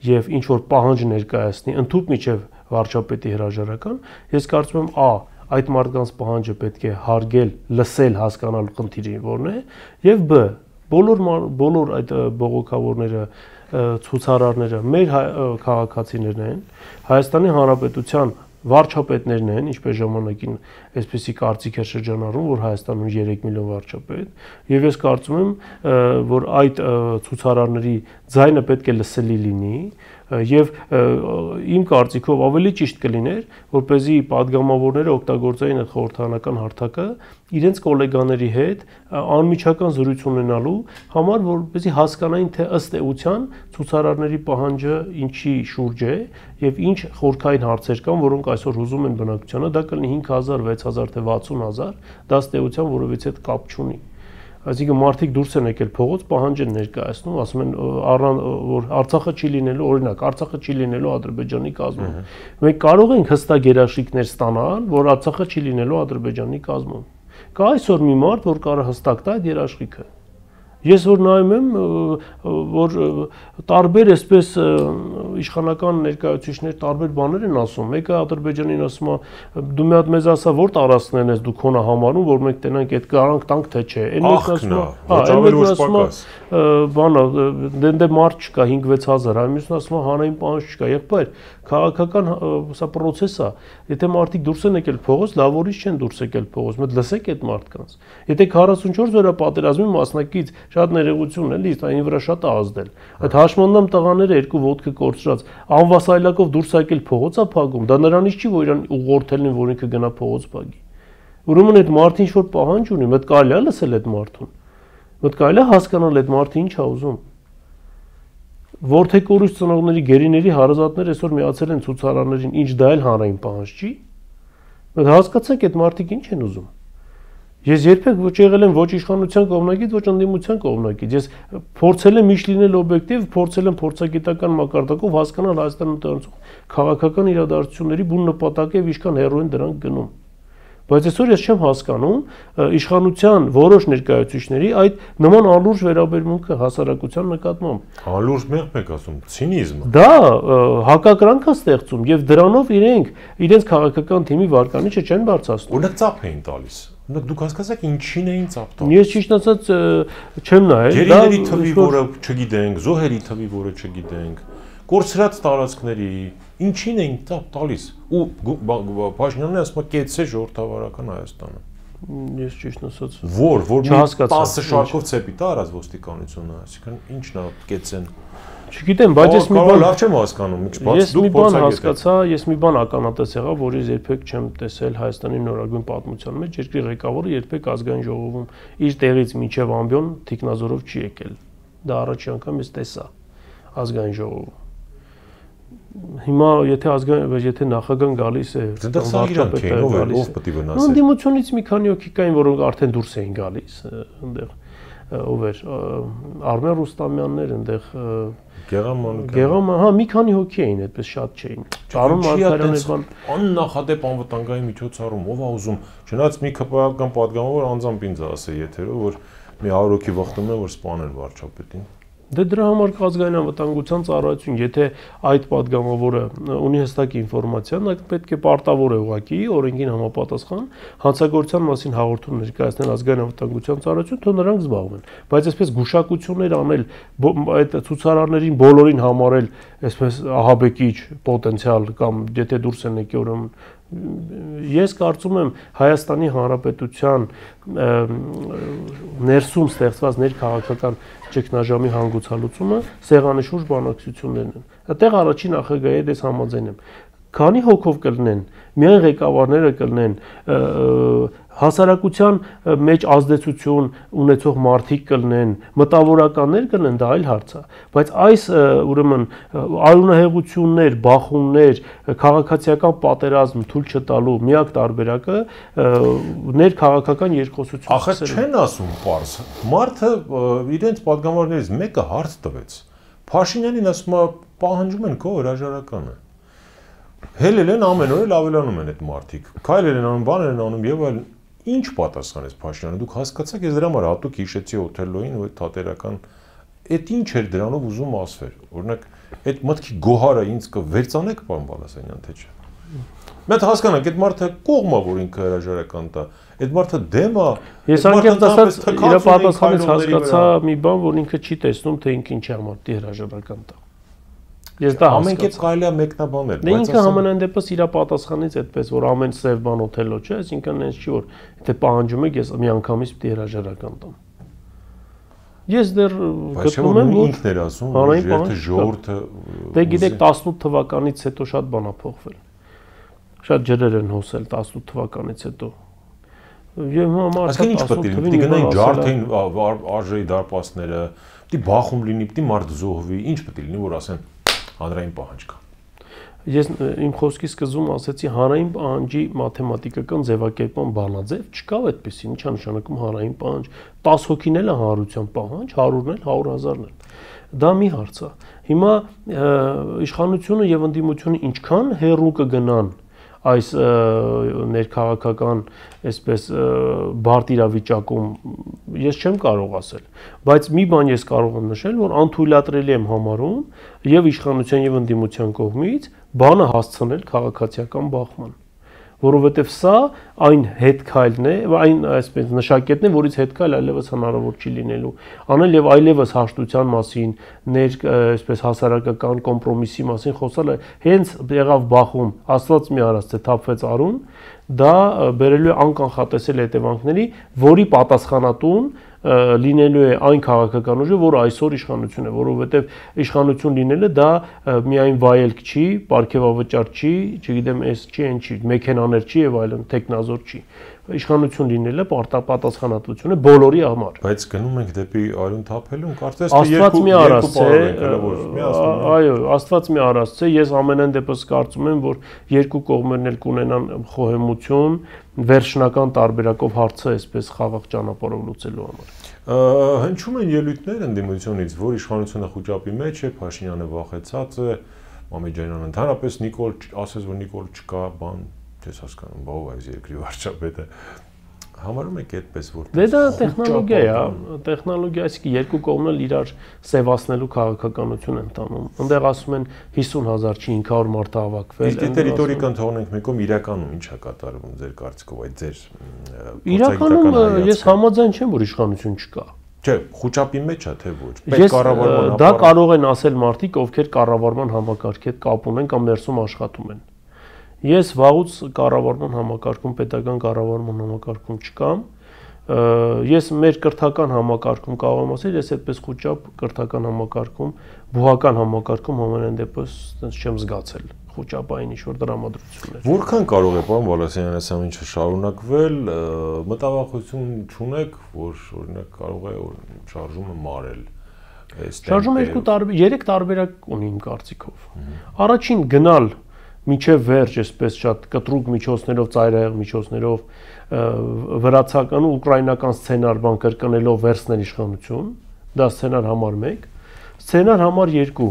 եւ ինչ որ պահանջ ներկայացնի ընդհանուր միջև վարչապետի հրաժարական, ես կարծում եմ այդ մարդկանց պահանջը պետք է հարգել, լսել, հասկանալ խնդիրը որն է, եւ բ բոլոր այդ բողոքավորները, ցուցարարները մեր քաղաքացիներն են, Հայաստանի Հանրապետության վարչապետներն են, ինչպես ժամանակին այսպեսի կարծիք էր շրջանառում, որ Հայաստանում 3 միլիոն վարչապետ, եւ ես կարծում եմ, որ այդ ցուցարարների ձայնը պետք է լսելի լինի, եւ իմ կարծիքով ավելի ճիշտ կլիներ, որպեսզի падգամավորները օգտագործեին այդ խորհրդարանական հարթակը իրենց գոլեգաների հետ անմիջական զրույց ունենալու համար, որպեսզի հասկանային, թե ըստ էության ցուցարարների պահանջը ինչի շուրջ է եւ ինչ խորքային հարցեր կան, որոնք այսօր հուզում են բնակչությանը, դա կլինի 5000, 6000, թե 60000, դա ըստ էության որևիցե կապ չունի։ Այսինքն մարդիկ դուրս են եկել փողոց, պահանջ են ներկայացնում, ասում են որ Արցախը չի լինելու, օրինակ, Արցախը չի լինելու Ադրբեջանի կազմում։ Մենք կարող ենք հստակ երաշխիքներ ստանալ, որ Արցախը չի լինելու Ադրբեջանի կազմում։ Կա այսօր մի մարդ, որ կարող հստակ տա այդ երաշխիքը։ Ես որ նայում եմ, որ տարբեր այսպես իշխանական ներկայացուցիչներ տարբեր բաներ են ասում, մեկը Ադրբեջանին ասում է, դու մի հատ մեզ ասա, որ տարածքներն ես դու քոնը համարում, որ մենք տենանք այդ garanք տանք թե չէ։ Այն մեկն ասում է, բանը, դե մարդ չկա 5-6000, այլ մյուսն ասում է հանրային պահանջ չկա, եղբայր, քաղաքական սա process է։ Եթե մարդիկ դուրս են եկել փողոց, լավ որից չեն դուրս եկել փողոց, մեկ լսեք այդ մարդկանց։ Եթե 44 օրյա պատերազմի մասնակից շատ ներողություն էլի, այն վրա շատ է ազդել։ Այդ հաշմանդամ տղաները երկու ոտքը կորցրած, անվասայլակով դուրս եկել փողոց է փակում, դա նրանից չի, որ իրան ուղղորդելն են, որ ինքը գնա փողոց փակի։ Ուրեմն այդ մարդը ինչ որ պահանջ ունի, մտ կարելի է լսել այդ մարդուն։ Մտ կարելի է հասկանալ այդ մարդը ինչ է ուզում։ Որթեկորուս ծնողների գերիների հարազատներ այսօր միացել են ցուցարարներին, ինչ դա էլ հանրային պահանջ չի։ Մենք հասկացանք այդ մարդիկ ինչ են ուզում։ Ես երբեք ոչ եղել եմ ոչ իշխանության կողմնակից, ոչ ընդդիմության կողմնակից։ Ես փորձել եմ միշտ լինել օբյեկտիվ, փորձել եմ փորձագիտական մակարդակով հասկանալ Հայաստանում տեղացող քաղաքական իրադարձությունների բուն նպատակը եւ ինչքան հեռու են դրանք գնում։ Բայց այսօր ես չեմ հասկանում իշխանության որոշ ներկայացուցիչների այդ նման անլուրջ վերաբերմունքը հասարակության նկատմամբ։ Անլուրջ մեղմ եք ասում, ցինիզմը։ Դա հակակրանք է ստեղծում եւ դրանով իրենց քաղաքական թիմի վարկանիշը չեն բարձրացնում։ Օրինակ ծափ էին տալիս։ Օրինակ դուք հասկացաք ինչին էին ծափ տալիս։ Ես ճիշտ ասած չեմ նայել։ Գերիների թվի, որը չգիտենք, զոհերի թվի, որը չգիտենք, կորցրած տարածքների ինչին էին ծափ տալիս ու Փաշինյանն ասում է կեցե ժողովրդավարական Հայաստանը։ Ես ճիշտ ասած որ մի 10 շարքով ցեպի տա արած ոստիկանությունը, այսինքն ինչն է կեցեն։ Չգիտեմ, բայց ես մի բան լավ չեմ հասկանում, ինչ բաց դուք փորձագետ եք։ Ես մի բան ականատես եղա, որի երբեք չեմ տեսել Հայաստանի նորագույն պատմության մեջ, երկրի ղեկավարը երբեք ազգային ժողովում իր տեղից մինչև ամբիոն թիկնազորով չի եկել։ Դա առաջին անգամ ես տեսա ազգային ժողովում։ Հիմա եթե նախագահան գալիս է, վարչապետը գալիս է, ով պետք է վնասի։ Ընդդիմությունից մի քանի հոգի կային, որոնք արդեն դուրս էին գալիս, այնտեղ ով էր Արմեն Ռուստամյաններ, այնտեղ Գեղամ, հա, մի քանի հոգի էին, այդպես շատ չէին։ Արոն Մարգարյաններ բան աննախադեպ անվտանգային միջոցառում, ով է ուզում, չնայած մի քպական падգամավոր անձամբ ինձ ասե եթերով, որ մի 100 հոգի վախտում է, որ սպանեն վարչապետին։ Դե դրա համար ազգային անվտանգության ծառայություն, եթե այդ падգամավորը ունի հստակ ինֆորմացիա, նա պետք է պարտավոր է ուղղակի օրենքին համապատասխան հանցագործության մասին հաղորդում ներկայացնել ազգային անվտանգության ծառայություն, թող նրանք զբաղվեն։ Բայց այսպես գուշակություններ անել, այդ ցուցարարներին բոլորին համարել այսպես ահաբեկիչ պոտենցիալ կամ եթե դուրս են եկել ուրեմն ես կարծում եմ Հայաստանի Հանրապետության ներսում ստեղծված ներքաղաքական ճգնաժամի հանգուցալուծումը սեղանի շուրջ բանակցություններն են։ Այդտեղ առաջին նախագահի հետ ես համաձայն եմ։ Քանի հոգով կլինեն, միայն ղեկավարները կլինեն, հասարակության մեջ ազդեցություն ունեցող մարդիկ կլինեն, մտավորականներ կլինեն, դա այլ հարց է, բայց այս ուրեմն արունահեղություններ, բախումներ, քաղաքացիական պատերազմ թույլ չտալու միակ տարբերակը ներքաղաքական երկխոսություն։ Ախր չեն ասում պարզ։ Մարդը իրենց падգամավորներից մեկը հարց տվեց։ Փաշինյանին ասում է պահանջում են քո հրաժարականը։ Հելել են ամեն օր ավելանում են այդ մարդիկ։ Քայլեր են անում, բաներ են անում եւ այլն։ Ինչ պատասխանեց Փաշինյանը։ Դուք հասկացաք, ես դրա համար հատուկ հիշեցի Օթելլոյին ու այդ թատերական այդ ինչ էր դրանով ուզում ասվել։ Օրինակ, այդ մտքի գոհարը ինձ կվերցանեք, պարոն Բալասանյան, թե չէ։ Մենք հասկանանք, այդ մարդը կողմ է, որ ինքը հրաժարական տա։ Այդ մարդը դեմ է։ Ես անկեղծ ասած իր պատասխանից հասկացա մի բան, որ ինքը չի տեսնում, թե ինքը ինչի համար դի հրաժարական տա։ Ես դա ամեն կերպ կարելի է մեկնաբանել, բայց ինքը համենայն դեպս իր պատասխանից այդպես որ ամեն սև բան Օթելլո չէ, այսինքն այնց չի որ եթե պահանջում եք ես մի անգամից պիտի հրաժարական տամ։ Ես դեռ գտնում եմ որ ինքն էր ասում, որ եթե ժողովուրդը դե գիտեք 18 թվականից հետո շատ բան է փոխվել։ Շատ ջրեր են հոսել 18 թվականից հետո։ Եվ այսինքն ինչ պետք է լինի, պիտի գնային ջարդային արժեի դարպասները, պիտի բախում լինի, պիտի մարդ զոհվի, ինչ պետք է լինի, որ ասեն հանրային պահանջ կա։ Ես իմ խոսքի սկզբում ասացի հանրային պահանջի մաթեմատիկական ձևակերպման բանաձև չկա այդպեսի, ինչա նշանակում հանրային պահանջ, 10 հոգին էլ է հանրության պահանջ, 100-ն էլ, 100,000-ն էլ։ Դա մի հարց է։ Հիմա իշխանությունը եւ ընդդիմությունը ինչքան հեռու կգնան այս ներքաղաքական այսպես բարդ իրավիճակում ես չեմ կարող ասել, բայց մի բան ես կարող եմ նշել, որ անթույլատրելի եմ համարում եւ իշխանության եւ ընդդիմության կողմից բանը հասցնել քաղաքացիական բախման, որովհետեւ սա այն հետքայլն է, այն այսպես նշակետն է, որից հետքայլ այլևս հնարավոր չի լինելու, անել եւ այլևս հաշտության մասին, այսպես հասարակական կոմպրոմիսի մասին խոսալը հենց եղավ բախում, աստված մի արած թե թափվեց արուն, դա բերելու է անկանխատեսել հետևանքների, որի պատասխանատուն լինելու է այն քաղաքական ուժը, որը այսօր իշխանություն է, որովհետև իշխանություն լինելը դա միայն վայելք չի, պարգևավճար չի, չգիտեմ, էս չի, այն չի, մեքենաներ չի եւ այլն, տեխնազոր չի, իշխանություն լինելը պատասխանատվություն է բոլորի համար։ Բայց գնում ենք դեպի արյուն թափելուն, կարծես Աստված մի արած է, այո, Աստված մի արած է, ես ամենայն դեպս կարծում եմ, որ երկու կողմերն էլ կունենան խոհեմություն, վերջնական տարբերակով հարցը այսպես խաղաղ ճանապարհով լուծելու համար։ Հնչում են ելույթներ ընդդիմությունից, որ իշխանությունը խոճապի մեջ է, Փաշինյանը վախեցած է, Մամեջանյանը ընդհանրապես Նիկոլ ասես, որ Նիկոլ չկա, բան չես հասկանում, բա ով է այս երկրի վարչապետը։ Համարում եք այդպես, որ դե դա տեխնոլոգիա է, տեխնոլոգիա, այսինքն երկու կողմն էլ իրար սևացնելու քաղաքականություն են տանում։ Այնտեղ ասում են 50,000 չի 500 մարդ հավաքվել։ Իսկ դե ռիտորիկան թողնենք մեկում, իրականում ինչ է կատարվում ձեր կարծիքով այդ ձեր իրականում ես համաձայն չեմ, որ իշխանություն չկա։ Չէ, խոճապի մեջ է թե ոչ։ Պետք կառավարման դա կարող են ասել մարդիկ, ովքեր կառավարման համակարգի հետ կապ ունեն կամ ներսում աշխատում են։ Ես վաղուց կառավարման համակարգում, պետական կառավարման համակարգում չկամ։ Ես մեր կրթական համակարգում կարող եմ ասել, ես այդպես խոճապ կրթական համակարգում, բուհական համակարգում ամենայն դեպս չեմ զգացել խոճապային ինչ-որ դրամատրություններ։ Որքան կարող է պարոն Բալասանյան այս ամենը շարունակվել, մտավախություն չունեք, որ օրինակ կարող է շարժումը մարել։ Շարժումը 3 տարբերակ ունի իմ կարծիքով։ Առաջին գնալ միջև վերջ, այսպես շատ կտրուկ միջոցներով, ծայրահեղ միջոցներով վրացական ու ուկրաինական սցենար բան կրկնելով վերցնել իշխանություն, դա սցենար համար 1, սցենար համար 2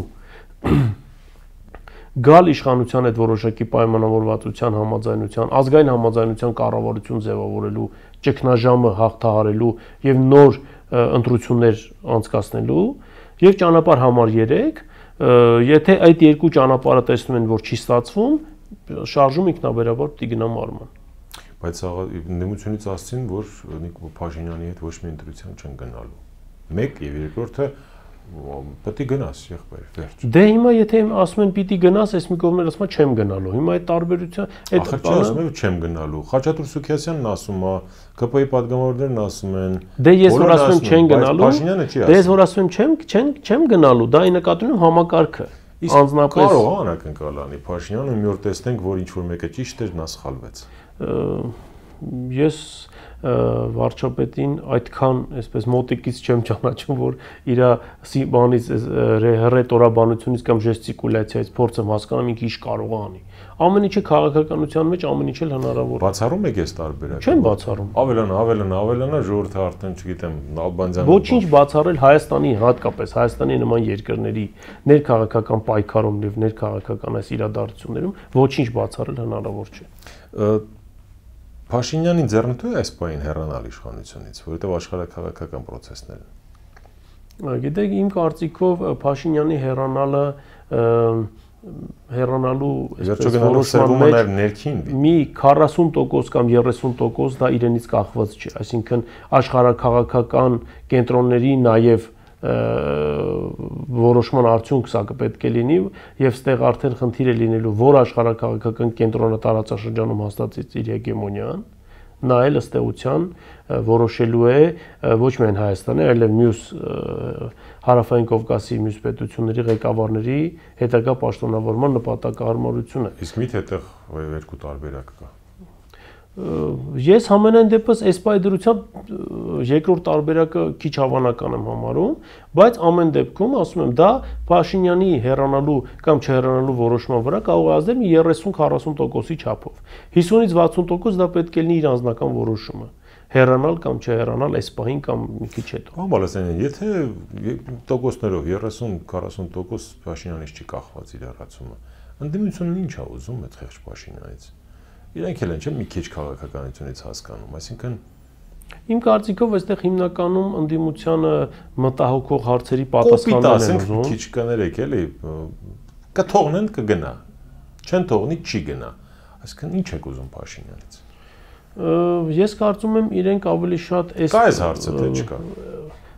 գալ իշխանության այդ որոշակի պայմանավորվածության համաձայնության, ազգային համաձայնության կառավարություն ձևավորելու, ճգնաժամը հաղթահարելու եւ նոր ընտրություններ անցկացնելու եւ ճանապարհ համար 3, եթե այդ երկու ճանապարհը տեսնում են, որ չի ստացվում, շարժում ինքնաբերաբար պիտի գնա մարման։ Բայց ընդդիմությունից ասցին, որ Փաշինյանի հետ ոչ մի ընտրության չեն գնալու։ Մեկ եւ երկրորդը պետք է գնաս, եղբայր, վերջ։ Դե հիմա եթե ասում են պիտի գնաս, այս մի կողմներ ասում է չեմ գնալու։ Հիմա այդ տարբերությունը, այդ բանը ասում են չեմ գնալու։ Խաչատուր Սուքիասյանն ասում է, ԿՊ-ի падգամավորներն ասում են։ Դե ես որ ասում եմ չեն գնալու, դե ես որ ասում եմ չեմ գնալու, դա ի նկատի ունեմ համակարգը։ Անձնապես կարող է անակնկալ անի Փաշինյանը մի օր տեսնենք, որ ինչ որ մեկը ճիշտ էր, նա սխալվեց։ Ես վարչապետին այդքան այսպես մոտիկից չեմ ճանաչում, որ իր բանից ռետորաբանությունից կամ ժեստիկուլյացիայից փորձեմ հասկանամ ինքը ինչ կարող է անի։ Ամեն ինչը քաղաքականության մեջ ամեն ինչ էլ հնարավոր է։ Բացառում եք այս տարբերակը։ Չեմ բացառում։ Ավելանա, ժողովուրդը արդեն չգիտեմ, Ալբանիան։ Ոչինչ բացառել Հայաստանի, հատկապես Հայաստանի նման երկրների ներքաղաքական պայքարում եւ ներքաղաքական այս իրադարձություններում ոչինչ բացառել հնարավոր չէ։ Փաշինյանի ձեռնտու է այս պահին հեռանալ իշխանությունից, որովհետև աշխարհաքաղաքական process-ներ են։ Գիտեք, իմ կարծիքով Փաշինյանի հեռանալու որոշման ներքին մի 40% կամ 30% դա իրենից կախված չէ, այսինքն աշխարհաքաղաքական կենտրոնների նաև որոշման արդյունք սա պետք է լինի եւ ստեղ արդեն խնդիր է լինելու որ աշխարհաքաղաքական կենտրոնատարածաշրջանում հաստատից իր հեգեմոնիան նա էլ ըստ էության որոշելու է ոչ միայն Հայաստանի, այլև մյուս հարավային Կովկասի մյուս պետությունների ղեկավարների հետագա պաշտոնավորման նպատակահարմարությունը։ Իսկ միթե այդտեղ երկու տարբերակ կա։ Ես համենայն դեպս այս պայդրությամբ երկրորդ տարբերակը քիչ հավանական եմ համարում, բայց ամեն դեպքում ասում եմ դա Փաշինյանի հեռանալու կամ չհեռանալու որոշման վրա կարող է ազդել մի 30-40%-ի չափով։ 50-ից 60% դա պետք է լինի իր անձնական որոշումը։ Հեռանալ կամ չհեռանալ այս պահին կամ մի քիչ հետո։ Պարոն Բալասանյան, եթե տոկոսներով 30-40% Փաշինյանից չի կախված իր հեռացումը, ընդդիմությունն ինչ է ուզում այդ խեղճ Փաշինյանից։ Իրենք էլ են չէ՞ մի քիչ քաղաքականությունից հասկանում, այսինքն իմ կարծիքով այստեղ հիմնականում ընդդիմությանը մտահոգող հարցերի պատասխաններ են ուզում։ Քիչ կներեք էլի, կթողնեն կգնա, չեն թողնի չի գնա, այսինքն ինչ եք ուզում Փաշինյանից։ Ես կարծում եմ իրենք ավելի շատ կա այս հարցը թե չկա։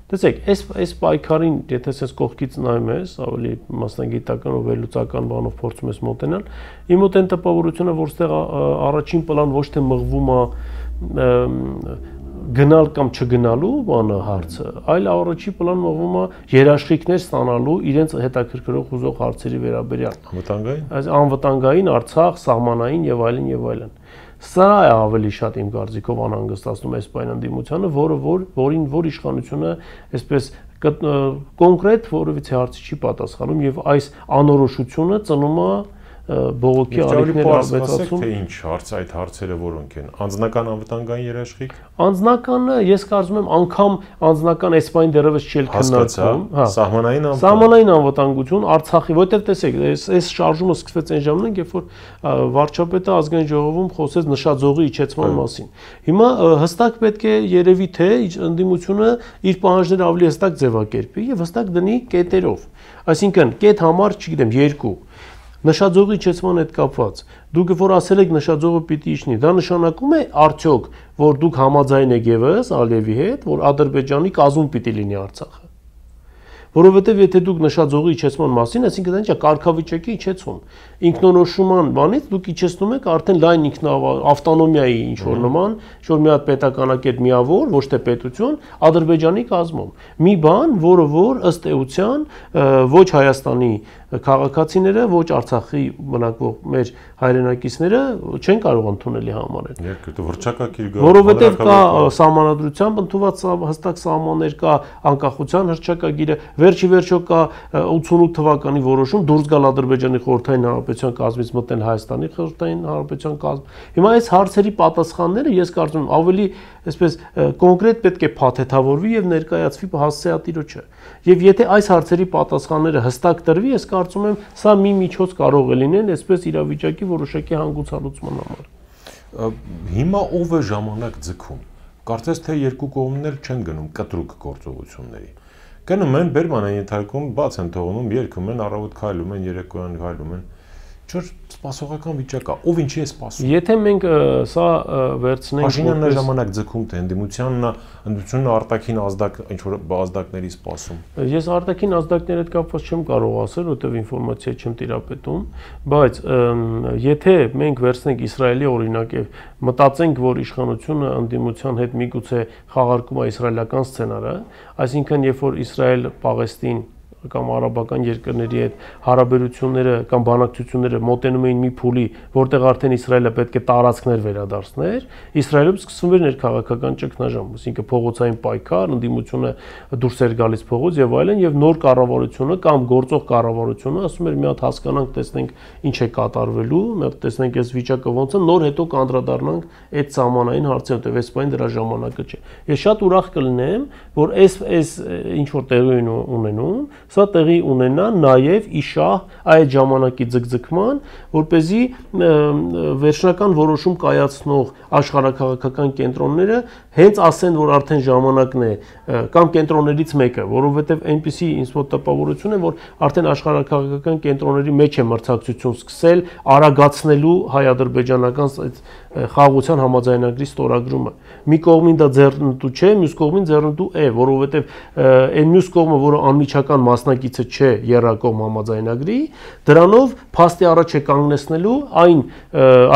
Տեսեք, այս պայքարին, եթե ես կողքից նայում ես, ավելի մասնագիտական ու վերլուծական բանով փորձում ես մոտենալ, իմ մոտ այն տպավորությունը, որ ստեղ առաջին պլան ոչ թե մղվում է գնալ կամ չգնալու բանը հարցը, այլ առաջի պլան մղվում է երաշխիքներ ստանալու իրենց հետաքրքրող ուզող հարցերի վերաբերյալ։ Անվտանգային։ Այս անվտանգային, Արցախ, սահմանային եւ այլն եւ այլն։ Սա է ավելի շատ իմ կարծիքով անհանգստացնում այս պայն ընդդիմությանը, որ իշխանությունը այսպես կոնկրետ որևիցե հարցի չի պատասխանում եւ այս անորոշությունը ծնում է բողոքի ալիքների ավելացում։ Թե ինչ հարց այդ հարցերը որոնք են։ Անձնական անվտանգային երաշխիք։ Անձնականը ես կարծում եմ անգամ անձնական այս բան դեռևս չի քննարկվում, հա։ Սահմանային անվտանգություն Արցախի, որտեղ տեսեք, այս շարժումը սկսվեց այն ժամանակ, երբ որ վարչապետը ազգային ժողովում խոսեց նշաձողի իջեցման մասին։ Հիմա հստակ պետք է երևի թե ընդդիմությունը իր պահանջները ավելի հստակ ձևակերպի եւ հստակ դնի կետերով։ Այսինքն կետ համար, չգիտեմ, 2 նշաձողի իջեցման հետ կապված դուք որ ասել եք նշաձողը պիտի իջնի, դա նշանակում է արդյոք, որ դուք համաձայն եք եւս Ալիևի հետ, որ Ադրբեջանի կազում պիտի լինի Արցախը։ Որովհետև եթե դուք նշաձողի իջեցման մասին, այսինքն դա ինչ է, կարգավիճակի իջեցում, ինքնորոշման բանից դուք իջեցնում եք արդեն լայն ավտոնոմիայի ինչ որ նման, որ մի հատ պետականակետ միավոր, ոչ թե պետություն, Ադրբեջանի կազմում։ Մի բան, որ ըստ էության ոչ Հայաստանի քաղաքացիները, ոչ Արցախի բնակվող մեր հայրենակիցները չեն կարող ընդունելի համարել։ Երկրորդ վրճակակիր գա։ Որովհետև կա սահմանադրությամբ ընդունված հստակ սահմաններ, կա անկախության հռչակագիրը, վերջի վերջո կա 88 թվականի որոշում դուրս գալ Ադրբեջանի խորհրդային հանրապետության կազմից մտնել Հայաստանի խորհրդային հանրապետության կազմ։ Հիմա այս հարցերի պատասխանները ես կարծում եմ ավելի այսպես կոնկրետ պետք է փաթեթավորվի եւ ներկայացվի հասցեատիրոջը։ Եվ եթե այս հարցերի պատասխանները հստակ տրվի, ես կարծում եմ սա մի միջոց կարող է լինել այսպես իրավիճակի որոշակի հանգուցալուծման համար։ Հիմա ով է ժամանակ ձգում։ Կարծես թե երկու կողմներ չեն գնում կտրուկ գործողությունների։ Գնում են Բերմանային ենթարկում, բաց են թողնում, երգում են, առավոտ քայլում են, երեկոյան քայլում են։ Չէ, սպասողական վիճակ է, ով ինչի է սպասում։ Եթե մենք սա վերցնենք Փաշինյանն է ժամանակ ձգում, թե ընդդիմությունն արտաքին ինչ որ ազդակների սպասում։ Ես արտաքին ազդակների հետ կապված չեմ կարող ասել, որտեղ ինֆորմացիա չեմ տիրապետում, բայց եթե մենք վերցնենք Իսրայելի օրինակ եւ մտածենք, որ իշխանությունը ընդդիմության հետ միգուցե խաղարկում է իսրայելական սցենարը, այսինքն երբ որ Իսրայել-Պաղեստին կամ արաբական երկրների հետ հարաբերությունները կամ բանակցությունները մոտենում էին մի փուլի, որտեղ արդեն Իսրայելը պետք է տարածքներ վերադարձներ, Իսրայելում սկսվում էր ներքաղաքական ճգնաժամ, այսինքն փողոցային պայքար, ընդդիմությունը դուրս էր գալիս փողոց եւ այլն, եւ նոր կառավարությունը կամ գործող կառավարությունը ասում էր մի հատ հասկանանք, տեսնենք ինչ է կատարվելու, մի հատ տեսնենք այս վիճակը ոնց է, նոր հետո կանդրադառնանք այդ սահմանային հարցին, որտեղ այս բան դրա ժամանակը չէ։ Ես շատ ուրախ կլինեմ, որ այս ինչ որ տեղի ունենում սա տեղի ունենա նաև իշահ այդ ժամանակի ձգձգման, որպեսզի վերջնական որոշում կայացնող աշխարհաքաղաքական կենտրոնները հենց ասեն, որ արդեն ժամանակն է կամ կենտրոններից մեկը, որովհետև այնպիսի ինձ մոտ տպավորություն է, որ արդեն աշխարհաքաղաքական կենտրոնների մեջ է մրցակցություն սկսել արագացնելու հայ-ադրբեջանական խաղաղության համաձայնագրի ստորագրումը։ Մի կողմին դա ձեռնտու չէ, մյուս կողմին ձեռնտու է, որովհետև այն մյուս կողմը, որը անմիջական մասնակիցը չէ երրակողմ համաձայնագրի, դրանով փաստի առաջ է կանգնեցնելու այն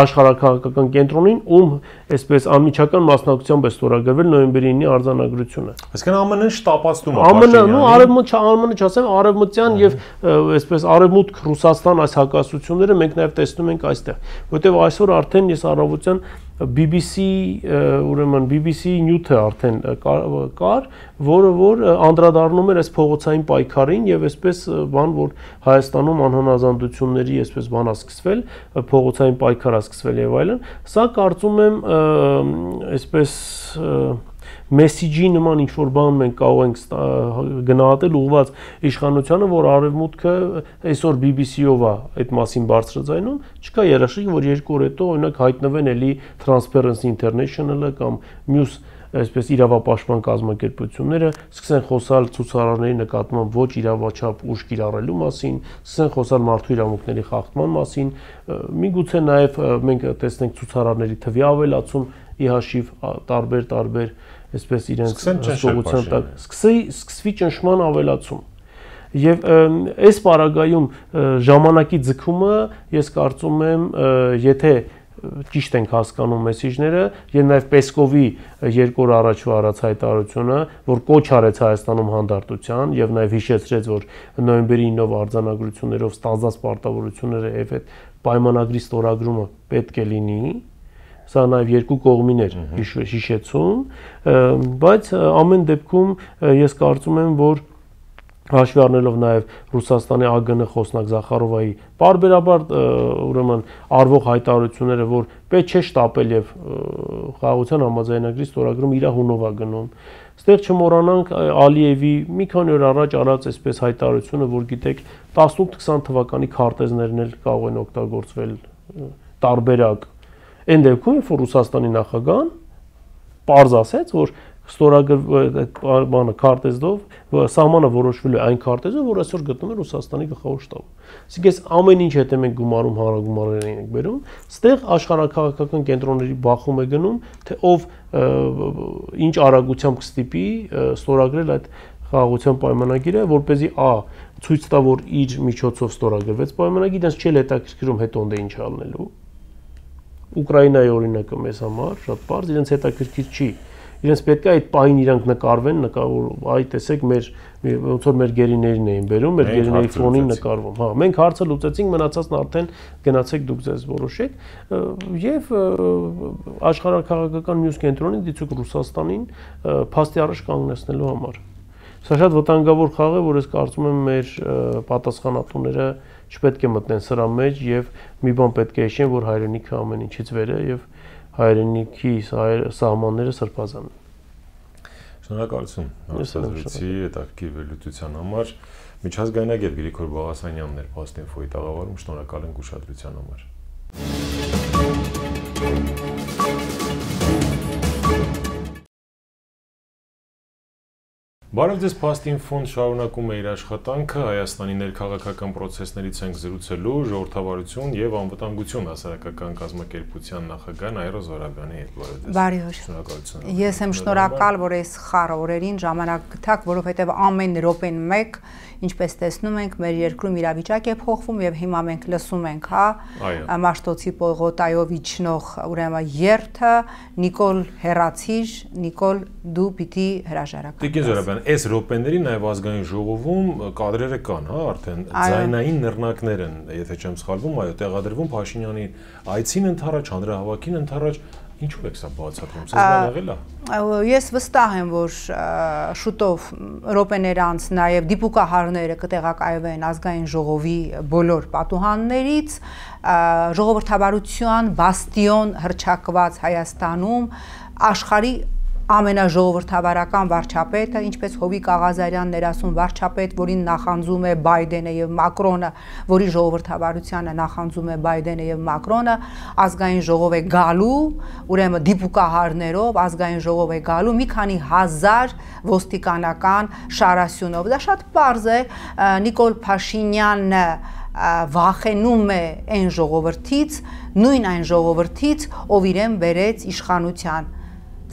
աշխարհաքաղաքական կենտրոնին, ում այսպես անմիջական մասնակցությամբ է ստորագրվել նոյեմբերի 9-ի արձանագրությունը։ Այսինքն ԱՄՆ-ն շտապացնում է ԱՄՆ-ը չասեմ, արևմտյան եւ այսպես արևմուտք Ռուսաստան այս հակասությունները մենք նաեւ տեսնում ենք այստեղ, որտեղ այսօր արդեն ես առավոտյան BBC News-ը արդեն կար, որը անդրադառնում էր այս փողոցային պայքարին եւ այսպես բան, որ Հայաստանում անհնազանդությունների այսպես բան է սկսվել, փողոցային պայքար է սկսվել եւ այլն, սա կարծում եմ այսպես մեսիջի նման ինչ որ բան մենք կարող ենք գնահատել ուղղված իշխանությանը, որ արևմուտքը այսօր BBC-ով է այդ մասին բարձրաձայնում, չկա երաշխիք, որ 2 օր հետո օրինակ հայտնվեն էլի Transparency International-ը կամ մյուս այսպես իրավապաշտպան կազմակերպությունները սկսեն խոսալ ցուցարարների նկատմամբ ոչ իրավաչափ ուժ կիրառելու մասին, սկսեն խոսալ մարդու իրավունքների խախտման մասին, միգուցե նաև մենք տեսնենք ցուցարարների թվի ավելացում ի հաշիվ տարբեր այսպես իրենց հսկողության տակ սկսվի ճնշման ավելացում։ Եվ այս պարագայում ժամանակի ձգումը ես կարծում եմ, եթե ճիշտ ենք հասկանում մեսիջները եւ նաեւ Պեսկովի 2 օր առաջվա արած հայտարարությունը, որ կոչ արեց Հայաստանում հանդարտության եւ նաեւ հիշեցրեց, որ նոյեմբերի 9-ով արձանագրություններով ստանձնած պարտավորությունները եւ այդ պայմանագրի ստորագրումը պետք է լինի, Սա նաև երկու կողմին էր հիշեցում, բայց ամեն դեպքում ես կարծում եմ, որ հաշվի առնելով նաև Ռուսաստանի ԱԳՆ խոսնակ Զախարովայի պարբերաբար ուրեմն արվող հայտարարությունները, որ պետք չէ շտապել եւ խաղաղության համաձայնագրի ստորագրում իր հունով է գնում։ Ստեղ չմոռանանք Ալիևի մի քանի օր առաջ արած այսպես հայտարարությունը, որ գիտեք 18-20 թվականի քարտեզներն էլ կարող են օգտագործվել տարբերակ։ Այն դեպքում, որ Ռուսաստանի նախագահան պարզ ասեց, որ ստորագրված քարտեզով սահմանը որոշվել է այն քարտեզով, որ այսօր գտնվում է Ռուսաստանի գլխավոր շտաբում։ Այսինքն այս ամեն ինչ հետ ենք գումարում, հանրագումարներ ենք բերում, ստեղ աշխարհաքաղաքական կենտրոնների բախում է գնում, թե ով ինչ արագությամբ կստիպի ստորագրել այդ խաղաղության պայմանագիրը, որպեսզի ցույց տա, որ իր միջոցով ստորագրվեց պայմանագիրը, իրենց չէ հետաքրքրում հետո ընդ է ինչ ալնելու։ Ուկրաինայի օրինակը մեզ համար շատ բարձ, իրենց հետաքրքիր չի։ Իրենց պետք է այդ պահին իրանք նկարվեն, այ տեսեք ոնց որ մեր գերիներին էին բերում, մեր գերիների ֆոնին նկարվում։ Հա, մենք հարցը լուծեցինք, մնացածն արդեն գնացեք դուք ձեզ որոշեք, եւ աշխարհաքաղաքական մյուս կենտրոնին դիցուք Ռուսաստանին փաստի առաջ կանգնեցնելու համար։ Սա շատ վտանգավոր խաղ է, որ ես կարծում եմ մեր պատասխանատուները չպետք է մտնեն սրա մեջ եւ մի բան պետք է հիշեն, որ հայրենիքը ամեն ինչից վեր է եւ հայրենիքի սահմանները սրբազան են։ Շնորհակալություն հարցազրույցի հետաքրքիր վերլուծության համար։ Միջազգայնագետ Գրիգոր Բաղասանյանն էր Post-Info-ի տաղավարում, շնորհակալ ենք ուշադրության համար։ Բարև ձեզ, Post-Info-ն շարունակում է իր աշխատանքը, Հայաստանի ներքաղաքական process-ներից ենք զրուցելու ժողովրդավարություն եւ անվտանգություն հասարակական կազմակերպության նախագահ Նաիրա Զոհրաբյանի հետ։ Բարև օր։ Շնորհակալություն։ Ես եմ շնորհակալ, որ այս խառը օրերին ժամանակ գտաք, որովհետեւ ամեն րոպեն մեկ, ինչպես տեսնում ենք, մեր երկրում իրավիճակ է փոխվում եւ հիմա մենք լսում ենք, հա, Մաշտոցի Պողոտայով իջնող ուրեմն երթը, Նիկոլ Հերացիր, Նիկոլ դու պիտի հրաժարական։ Տիկին Զոհրաբյան, այս րոպեների նաև ազգային ժողովում կադրերը կան, հա, արդեն ձայնային նռնակներ են, եթե չեմ սխալվում, այո, տեղադրվում Փաշինյանի այցին ընդառաջ, հանրահավաքին ընդառաջ, ինչու եք սա բացատրում, սա եղել է։ Ես վստահ եմ, որ շուտով րոպեներ անց նաև դիպուկահարները կտեղակայվեն ազգային ժողովի բոլոր պատուհաններից, ժողովրդավարության բաստիոն հռչակված Հայաստանում աշխարհի ամենաժողովրդավարական վարչապետը, ինչպես Հովիկ Աղազարյանն էր ասում, վարչապետ, որին նախանձում է Բայդենը եւ Մակրոնը, որի ժողովրդավարությանը նախանձում է Բայդենը եւ Մակրոնը, ազգային ժողով է գալու, ուրեմն դիպուկահարներով ազգային ժողով է գալու մի քանի հազար ոստիկանական շարասյունով։ Դա շատ պարզ է, Նիկոլ Փաշինյանը վախենում է այն ժողովրդից, նույն այն ժողովրդից, ով իրեն բերեց իշխանության։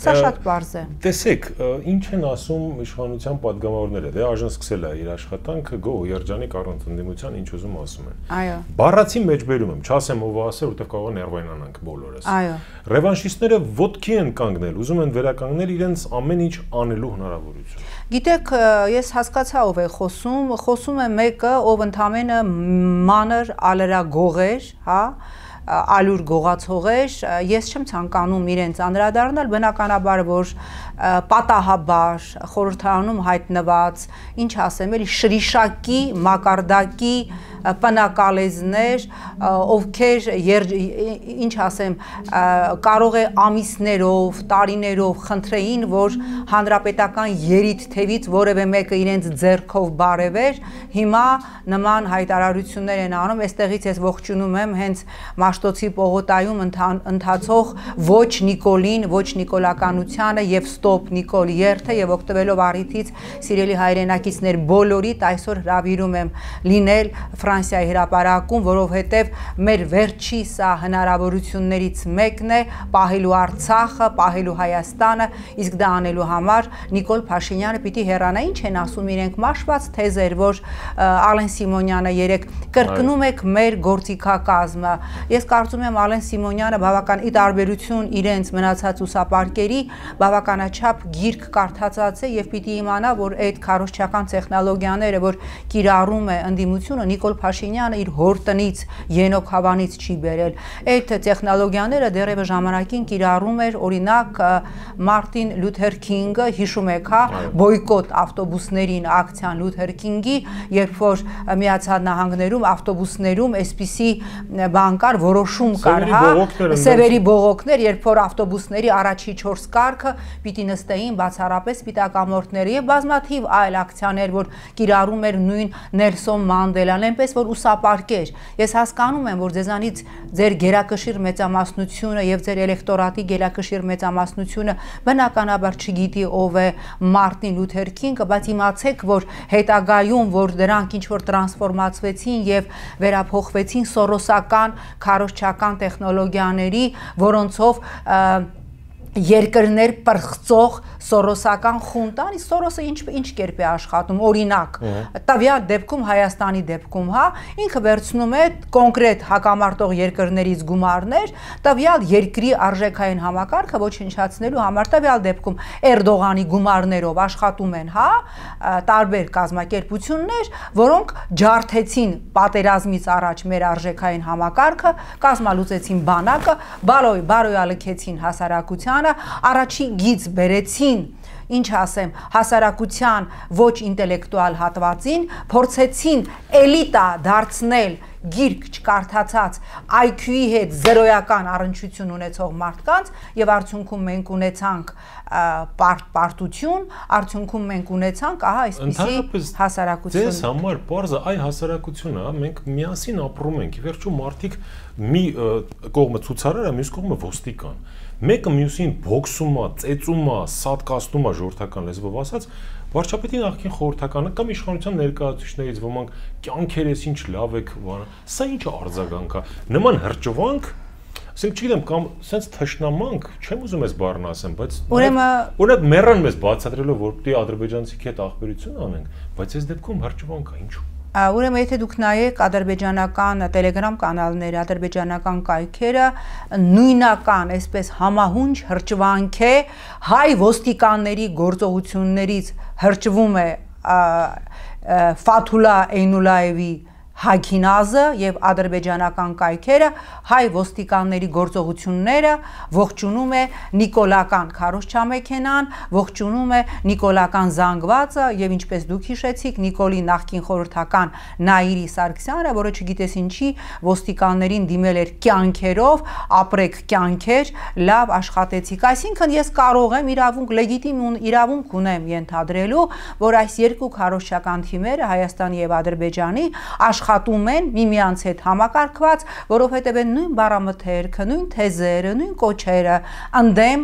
Սա շատ պարզ է։ Տեսեք, ինչ են ասում իշխանության падգամավորները, դե այժմ սկսել է իր աշխատանքը գոհ երջանիկ առանց ընդդիմության ինչ ուզում ասում են։ Այո։ Բառացի մեջ բերում եմ, չասեմ ով ասել, որտեղ կարող է ներվայնանանք բոլորս։ Այո։ Ռևանշիստները ոտքի են կանգնել, ուզում են վերականգնել իրենց ամեն ինչ անելու հնարավորություն։ Գիտեք, ես հասկացա ով է խոսում, խոսում է մեկը, ով ընդամենը մանր ալերագող էր, հա, ալյուր գողացող էր, ես չեմ ցանկանում իրենց անդրադառնալ, բնականաբար որ պատահաբար խորհրդարանում հայտնված, ինչ ասեմ, էլի շրիշակի, մակարդակի պնակալեզներ, ովքեր ինչ ասեմ, կարող է ամիսներով, տարիներով խնդրեին, որ հանրապետական երիտ թևից որևէ մեկը իրենց ձեռքով բարևեր, հիմա նման հայտարարություններ են անում, այստեղից ես ողջունում եմ հենց Մաշտոցի Պողոտայում ընթացող ոչ Նիկոլին, ոչ նիկոլականությանը եւ ստոպ Նիկոլ երթը եւ օգտվելով առիթից սիրելի հայրենակիցներ բոլորիդ այսօր հրավիրում եմ լինել Ֆրանսիայի հրապարակում, որովհետև մեր վերջի սա հնարավորություններից մեկն է պահելու Արցախը, պահելու Հայաստանը, իսկ դա անելու համար Նիկոլ Փաշինյանը պիտի հեռանա։ Ինչ են ասում իրենք մաշված թեզեր, որ Ալեն Սիմոնյանը երեք կրկնում եք մեր գործիքակազմը։ Ես կարծում եմ Ալեն Սիմոնյանը բավական ի տարբերություն իրենց մնացած ուսապարկերի բավականաչափ անչափ գիրք կարդացած է եւ պիտի իմանա, որ այդ քարոզչական տեխնոլոգիաները, որ կիրառում է ընդդիմությունը, Նիկոլ Փաշինյանը իր հոր տնից Ենոք Հավանից չի բերել։ Այդ տեխնոլոգիաները դեռևս ժամանակին կիրառում էր, օրինակ Մարտին Լյութեր Քինգը, հիշում եք, հա, բոյկոտ ավտոբուսներին ակցիան Լյութեր Քինգի, երբ որ Միացյալ Նահանգներում ավտոբուսներում այսպիսի բան կար, որոշում կար, հա, սևերի բողոքներ, երբ որ ավտոբուսների առաջի 4 կարգը պիտի նստեին բացառապես սպիտակամորթները եւ բազմաթիվ այլ ակցիաներ, որ կիրառում էր նույն Նելսոն Մանդելան, այնպես որ ուսապարկեր։ Ես հասկանում եմ, որ ձեզանից ձեր գերակշիռ մեծամասնությունը եւ ձեր էլեկտորատի գերակշիռ մեծամասնությունը բնականաբար չգիտի ով է Մարտին Լյութեր Քինգը, բայց իմացեք, որ հետագայում, որ դրանք ինչ որ տրանսֆորմացվեցին եւ վերափոխվեցին սորոսական քարոզչական տեխնոլոգիաների, որոնցով երկրներ պրխծող սորոսական խունտան, իսկ Սորոսը ինչ կերպ է աշխատում, օրինակ, տվյալ դեպքում Հայաստանի դեպքում, հա, ինքը վերցնում է կոնկրետ հակամարտող երկրներից գումարներ, տվյալ երկրի արժեքային համակարգը ոչնչացնելու համար, տվյալ դեպքում Էրդողանի գումարներով աշխատում են, հա, տարբեր կազմակերպություններ, որոնք ջարդեցին պատերազմից առաջ մեր արժեքային համակարգը, կազմալուծեցին բանակը, բարոյալքեցին հասարակության, առաջի գիծ բերեցին, ինչ ասեմ, հասարակության ոչ ինտելեկտուալ հատվածին, փորձեցին էլիտա դարձնել գիրք չկարդացած IQ-ի հետ զերոյական առնչություն ունեցող մարդկանց եւ արդյունքում մենք ունեցանք պարտություն, արդյունքում մենք ունեցանք ահա այսպիսի հասարակություն։ Ձեզ համար բարձր այ հասարակությունը, մենք միասին ապրում ենք, ի վերջո մարդիկ մի կողմը ցուցարար է, մյուս կողմը ոստիկան։ Մեկը մյուսին բոքսում է, ծեծում է, սատկացնում է ժողովրդական լեզվով ասած, վարչապետի նախկին խորհրդականը կամ իշխանության ներկայացուցիչներից ոմանք կյանքերես ինչ լավ եք, սա ինչ արձագանք է, նման հրճվանք, ասենք չգիտեմ, կամ սենց թշնամանք, չեմ ուզում ես բառն ասեմ, բայց օրինակ մեռան մեզ բացատրելով, որ պիտի ադրբեջանցի հետ ախբերություն անենք, բայց այս դեպքում հրճվանք է, ինչու։ Ուրեմն եթե դուք նայեք ադրբեջանական Telegram կանալները, ադրբեջանական կայքերը, նույնական այսպես համահունչ հրճվանք է հայ ոստիկանների գործողություններից հրճվում է Ֆաթուլա Էյնուլաևի Հագինազը եւ ադրբեջանական կայքերը հայ ոստիկանների գործողությունները ողջունում է նիկոլական քարոզչամեքենան, ողջունում է նիկոլական զանգվածը եւ ինչպես դուք հիշեցիք Նիկոլի նախկին խորհրդական Նաիրի Սարգսյանը, որը չգիտես ինչի ոստիկաններին դիմել էր կյանքերով, ապրեք կյանքեր, լավ աշխատեցիք։ Այսինքն ես կարող եմ իրավունք լեգիտիմ իրավունք ունեմ ենթադրելու, որ այս երկու քարոզչական թիմերը Հայաստանի եւ Ադրբեջանի աշխատում են միմյանց հետ համակարգված, որովհետև են նույն բառամթերքը, նույն թեզերը, նույն կոչերը ընդդեմ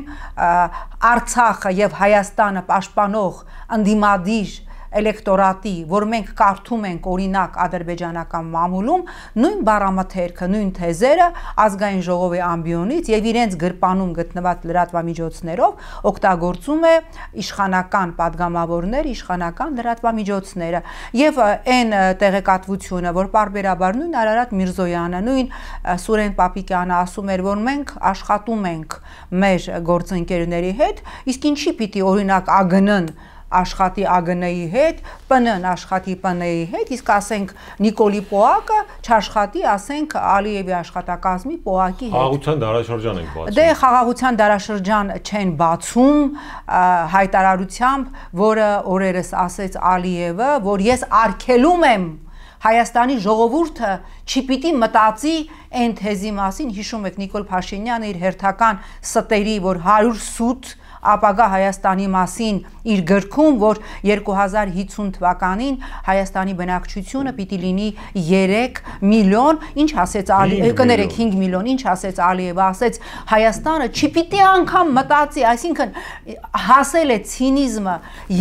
Արցախը եւ Հայաստանը պաշտպանող ընդդիմադիր էլեկտորատի, որ մենք կարդում ենք օրինակ ադրբեջանական մամուլում, նույն բառամթերքը, նույն թեզերը ազգային ժողովի ամբիոնից եւ իրենց գրպանում գտնված լրատվամիջոցներով օգտագործում է իշխանական падգամավորներ, իշխանական լրատվամիջոցները եւ այն տեղեկատվությունը, որ պարբերաբար նույն Արարատ Միրզոյանը, նույն Սուրեն Պապիկյանը ասում էր, որ մենք աշխատում ենք մեր գործընկերների հետ, իսկ ինչի պիտի օրինակ ԱԳՆ-ն աշխատի ԱԳՆ-ի հետ, ՊՆ-ն աշխատի ՊՆ-ի հետ, իսկ ասենք Նիկոլի Պոակը չաշխատի, ասենք Ալիևի աշխատակազմի Պոակի հետ։ Խաղաղության դարաշրջան ենք բացում։ Դե խաղաղության դարաշրջան չեն բացում հայտարարությամբ, որը օրերս ասեց Ալիևը, որ ես արգելում եմ Հայաստանի ժողովուրդը չպիտի մտածի այն թեզի մասին, հիշում եք Նիկոլ Փաշինյանը իր հերթական ստերի, որ 100 սուտ ապագա Հայաստանի մասին իր գրքում, որ 2050 թվականին Հայաստանի բնակչությունը պիտի լինի 3 միլիոն, ինչ ասեց կներեք 5 միլիոն, ինչ ասեց Ալիևը, ասեց Հայաստանը չպիտի անգամ մտածի, այսինքն հասել է ցինիզմը,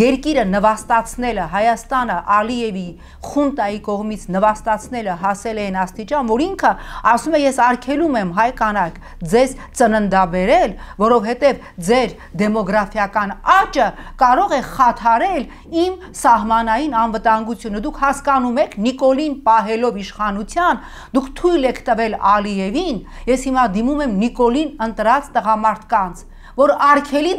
երկիրը նվաստացնելը, Հայաստանը Ալիևի խունտայի կողմից նվաստացնելը հասել է այն աստիճան, որ ինքը ասում է ես արգելում եմ հայ կանայք ձեզ ծննդաբերել, որովհետև ձեր դեմոգրաֆիական աճը կարող է խաթարել իմ սահմանային անվտանգությունը։ Դուք հասկանում եք, Նիկոլին պահելով իշխանության, դուք թույլ եք տվել Ալիևին, ես հիմա դիմում եմ Նիկոլին ընտրած տղամարդկանց, որ արգելի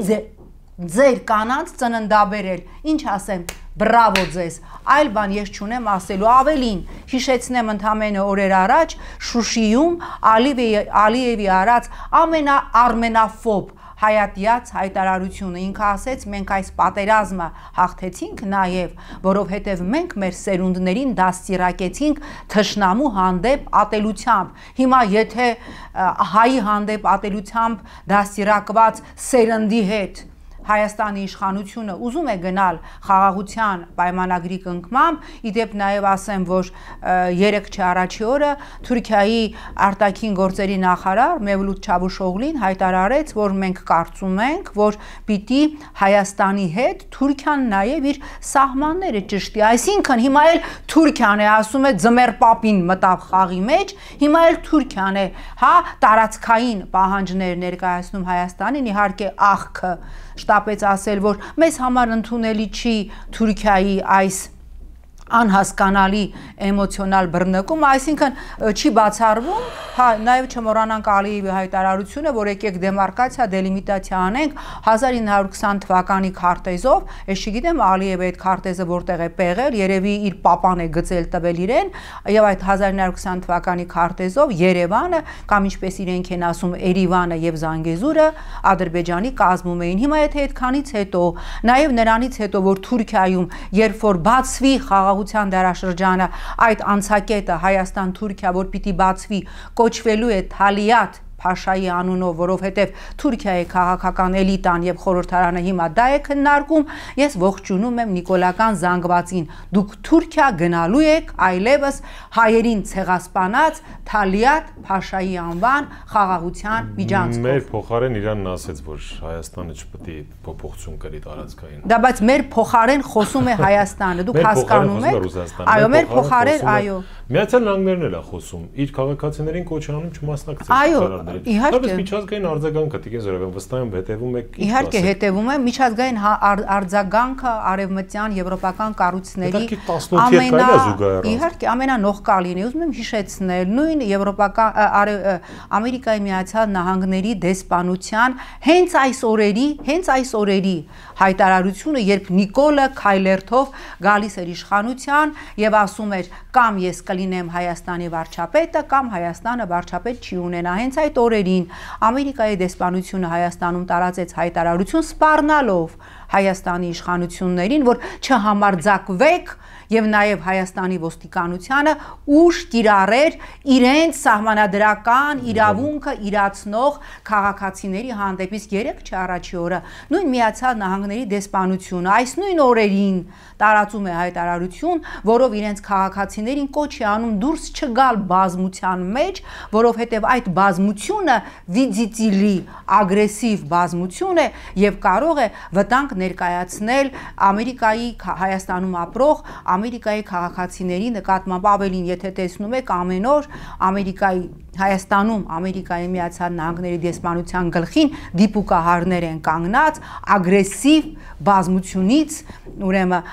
ձեր կանանց ծննդաբերել, ինչ ասեմ, բրավո ձեզ, այլ բան ես չունեմ ասելու, ավելին, հիշեցնեմ ընդամենը օրեր առաջ Շուշիում Ալիևի արած ամենաարմենաֆոբ հայատյաց հայտարարությունը, ինքը ասեց մենք այս պատերազմը հաղթեցինք նաև, որովհետև մենք մեր սերունդներին դաստիարակեցինք թշնամու հանդեպ ատելությամբ, հիմա եթե հայի հանդեպ ատելությամբ դաստիարակված սերնդի հետ Հայաստանի իշխանությունը ուզում է գնալ խաղաղության պայմանագրի կնքմամբ, իդեպ նաև ասեմ, որ 3 առաջի օրը Թուրքիայի արտաքին գործերի նախարար Մևլութ Չավուշօղլին հայտարարեց, որ մենք կարծում ենք, որ պիտի Հայաստանի հետ Թուրքիան նաև իր սահմանները ճշտի, այսինքն հիմա էլ Թուրքիան է ասում է ձմեռ պապին մտավ խաղի մեջ, հիմա էլ Թուրքիան է, հա, տարածքային պահանջներ ներկայացնում Հայաստանին, իհարկե աղքը շտապեց ասել, որ մեզ համար ընդունելի չի Թուրքիայի այս անհասկանալի էմոցիոնալ բռնկում, այսինքն չի բացառվում, հա, նաև չմոռանանք Ալիևի հայտարարությունը, որ եկեք դեմարկացիա, դելիմիտացիա անենք 1920 թվականի քարտեզով, ես չգիտեմ Ալիևը այդ քարտեզը որտեղ է պեղել, երևի իր պապան է գծել տվել իրեն, եւ այդ 1920 թվականի քարտեզով Երևանը կամ ինչպես իրենք են ասում Էրիվանը եւ Զանգեզուրը Ադրբեջանի կազմում էին։ Հիմա եթե այդքանից հետո, նաև նրանից հետո, որ Թուրքիայում երբ որ բացվի խաղաղության դարաշրջանը, այդ անցակետը Հայաստան-Թուրքիա, որ պիտի բացվի, կոչվելու է Թալիաթ Փաշայի անունով, որովհետև Թուրքիայի քաղաքական էլիտան եւ խորհրդարանը հիմա դա է քննարկում, ես ողջունում եմ Նիկոլական զանգվածին, դուք Թուրքիա գնալու եք այլևս հայերին ցեղասպանած Թալիաթ Փաշայի անվան խաղաղության միջանցքով։ Մեր փոխարեն Իրանն ասեց, որ Հայաստանը չպետք է փոփոխություն կրի տարածքային։ Դա բայց մեր փոխարեն խոսում է Հայաստանը, դուք հասկանում եք։ Այո, մեր փոխարեն, այո։ Միացյալ Նահանգներն էլ է խոսում, իր քաղաքացիներին կոչ անում չմասնակցել քարարներին։ Իհարկե, միջազգային արձագանքը դիգե զորավեն վստահ եմ հետևում եք։ Իհարկե հետևում եմ, միջազգային արձագանքը արևմտյան եվրոպական կառույցների իհարկե ամենանողկալին է, ուզում եմ հիշեցնել, նույն եվրոպական Ամերիկայի Միացյալ Նահանգների դեսպանության հենց այս օրերի հայտարարությունը, երբ Նիկոլը Քայլերթով գալիս էր իշխանության եւ ասում էր կամ ես կլինեմ Հայաստանի վարչապետը կամ Հայաստանը վարչապետ չի ունենա, հենց այդ օրերին Ամերիկայի դեսպանությունը Հայաստանում տարածեց հայտարարություն սպառնալով Հայաստանի իշխանություններին, որ չհամարձակվեք եւ նաեւ Հայաստանի ոստիկանությանը ուժ կիրառեր իրենց սահմանադրական իրավունքը իրացնող քաղաքացիների հանդեպ, իսկ 3 առաջի օրը նույն Միացյալ Նահանգների դեսպանությունը այս նույն օրերին տարածում է հայտարարություն, որով իրենց քաղաքացիներին կոչ է անում դուրս չգալ բազմության մեջ, որովհետև այդ բազմությունը վիդիտիլի ագրեսիվ բազմություն է եւ կարող է վտանգ ներկայացնել Ամերիկայի Հայաստանում ապրող Ամերիկայի քաղաքացիների նկատմամբ, ավելին, եթե տեսնում եք ամեն օր Հայաստանում Ամերիկայի Միացյալ Նահանգների դեսպանության գլխին դիպուկահարներ են կանգնած ագրեսիվ բազմությունից, ուրեմն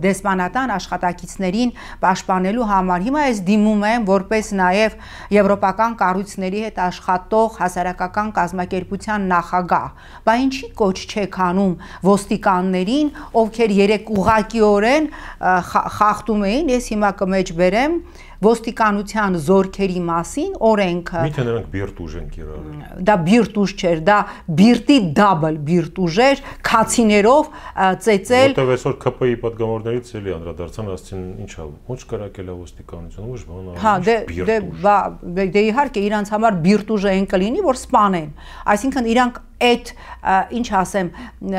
դեսպանատան աշխատակիցներին պաշտպանելու համար։ Հիմա ես դիմում եմ որպես նաև եվրոպական կառույցների հետ աշխատող հասարակական կազմակերպության նախագահ, բա ինչի կոչ չեք անում ոստիկաններին, ովքեր երեք ուղղակիորեն խախտում էին, ես հիմա կմեջ բերեմ ոստիկանության զորքերի մասին օրենքը։ Միթե նրանք բիրտուժ են կիրառել։ Դա բիրտուժ չէր, դա բիրտի դաբլ բիրտուժ էր, քացիներով ծեծել։ Որտեվ այսօր ԿՊ-ի պատգամավորներից էլի անդրադարձան, ասացին ինչա, ոչ կրակել է ոստիկանությունը, ոչ բան։ Հա, դե իհարկե իրանց համար բիրտուժը են կլինի, որ սպանեն։ Այսինքն իրանք այդ ինչ ասեմ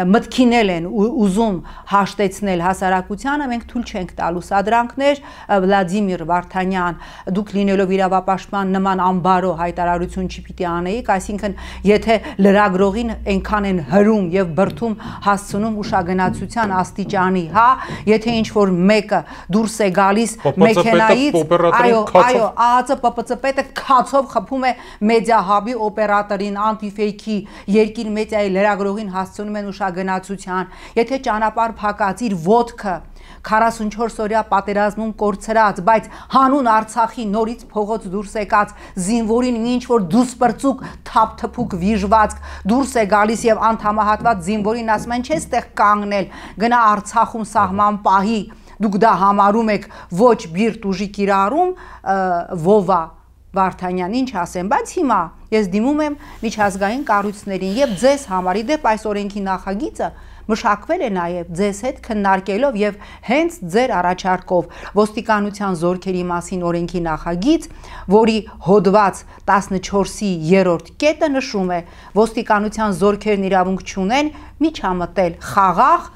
մտքինել են ուզում հաշտեցնել հասարակությանը, մենք թույլ չենք տալու սադրանքներ, Վլադիմիր Վարդանյան, դուք լինելով իրավապաշտպան նման անբարո հայտարարություն չպիտի անեիք, այսինքն եթե լրագրողին այնքան են հրում եւ բրթում հասցնում ուշագնացության աստիճանի, հա, եթե ինչ որ մեկը դուրս է գալիս մեքենայից, այո, ԱԱԾ ՊՊՑ պետը քացով խփում է մեդիա հաբի օպերատորին, անտիֆեյքի երկիր մեդիայի լրագրողին հասցնում են ուշագնացության, եթե ճանապարհ փակած իր ոտքը 44-օրյա պատերազմում կորցրած, բայց հանուն Արցախի նորից փողոց դուրս եկած զինվորին ինչ որ դուսպրծուկ թափթփուկ վիժվածք դուրս է գալիս եւ անդամահատված զինվորին ասում են չէ ստեղ կանգնել, գնա Արցախում սահման պահի, դուք դա համարում եք ոչ բիրտ ուժի կիրառում, Վովա Վարդանյան, ինչ ասեմ, բայց հիմա ես դիմում եմ միջազգային կառույցներին եւ ձեզ համար, իդեպ այս օրենքի նախագիծը մշակվել է նաև ձեզ հետ քննարկելով եւ հենց ձեր առաջարկով ոստիկանության զորքերի մասին օրենքի նախագիծ, որի հոդված 14-ի 3-րդ կետը նշում է ոստիկանության զորքերն իրավունք չունեն միջամտել խաղաղ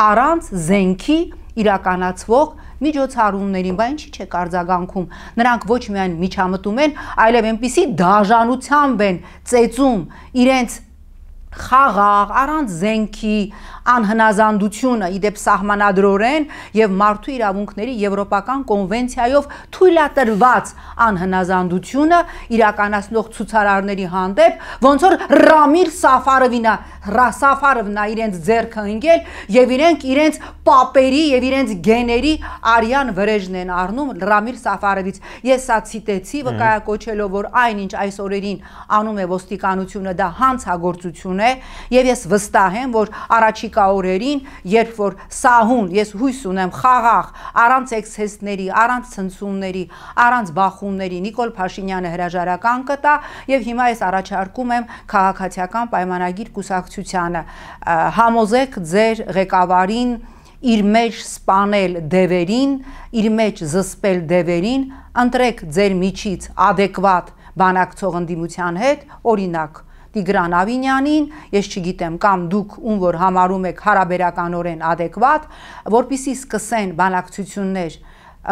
առանց զենքի իրականացվող միջոցառումներին, բայց ինչի՞ չեք արձագանքում, նրանք ոչ միայն միջամտում են, այլև այնպիսի դաժանությամբ են ծեծում իրենց խաղաղ, առանց զենքի անհնազանդությունը իդեպ սահմանադրորեն եւ մարդու իրավունքների եվրոպական կոնվենցիայով թույլատրված անհնազանդությունը իրականացնող ցուցարարների հանդեպ, ոնց որ Ռամիլ Սաֆարովնա իրենց ձեռքը ընկել եւ իրենց պապերի եւ իրենց գեների արյան վրեժն են առնում Ռամիլ Սաֆարովից։ Ես սա ցիտեցի, վկայակոչելով, որ այնինչ այս օրերին անում է ոստիկանությունը, դա հանցագործություն է եւ ես վստահ եմ, որ առաջիկա օրերին, երբ որ սահուն, ես հույս ունեմ խաղաղ, առանց էքսեսների, առանց ցնցումների, առանց բախումների Նիկոլ Փաշինյանը հրաժարական կտա եւ հիմա ես առաջարկում եմ քաղաքացիական պայմանագիր կուսակցությանը համոզեք ձեր ղեկավարին իր մեջ սպանել դևերին, իր մեջ զսպել դևերին, ընտրեք ձեր միջից adekvat բանակցող ընդդիմության հետ, օրինակ Տիգրան Ավինյանին, ես չգիտեմ, կամ դուք ում որ համարում եք հարաբերականորեն adekvat, որպեսզի սկսեն բանակցություններ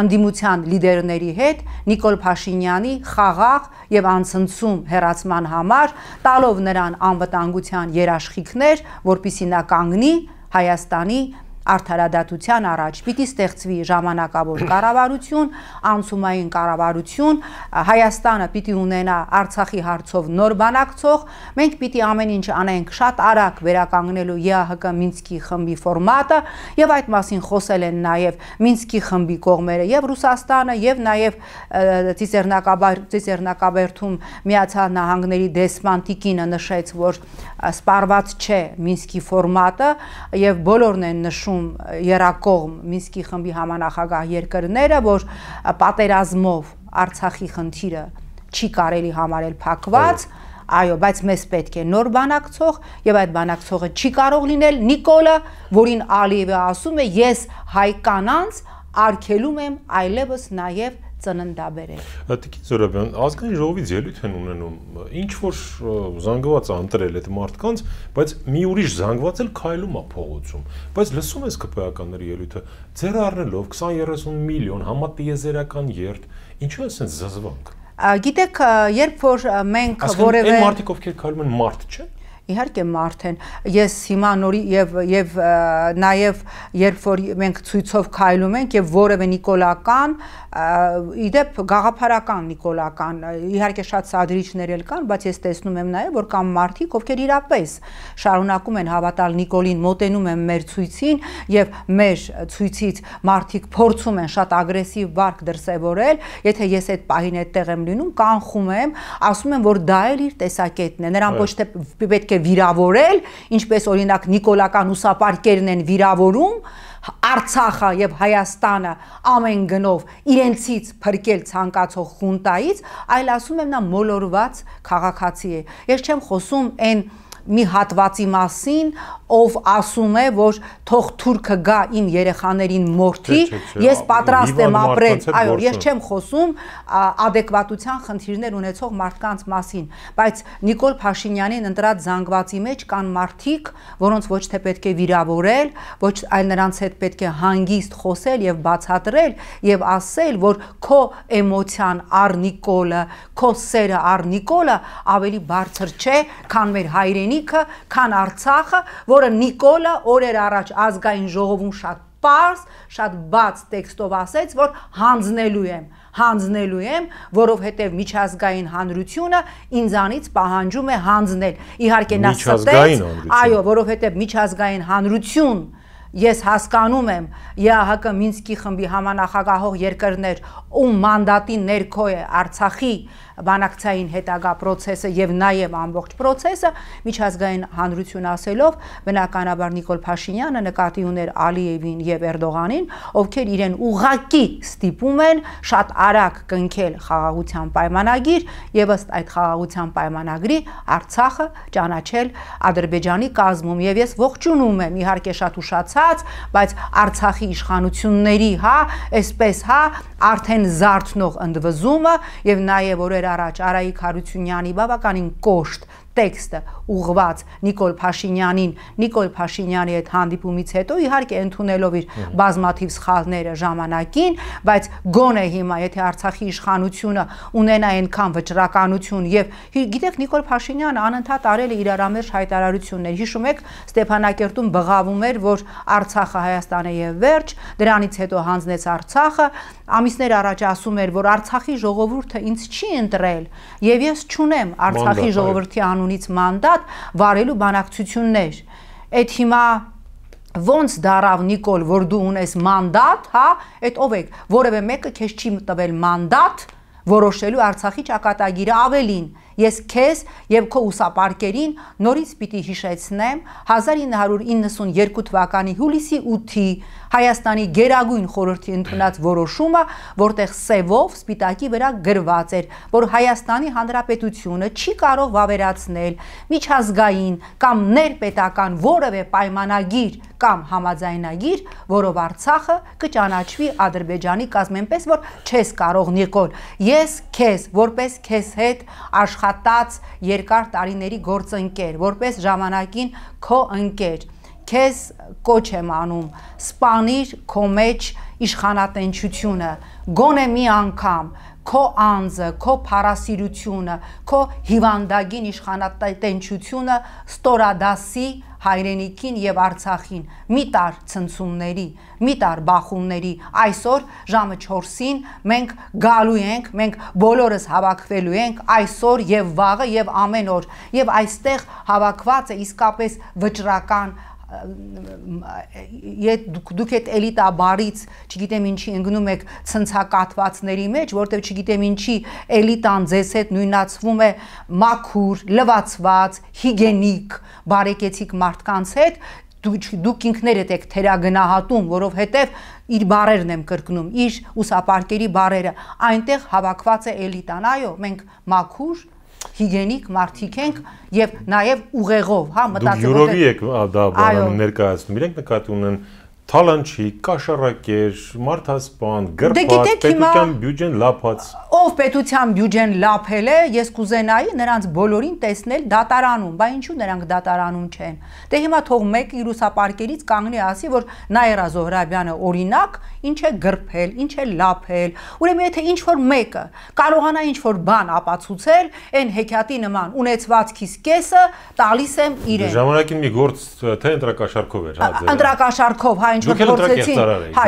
ընդդիմության լիդերների հետ Նիկոլ Փաշինյանի խաղաղ եւ անցնցում հեռացման համար, տալով նրան անվտանգության երաշխիքներ, որպեսզի նա կանգնի Հայաստանի արդարադատության առաջ։ Պիտի ստեղծվի ժամանակավոր կառավարություն, անցումային կառավարություն, Հայաստանը պիտի ունենա Արցախի հարցով նոր բանակցող, մենք պիտի ամեն ինչ անենք շատ արագ վերականգնելու ԵԱՀԿ Մինսկի խմբի ֆորմատը եւ այդ մասին խոսել են նաեւ Մինսկի խմբի կողմերը եւ Ռուսաստանը եւ նաեւ Ծիծեռնակաբերդում Միացյալ Նահանգների դեսպան Տիկինը նշեց, որ սպառված չէ Մինսկի ֆորմատը եւ բոլորն են նշում երակողմ Մինսկի խմբի համանախագահ երկրները, որ պատերազմով Արցախի խնդիրը չի կարելի համարել փակված, այո, բայց մեզ պետք է նոր բանակցող եւ այդ բանակցողը չի կարող լինել Նիկոլը, որին Ալիևը ասում է ես հայ կանանց արգելում եմ այլևս նաեւ ծննդաբերել։ Տիկին Զորաբյան, ազգային ժողովից ելույթ են ունենում, ինչ որ զանգված է ընտրել այդ մարդկանց, բայց մի ուրիշ զանգված էլ քայլում է փողոցում։ Բայց լսում ես ԿՊԱ-ականների ելույթը, ձեր առնելով 20-30 միլիոն համատիեզերական երթ, ինչու է ասենց զզվանք։ Գիտեք, երբ որ մենք որևէ Այն մարդիկ, ովքեր քայլում են, մարդ չեն։ Իհարկե մարդ են, ես հիմա նորի եւ նաեւ երբ որ մենք ցույցով քայլում ենք եւ որևէ նիկոլական, իդեպ գաղափարական նիկոլական, իհարկե շատ սադրիչներ էլ կան, բայց ես տեսնում եմ նաեւ որ կան մարդիկ, ովքեր իրապես շարունակում են հավատալ Նիկոլին, մոտենում են մեր ցույցին եւ մեր ցույցից մարդիկ փորձում են շատ ագրեսիվ վարք դրսեւորել, եթե ես այդ պահին այդտեղ եմ լինում, կանխում եմ, ասում եմ որ դա էլ իր տեսակետն է, նրան ոչ թե պետք է վիրավորել, ինչպես օրինակ նիկոլական ուսապարկերն են վիրավորում Արցախը եւ Հայաստանը ամեն գնով իրենցից փրկել ցանկացող խունտայից, այլ ասում եմ նա մոլորված քաղաքացի է։ Ես չեմ խոսում այն մի հատվածի մասին, ով ասում է, որ թող թուրքը գա իմ երեխաներին մորթի, ես պատրաստ եմ ապրել, այո, ես չեմ խոսում adekvatության խնդիրներ ունեցող մարդկանց մասին, բայց Նիկոլ Փաշինյանին ընտրած զանգվածի մեջ կան մարդիկ, որոնց ոչ թե պետք է վիրավորել, ոչ այլ նրանց հետ պետք է հանգիստ խոսել եւ բացատրել եւ ասել, որ քո էմոցիան առ Նիկոլը, քո սերը առ Նիկոլը ավելի բարձր չէ, քան մեր հայրենիքը, քան Արցախը, որը Նիկոլը օրեր առաջ ազգային ժողովում շատ պարզ, շատ բաց տեքստով ասեց, որ հանձնելու եմ, որովհետև միջազգային հանրությունը ինձանից պահանջում է հանձնել։ Իհարկե նա ստեց, այո, որովհետև միջազգային հանրություն ես հասկանում եմ ԵԱՀԿ Մինսկի խմբի համանախագահող երկրներ, ում մանդատի ներքո է Արցախի բանակցային հետագա process-ը եւ նաեւ ամբողջ process-ը միջազգային հանրություն ասելով բնականաբար Նիկոլ Փաշինյանը նկատի ուներ Ալիևին եւ Էրդողանին, ովքեր իրեն ուղղակի ստիպում են շատ արագ կնքել խաղաղության պայմանագիր եւ ըստ այդ խաղաղության պայմանագրի Արցախը ճանաչել Ադրբեջանի կազմում եւ ես ողջունում եմ իհարկե շատ ուշացած, բայց Արցախի իշխանությունների, այսպես, արդեն զարթնող ընդվզումը եւ նաեւ օրեր առաջ Արայիկ Հարությունյանի բավականին կոշտ տեքստը ուղղված Նիկոլ Փաշինյանին, Նիկոլ Փաշինյանի հետ հանդիպումից հետո իհարկե ընդունելով իր բազմաթիվ սխալները ժամանակին, բայց գոնե հիմա եթե Արցախի իշխանությունը ունենա այնքան վճռականություն եւ գիտեք Նիկոլ Փաշինյանը անընդհատ արել է իրարամերժ հայտարարություններ, հիշում եք Ստեփանակերտում բղավում էր, որ Արցախը Հայաստան է եւ վերջ, դրանից հետո հանձնեց Արցախը, ամիսներ առաջ ասում էր, որ Արցախի ժողովուրդը ինձ չի ընտրել եւ ես չունեմ Արցախի ժողովրդի անունից մանդատ վարելու բանակցություններ։ Այդ հիմա ոնց դարավ Նիկոլ, որ դու ունես մանդատ, այդ ով եք, որևէ մեկը քեզ չի տվել մանդատ որոշելու Արցախի ճակատագիրը ավելին։ Ես քեզ եւ քո ուսապարկերին նորից պիտի հիշեցնեմ 1992 թվականի հուլիսի 8-ի Հայաստանի Գերագույն խորհրդի ընդունած որոշումը, որտեղ սևով սպիտակի վրա գրված էր, որ Հայաստանի Հանրապետությունը չի կարող վավերացնել միջազգային կամ ներպետական որևէ պայմանագիր կամ համաձայնագիր, որով Արցախը կճանաչվի Ադրբեջանի կազմենպես, որ չես կարող Նիկոլ, ես քեզ որպես քեզ հետ աշխատած երկար տարիների գործընկեր, որպես ժամանակին քո ընկեր, քեզ կոչ եմ անում, սպանիր քո մեջ իշխանատենչությունը, գոնե մի անգամ քո անձը, քո փառասիրությունը, քո հիվանդագին իշխանատենչությունը ստորադասի հայրենիքին եւ Արցախին, մի տար ցնցումների, մի տար բախումների, այսօր ժամը 4-ին մենք գալու ենք, մենք բոլորս հավաքվելու ենք այսօր եւ վաղը եւ ամեն օր եւ այստեղ հավաքված է իսկապես վճռական դուք այդ էլիտա բարից չգիտեմ ինչի ընկնում եք ցնցակատվածների մեջ, որտեղ չգիտեմ ինչի էլիտան ձեզ հետ նույնացվում է մաքուր, լվացված, հիգենիկ, բարեկեցիկ մարդկանց հետ, դուք ինքներդ եք թերագնահատում, որովհետև իր բարերն եմ կրկնում, իր ուսապարկերի բարերը, այնտեղ հավաքված է էլիտան, այո, մենք մաքուր հիգենիկ մարդիկ ենք եւ նաեւ ուղեղով, մտածելով դուք յուրովի եք դա բանը ներկայացնում, իրենք նկատի ունեն թալանչի, կաշառակեր, մարդասպան, գրփած, պետության բյուջեն լափած։ Ով պետության բյուջեն լափել է, ես կուզենայի նրանց բոլորին տեսնել դատարանում, բա ինչու նրանք դատարանում չեն։ Դե հիմա թող մեկ իր ուսապարկերից կանգնի ասի, որ Նաիրա Զոհրաբյանը օրինակ ինչ է գրփել, ինչ է լափել։ Ուրեմն եթե ինչ որ մեկը կարողանա ինչ որ բան ապացուցել, այն հեքիաթի նման ունեցվածքից կեսը տալիս եմ իրեն։ Ժամանակին մի գործ թե ընտրակաշարքով էր, ընտրակաշարքով, ինչ որ փորձեցին,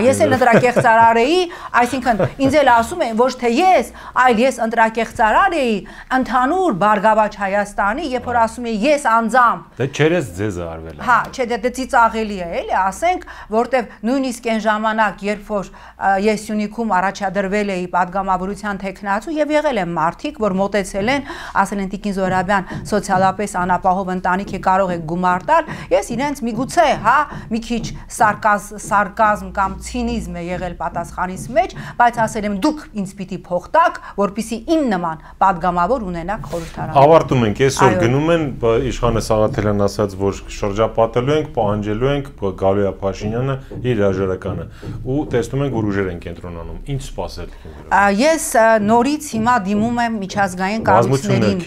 ես էլ ընտրակեղծարար էի, այսինքն ինձ էլ ասում են ոչ թե ես, այլ ես ընտրակեղծարար էի ընդհանուր Բարգավաճ Հայաստանի, երբ որ ասում եմ ես անձամբ։ Դե չերես ձեզ արվել։ Չէ, դե ծիծաղելի է, էլի, ասենք, որտեվ նույնիսկ այն ժամանակ, երբ որ ես Սյունիքում առաջադրվել էի падգամավորության տեխնացու եւ եղել են մարդիկ, որ մտածել են, ասել են Տիկին Զոհրաբյան, սոցիալապես անապահով ընտանիք է, կարող եք գումար տալ, ես իրենց միգուցե, մի քիչ սարկազմ կամ ցինիզմ է եղել պատասխանից մեջ, բայց ասել եմ դուք ինձ պիտի փող տաք, որպեսզի իմ նման падգամավոր ունենաք խորհրդարանում։ Ավարտում ենք, այսօր գնում են իշխանը Սաղաթելյան ասաց, որ շրջապատելու ենք, պահանջելու ենք գալու է Փաշինյանը իր հրաժարականը ու տեսնում ենք, որ ուժեր են կենտրոնանում։ Ինչ սպասել։ Ես նորից հիմա դիմում եմ միջազգային կառույցներին։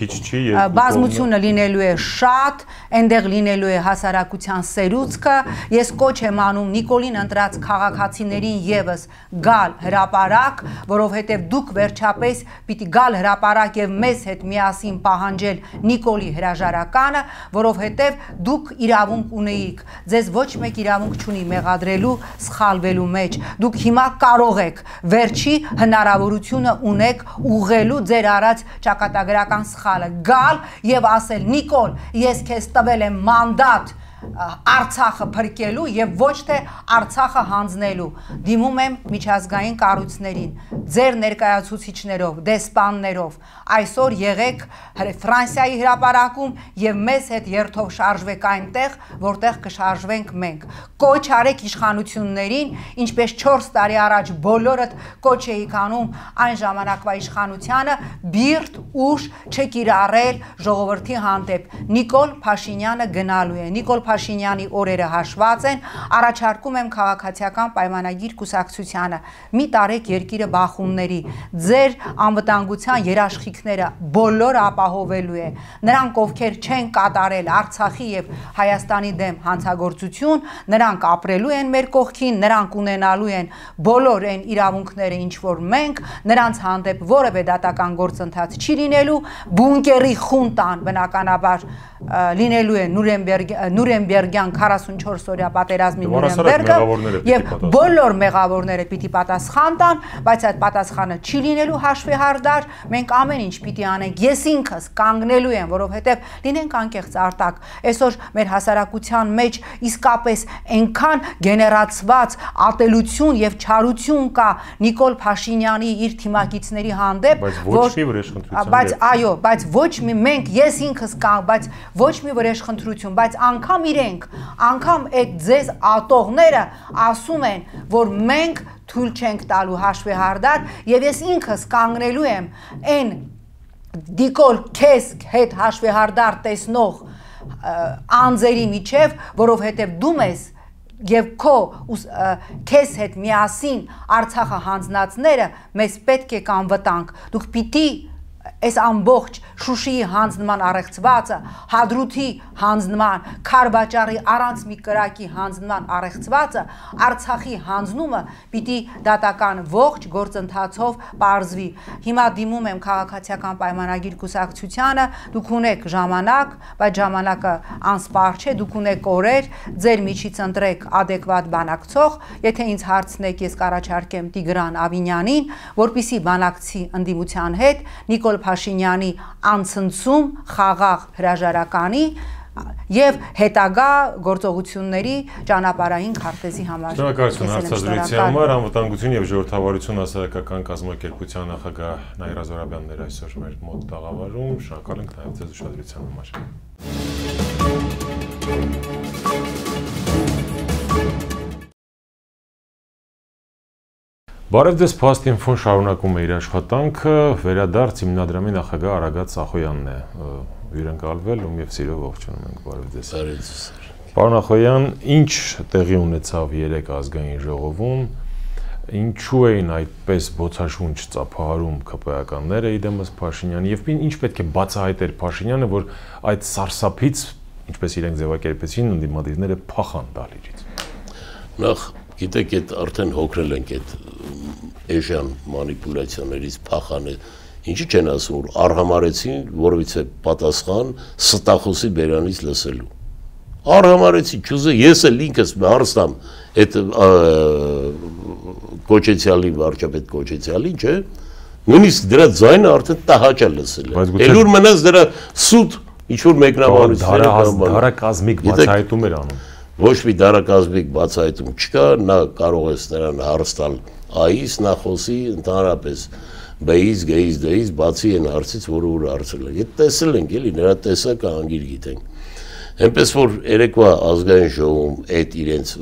Բազմությունը լինելու է շատ, այնտեղ լինելու է հասարակության սերուցքը։ Ես կոչ եմ անում Նիկոլին ընտրած քաղաքացիներին եւս գալ հրապարակ, որովհետեւ դուք վերջապես պիտի գալ հրապարակ եւ մեզ հետ միասին պահանջել Նիկոլի հրաժարականը, որովհետեւ դուք իրավունք ունեիք, ձեզ ոչ մեկ իրավունք չունի մեղադրելու, սխալվելու մեջ, դուք հիմա կարող եք վերջի հնարավորությունը ունեք ուղղելու ձեր արած ճակատագրական սխալը, գալ եւ ասել Նիկոլ, ես քեզ տվել եմ մանդատ Արցախը փրկելու եւ ոչ թե Արցախը հանձնելու, դիմում եմ միջազգային կառույցներին, ձեր ներկայացուցիչներով, դեսպաններով, այսօր եղեք Ֆրանսիայի հրապարակում եւ մեզ հետ երթով շարժվեք այնտեղ, որտեղ կշարժվենք մենք։ Կոչ արեք իշխանություններին, ինչպես 4 տարի առաջ բոլորդ կոչ էիք անում այն ժամանակվա իշխանությանը բիրտ ուժ չկիրառել ժողովրդի հանդեպ։ Նիկոլ Փաշինյանը գնալու է, Նիկոլ Փաշինյանի օրերը հաշված են, առաջարկում եմ քաղաքացիական պայմանագիր կուսակցությանը, մի տարեք երկիրը բախումների, ձեր անվտանգության երաշխիքները բոլորը ապահովելու է, նրանք ովքեր չեն կատարել Արցախի եւ Հայաստանի դեմ հանցագործություն, նրանք ապրելու են մեր կողքին, նրանք ունենալու են բոլոր այն իրավունքները, ինչ որ մենք, նրանց հանդեպ որևէ դատական գործընթաց չի լինելու, բունկերի խունտան բնականաբար լինելու է Նուրենբերգյան 44-օրյա պատերազմի Նուրենբերգը եւ բոլոր մեղավորները պիտի պատասխան տան, բայց այդ պատասխանը չի լինելու հաշվեհարդար, մենք ամեն ինչ պիտի անենք, ես ինքս կանգնելու եմ, որովհետեւ լինենք անկեղծ Արտակ, այսօր մեր հասարակության մեջ իսկապես այնքան գեներացված ատելություն եւ չարություն կա Նիկոլ Փաշինյանի իր թիմակիցների հանդեպ, բայց այո, բայց ոչ մի մենք ես ինքս կա, բայց ոչ մի վրեժխնդրություն, բայց անգամ իրենք, անգամ այդ ձեզ ատողները ասում են, որ մենք թույլ չենք տալու հաշվեհարդար եւ ես ինքս կանգնելու եմ այն դիկոլ քեզ հետ հաշվեհարդար տեսնող անձերի միջև, որովհետեւ դու մեզ եւ քեզ հետ միասին Արցախը հանձնածները մեզ պետք է կանվտանք, դուք պիտի այս ամբողջ Շուշիի հանձնման առեղծվածը, Հադրութի հանձնման, Քարբաճարի առանց մի կրակի հանձնման առեղծվածը, Արցախի հանձնումը պիտի դատական ողջ գործընթացով պարզվի։ Հիմա դիմում եմ քաղաքացիական պայմանագիր կուսակցությանը, դուք ունեք ժամանակ, բայց ժամանակը անսպառ չէ, դուք ունեք օրեր, ձեր միջից ընտրեք adekvat բանակցող, եթե ինձ հարցնեք, ես կառաջարկեմ Տիգրան Ավինյանին, որպիսի բանակցի ընդդիմության հետ Նիկոլ Փաշինյանի անցնցում խաղաղ հրաժարականի եւ հետագա գործողությունների ճանապարհային քարտեզի համար։ Շնորհակալություն հարցազրույցի համար, անվտանգություն եւ ժողովրդավարություն հասարակական կազմակերպության նախագահ Նաիրա Զոհրաբյանն էր այսօր մեր մոտ տաղավարում, շնորհակալ ենք նաեւ ձեզ ուշադրության համար։ Բարև ձեզ, Փաստ-Ինֆոն շարունակում է իր աշխատանքը, վերադարձ հիմնադրամի նախագահ Արագած Ախոյանն է հյուրընկալվել, ում եւ սիրով ողջունում ենք, բարև ձեզ։ Բարև ձեզ։ Պարոն Ախոյան, ինչ տեղի ունեցավ 3 ազգային ժողովում, ինչու էին այդպես բոցաշունչ ծափահարում ԿՊԱ-ականները իդեմս Փաշինյանի եւ ինչ պետք է բացահայտեր Փաշինյանը, որ այդ սարսափից, ինչպես իրենք ձևակերպեցին, ընդդիմադիրները փախան դալիրից։ Նախ գիտեք, այդ արդեն հոգրել ենք այդ էժան մանիպուլյացիաներից փախանը, ինչի չեն ասում, որ արհամարեցին, որովհետեւ պատասխան ստախոսի բերանից լսելու։ Արհամարեցի, ճուզը ես էլ ինքս հարստամ այդ կոչեցյալի, վարչապետ կոչեցյալին, չէ՞, նույնիսկ դրա ձայնը արդեն տահաճ է լսել։ Ելուր մնաց դրա սուտ ինչ-որ մեկնաբանությունները դարակազմիկ բացահայտում էր անում։ Ոչ մի դարակազմիկ բացահայտում չկա, նա կարող է նրան հարստալ այից, նա խոսի ընդհանրապես բեից, գեից, դեից, բացի այն հարցից, որը ուր հարցել է։ Եթե տեսել ենք, էլի, նրա տեսակը անգիր գիտենք։ Այնպես որ երեկվա ազգային ժողովում այդ իրենց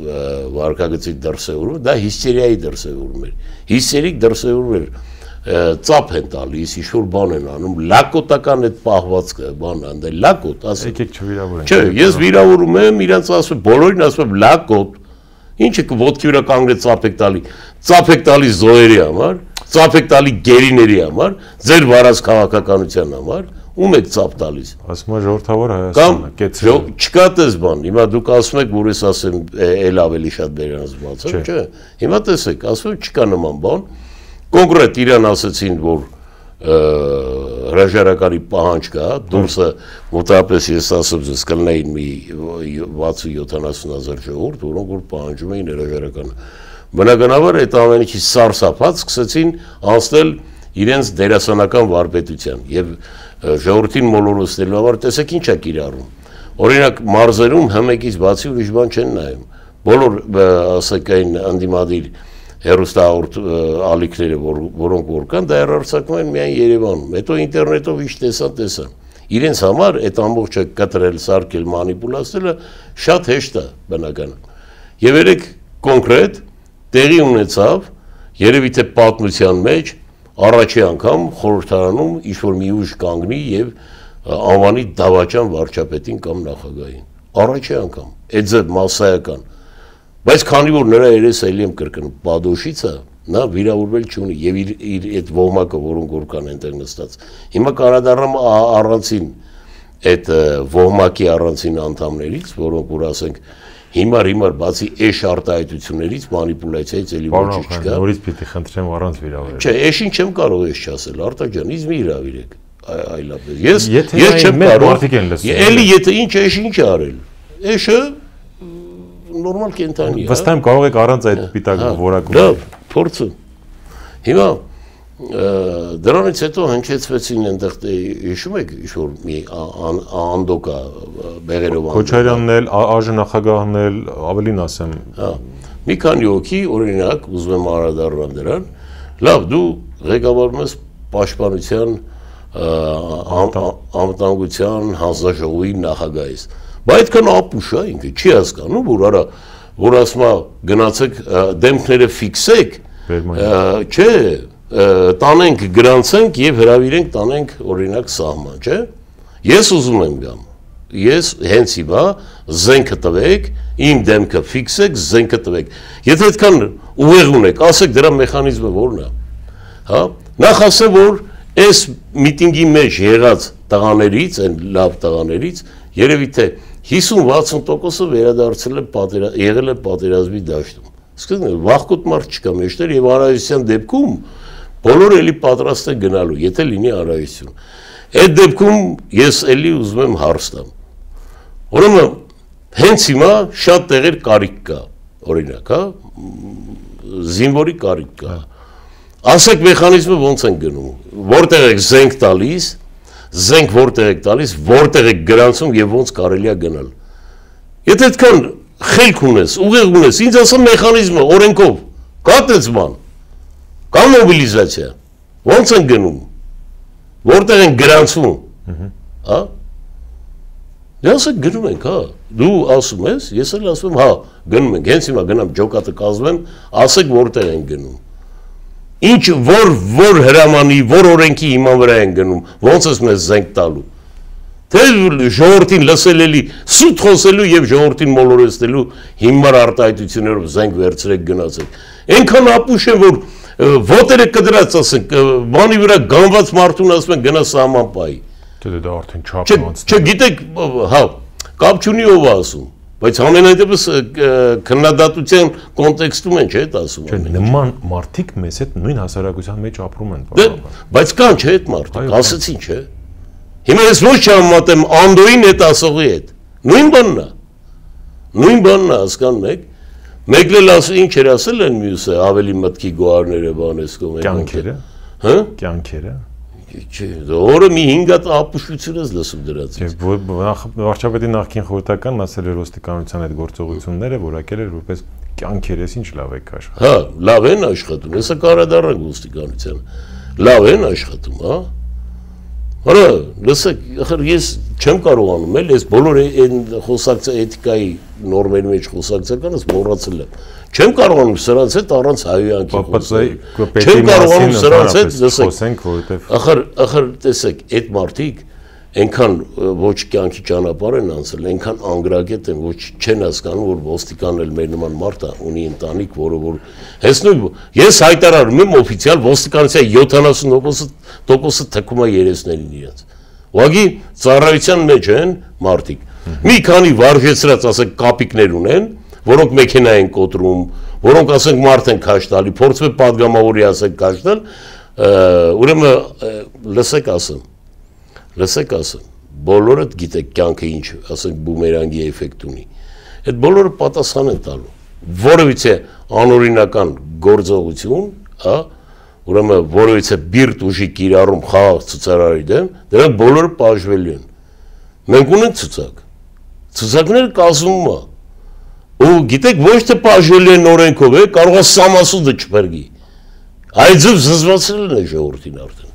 վարկագծի դրսևորումը, դա հիստերիայի դրսևորում էր։ Հիստերիկ դրսևորում էր, ծափ են տալիս, ինչ-որ բան են անում, լակոտական այդ պահվածքը, բան անդե լակոտ, ասել։ Եկեք չվիրավորենք։ Չէ, ես վիրավորում եմ, իրանց ասում, բոլորին ասում եմ լակոտ։ Ինչը ոտքի վրա կանգնեց ծափ եք տալի։ Ծափ եք տալի զոհերի համար, ծափ եք տալի գերիների համար, ձեր վարած քաղաքականության համար, ում եք ծափ տալիս։ Ասում է ժողովրդավոր Հայաստանը, կեցել։ Չկա դες բան, հիմա դուք ասում եք, որ ես ասեմ, էլ ավելի շատ բերանց բացեմ, չէ։ Հիմա տեսեք, ասում եք, չկա նման բան։ Կոնկրետ իրան ասեցին, որ հրաժարականի պահանջ կա, դուրսը մոտավորապես ես ասում ձեզ կլնեին մի 60-70,000 ժողովուրդ, որոնք որ պահանջում էին հրաժարականը։ Բնականաբար այդ ամենից սարսափած սկսեցին անցնել իրենց դերասանական վարպետության եւ ժողովրդին մոլորեցնելու համար տեսեք ինչ է կիրառում։ Օրինակ մարզերում հմեկից բացի ուրիշ բան չեն նայում։ Բոլոր ասեք այն անդիմադիր հերոստահորդ ալիքները, որոնք որ կան, դա հեռարձակվում են միայն Երևանում։ Հետո ինտերնետով ինչ տեսան։ Իրենց համար այդ ամբողջը կտրել, սարքել, մանիպուլացնելը շատ հեշտ է բնական։ Եվ երեք կոնկրետ տեղի ունեցավ, երևի թե պատմության մեջ առաջի անգամ խորհրդարանում ինչ-որ մի ուժ կանգնի եւ անվանի դավաճան վարչապետին կամ նախագահին։ Առաջի անգամ, այդ ձև մասսայական։ Բայց քանի որ նրա երես էլի եմ կրկնում, Պադոշիցը նա վիրավորվել չունի եւ իր այդ ոհմակը, որոնք որ կան այնտեղ նստած։ Հիմա կարադառնամ առանցին այդ ոհմակի առանցին անդամներից, որոնք որ ասենք հիմար բացի էշ արտահայտություններից մանիպուլյացիայից էլի ոչինչ չկա։ Նորից պիտի խնդրեմ առանց վիրավորել։ Չէ, էշին չեմ կարող էշ չասել, Արտաջան, ինձ մի հրավիրեք այլապես։ Ես չեմ կարող։ Էլի եթե ինչ էշ ինչ արել։ Էշը նորմալ կենթանի է։ Վստահ եմ կարող եք առանց այդ պիտակ որակում։ Լավ, փորձում։ Հիմա դրանից հետո հնչեցվեցին այնտեղ հիշում եք ինչ-որ մի անդոկա բեղերով Քոչարյանն էլ, ԱԺ նախագահն էլ, ավելին ասեմ։ Մի քանի հոգի, օրինակ, ուզում եմ անդրադառնալ դրան, լավ, դու ղեկավարում ես պաշտպանության անվտանգության հանձնաժողովի նախագահ ես։ Բայց այդքան ապուշ է ինքը, չի հասկանում, որ արա, որ ասում է գնացեք դեմքները ֆիքսեք, չէ, տանենք գրանցենք եւ հրավիրենք տանենք օրինակ սահման, չէ։ Ես ուզում եմ գամ։ Ես հենց հիմա զենքը տվեք, իմ դեմքը ֆիքսեք, զենքը տվեք։ Եթե այդքան ուղեղ ունեք, ասեք դրա մեխանիզմը որն է։ Հա, նախ ասեմ, որ այս միտինգի մեջ եղած տղաներից, այն լավ տղաներից, երևի թե 50-60%-ը վերադարձել է եղել է պատերազմի դաշտում։ Սկզբում վախկոտ մարդ չկա մեջտեղ եւ անհրաժեշտության դեպքում բոլորը էլի պատրաստ են գնալու, եթե լինի անհրաժեշտություն։ Այդ դեպքում ես էլի ուզում եմ հարստամ։ Ուրեմն հենց հիմա շատ տեղեր կարիք կա, օրինակ, հա, զինվորի կարիք կա։ Ասեք մեխանիզմը ոնց են գնում, որտեղ եք զենք տալիս, զենք որտեղ եք տալիս, որտեղ եք գրանցում եւ ոնց կարելի է գնալ։ Եթե այդքան խելք ունես, ուղեղ ունես, ինձ ասա մեխանիզմը օրենքով, կա այդպես բան, կա մոբիլիզացիա, ոնց են գնում, որտեղ են գրանցվում, հա։ Դե ասեք գնում ենք, հա, դու ասում ես, ես էլ ասում եմ, հա, գնում ենք, հենց հիմա գնամ ջոկատը կազմեմ, ասեք որտեղ են գնում։ Ինչ որ հրամանի, որ օրենքի հիման վրա են գնում, ոնց ես մեզ զենք տալու։ Թե ժողովրդին լսել էլի սուտ խոսելու եւ ժողովրդին մոլորեցնելու հիմար արտահայտություններով զենք վերցրեք գնացեք։ Այնքան ապուշ է, որ ոտերը կդրած ասենք, բանի վրա գանված մարդուն ասում են գնա սահման պայի։ Դե դա արդեն չափանց։ Չգիտեք, հա, կապ չունի ով է ասում, բայց ամենայնպես քննադատության կոնտեքստում են, չէ՞ դա ասում։ Չէ, նման մարդիկ մեզ հետ նույն հասարակության մեջ ապրում են։ Բայց կան չէ՞ այդ մարդիկ, ասեցին, չէ՞։ Հիմա ես ոչ չհամատեմ Անդոյին հետ ասողի հետ։ Նույն բանն է։ Նույն բանն է, հասկանում եք։ Մեկն էլ ասում ինչ էր ասել են մյուսը, ավելի մտքի գոհարները բանես կողմ։ Կյանքերը։ Հա։ Կյանքերը։ Չէ, օրը մի 5 հատ ապուշություն ես լսում դրած։ Չէ, վարչապետի նախկին խորհրդականն ասել էր ոստիկանության այդ գործողությունները, որակել էր որպես կյանքեր, ես ինչ լավ եք աշխատում։ Հա, լավ են աշխատում, հեսա կարադառնանք ոստիկանությանը։ Լավ են աշխատում, հա։ Հələ, լսեք, ախր ես չեմ կարողանում էլ, ես բոլոր այն խոսակցա էթիկայի նորմերի մեջ խոսակցականս մոռացել եմ։ Չեմ կարողանում սրանց հետ առանց հայոյանքի խոսել։ Չեմ կարողանում սրանց հետ խոսենք, որովհետև ախր տեսեք, այդ մարդիկ այնքան ոչ կյանքի ճանապարհ են անցել, այնքան անգրագետ են, ոչ չեն հասկանում, որ ոստիկանն էլ մեր նման մարդ է, ունի ընտանիք, որը որ հենց նույն ես հայտարարում եմ օֆիցիալ ոստիկանության 70%-ը թքում է երեսներին իրենց։ Ուղղակի ծառայության մեջ են մարդիկ։ Մի քանի վարժեցրած, ասենք, կապիկներ ունեն, որոնք մեքենա են կոտրում, որոնք ասենք մարդ են քաշ տալի, փորձում է падգամավորի ասենք քաշ տալ, ուրեմն լսեք ասեմ, բոլորը գիտեք կյանքը ինչ, ասենք բումերանգի էֆեկտ ունի։ Այդ բոլորը պատասխան են տալու։ Որևիցե անօրինական գործողություն, հա, ուրեմն որևիցե բիրտ ուժի կիրառում խաղաղ ցուցարարի դեմ, դրանք բոլորը պաշտվելու են։ Մենք ունենք ցուցակ։ Ցուցակները կազմում է։ Ու գիտեք ոչ թե պաշտվելու են օրենքով, կարող է սամասուդը չփրկի։ Այդպես զզվացրել են ժողովրդին արդեն։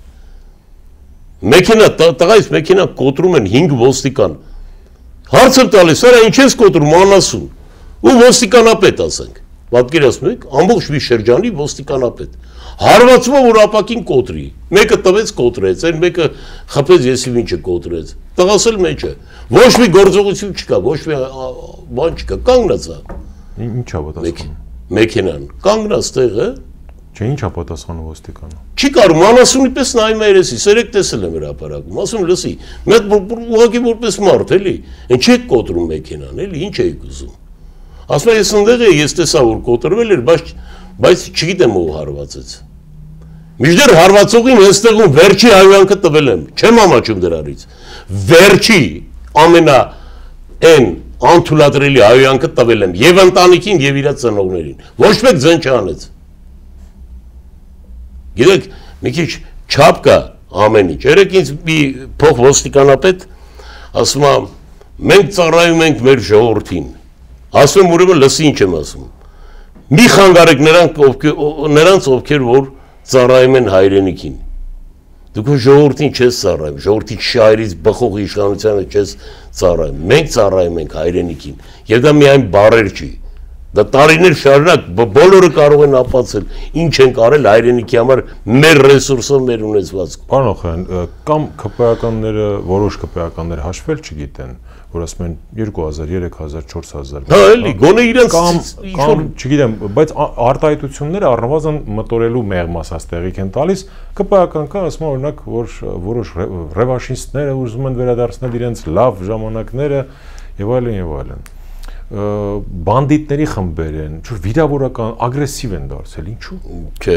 Մեքենա, տղայից մեքենա կոտրում են 5 ոստիկան։ Հարց եմ տալիս, արա ինչ ես կոտրում, անասուն։ Ու ոստիկանապետ ասենք։ Պատկերացնում եք, ամբողջ մի շրջանի ոստիկանապետ։ Հարվածում է որ ապակին կոտրի։ Մեկը տվեց կոտրեց, այն մեկը խփեց եսիվ ինչը կոտրեց։ Տղասել մեջ է։ Ոչ մի գործողություն չկա, ոչ մի բան չկա, կանգնած է։ Ինչ է պատասխանում։ Մեքենան կանգնած տեղը։ Չէ, ինչ է պատասխանում ոստիկանը։ Չի կարող անասունի պես նայում է երեսի, երեք տեսել եմ հրապարակում, ասում լսի, մեկ ուղղակի որպես մարդ էլի, այն չեք կոտրում մեքենան, էլի, ինչ եք ուզում։ Ասում է ես ընդեղ էի, ես տեսա որ կոտրվել էր, բայց չգիտեմ ով հարվածեց։ Մինչդեռ հարվածողին այստեղում վերջի հայհոյանքը տվել եմ, չեմ ամաչում դրանից։ Վերջի ամենա այն անթույլատրելի հայհոյանքը տվել եմ եւ ընտանիքին եւ իր ծնողներին։ Ոչ մեկ ձեն չանեց։ Գիտեք, մի քիչ չափ կա ամեն ինչ։ Երեք ինձ մի փոխ ոստիկանապետ ասում է մենք ծառայում ենք մեր ժողովրդին։ Ասում եմ ուրեմն լսի ինչ եմ ասում։ Մի խանգարեք նրանց ովքեր որ ծառայում են հայրենիքին։ Դուք ժողովրդին չես ծառայում, ժողովրդի շահերից բխող իշխանությանը չես ծառայում։ Մենք ծառայում ենք հայրենիքին։ Եվ դա միայն բառեր չի։ Դա տարիներ շարունակ բոլորը կարող են ապացել ինչ են կարել հայրենիքի համար մեր ռեսուրսով մեր ունեցվածքով։ Պարոն Օխանյան, կամ ԿՊԱ-ականները, որոշ ԿՊԱ-ականներ հաշվել չգիտեն, որ ասում են 2000, 3000, 4000։ Հա, էլի, գոնե իրենց կամ չգիտեմ, բայց արտահայտությունները առնվազն մտորելու մեղմ ասած տեղիք են տալիս, ԿՊԱ-ական կա, ասում են օրինակ, որ որոշ ռևանշիստները ուզում են վերադարձնել իրենց լավ ժամանակները եւ այլն եւ այլն։ Բանդիտների խմբեր են, ինչ որ վիրավորական, ագրեսիվ են դարձել, ինչու՞։ Չէ,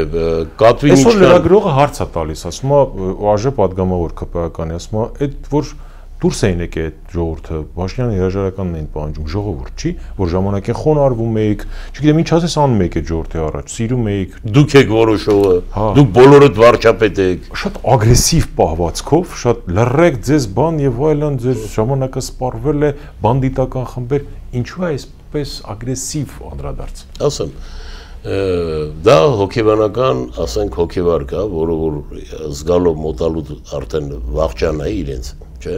կատվին ինչ կան։ Այսօր լրագրողը հարց է տալիս, ասում է, ԱԺ падգամավոր ԿՊԱ-կանի, ասում է, այդ որ դուրս էին եկել այդ ժողովուրդը, Փաշինյանի հրաժարականն էին պահանջում, ժողովուրդ չի, որ ժամանակին խոնարհվում էիք, չգիտեմ ինչ ասես անում եք այդ ժողովրդի առաջ, սիրում էիք, դուք եք որոշողը, դուք բոլորդ վարչապետ եք։ Շատ ագրեսիվ պահվածքով, շատ լռեք ձեզ բան եւ այլն, ձեր ժամանակը սպառվել է բանդիտական խմբեր, ինչու է այսպես ագրեսիվ անդրադարձ։ Ասեմ, դա հոգեբանական, ասենք հոգեբար կա, որը որ զգալով մոտալուտ արդեն վախճան է իրենց, չէ։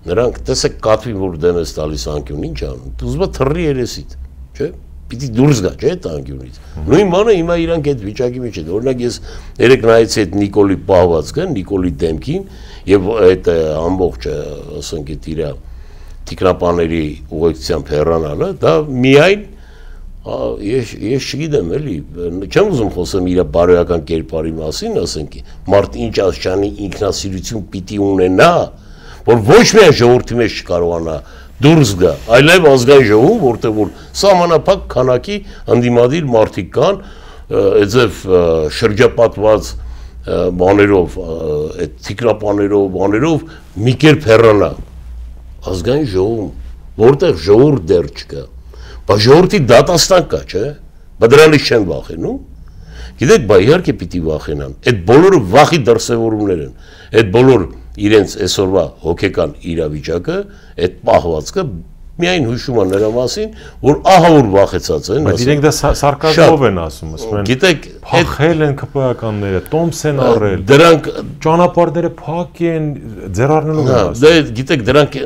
Նրանք տեսեք կատվին որ դեմ ես տալիս անկյուն ինչ անում, դու ուզում ես թռի երեսիդ, չէ։ Պիտի դուրս գա, չէ, այդ անկյունից։ Նույն բանը հիմա իրանք այդ վիճակի մեջ են։ Օրինակ ես երեք նայեցի այդ Նիկոլի պահվածքը, Նիկոլի դեմքին եւ այդ ամբողջ, ասենք այդ իր տիկնապաների ուղեկցությամբ հեռանալը, դա միայն ես չգիտեմ էլի, չեմ ուզում խոսեմ իր բարոյական կերպարի մասին, ասենք, մարդ ինչ աշխանի ինքնասիրություն պիտի ունենա, որ ոչ միայն ժողովրդի մեջ չկարողանա դուրս գա, այլև ազգային ժողովում, որտեղ որ սահմանափակ քանակի ընդդիմադիր մարդիկ կան, այդպես շրջապատված բաներով, այդ տիկնապաներով, բաներով մի կերպ հեռանա ազգային ժողովում, որտեղ ժողովուրդ դեռ չկա, բայց ժողովրդի դատաստան կա, չէ՞, բայց դրանից չեն վախենում։ Գիտեք, բա իհարկե պիտի վախենան։ Այդ բոլորը վախի դրսևորումներ են։ Այդ բոլոր իրենց այսօրվա հոգեկան իրավիճակը, այդ պահվածքը միայն հուշում է նրա մասին, որ ահա որ վախեցած են, բայց իրենք դա սարկազմով են ասում, ասում են, գիտեք, փախել են ԿՊԱ-ականները, տոմս են առել, դրանք ճանապարհները փակ են, ձեռառնելու են ասում։ Դե գիտեք, դրանք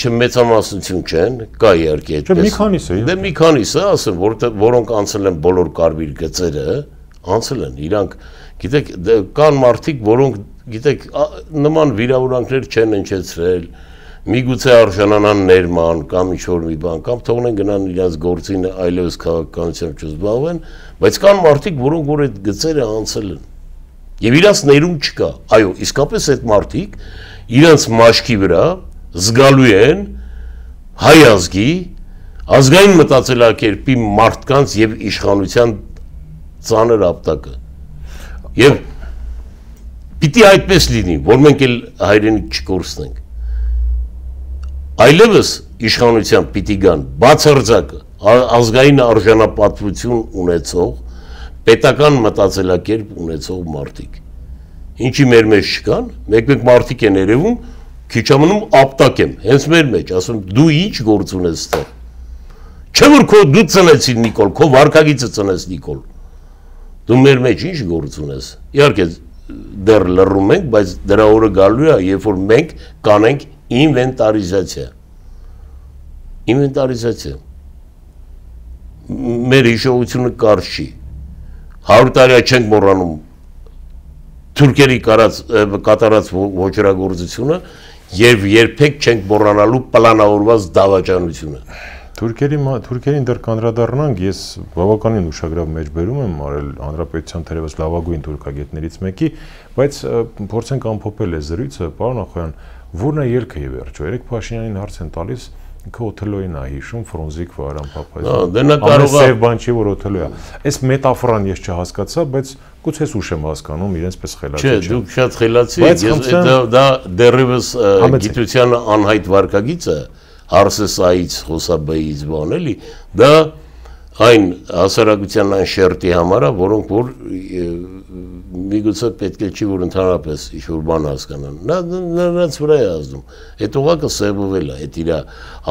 չմեծամասնություն չեն, կա իհարկե այդպես։ Մի քանիսը։ Դե մի քանիսը, ասեմ, որոնք անցել են բոլոր կարմիր գծերը, անցել են, իրանք, գիտեք, կան մարդիկ, որոնք, գիտեք, նման վիրավորանքներ չեն հնչեցրել, միգուցե արժանանան ներման կամ ինչ-որ մի բան, կամ թողնեն գնան իրենց գործին այլևս քաղաքականությամբ չզբաղվեն, բայց կան մարդիկ, որոնք որ այդ գծերը անցել են։ Եվ իրանց ներում չկա։ Այո, իսկապես այդ մարդիկ իրանց մաշկի վրա զգալու են հայ ազգի ազգային մտածելակերպի մարդկանց եւ իշխանության ծանր ապտակը։ Եվ պիտի այդպես լինի, որ մենք էլ հայրենիք չկորցնենք։ Այլևս իշխանության պիտի գան բացարձակ ազգային արժանապատվություն ունեցող, պետական մտածելակերպ ունեցող մարդիկ։ Ինչի մեր մեջ չկան, մեկ-մեկ մարդիկ են երևում, քիչ ամնում ապտակ եմ, հենց մեր մեջ, ասում դու ինչ գործ ունես ստեղ։ Չէ որ քո դու ծնեցին Նիկոլ, քո վարքագիծը ծնես Նիկոլ։ Դու մեր մեջ ինչ գործ ունես։ Իհարկե դեռ լռում ենք, բայց դրա օրը գալու է, երբ որ մենք կանենք ինվենտարիզացիա։ Ինվենտարիզացիա։ Մեր հիշողությունը կարճ չի։ 100 տարի չենք մոռանում թուրքերի կատարած ոչրագործությունը եւ երբեք չենք մոռանալու պլանավորված դավաճանությունը։ Թուրքերին դեռ կանդրադառնանք, ես բավականին ուշագրավ մեջբերում եմ արել հանրապետության թերևս լավագույն թուրքագետներից մեկի, բայց փորձենք ամփոփել այս զրույցը, պարոն Ախոյան, որն է ելքը եւ վերջո։ Երեք Փաշինյանին հարց են տալիս, ինքը Օթելոյին է հիշում, Ֆրունզիկ Վարան Փափազյան։ Դա նա կարող է բան չի, որ Օթելոյ է։ Այս մետաֆորան ես չհասկացա, բայց գուցե ուշ եմ հասկանում, իրենց պես խելացի չէ։ Չէ, դուք շատ խելացի եք, դա դեռևս գիտության անհայտ վարքագիծ է, Հարսեսայից, Խոսաբեից բան էլի, դա այն հասարակության այն շերտի համար է, որոնք որ միգուցե պետք է չի, որ ընդհանրապես ինչ-որ բան հասկանան։ Նրանց վրա է ազդում։ Այդ օղակը սևովել է, այդ իր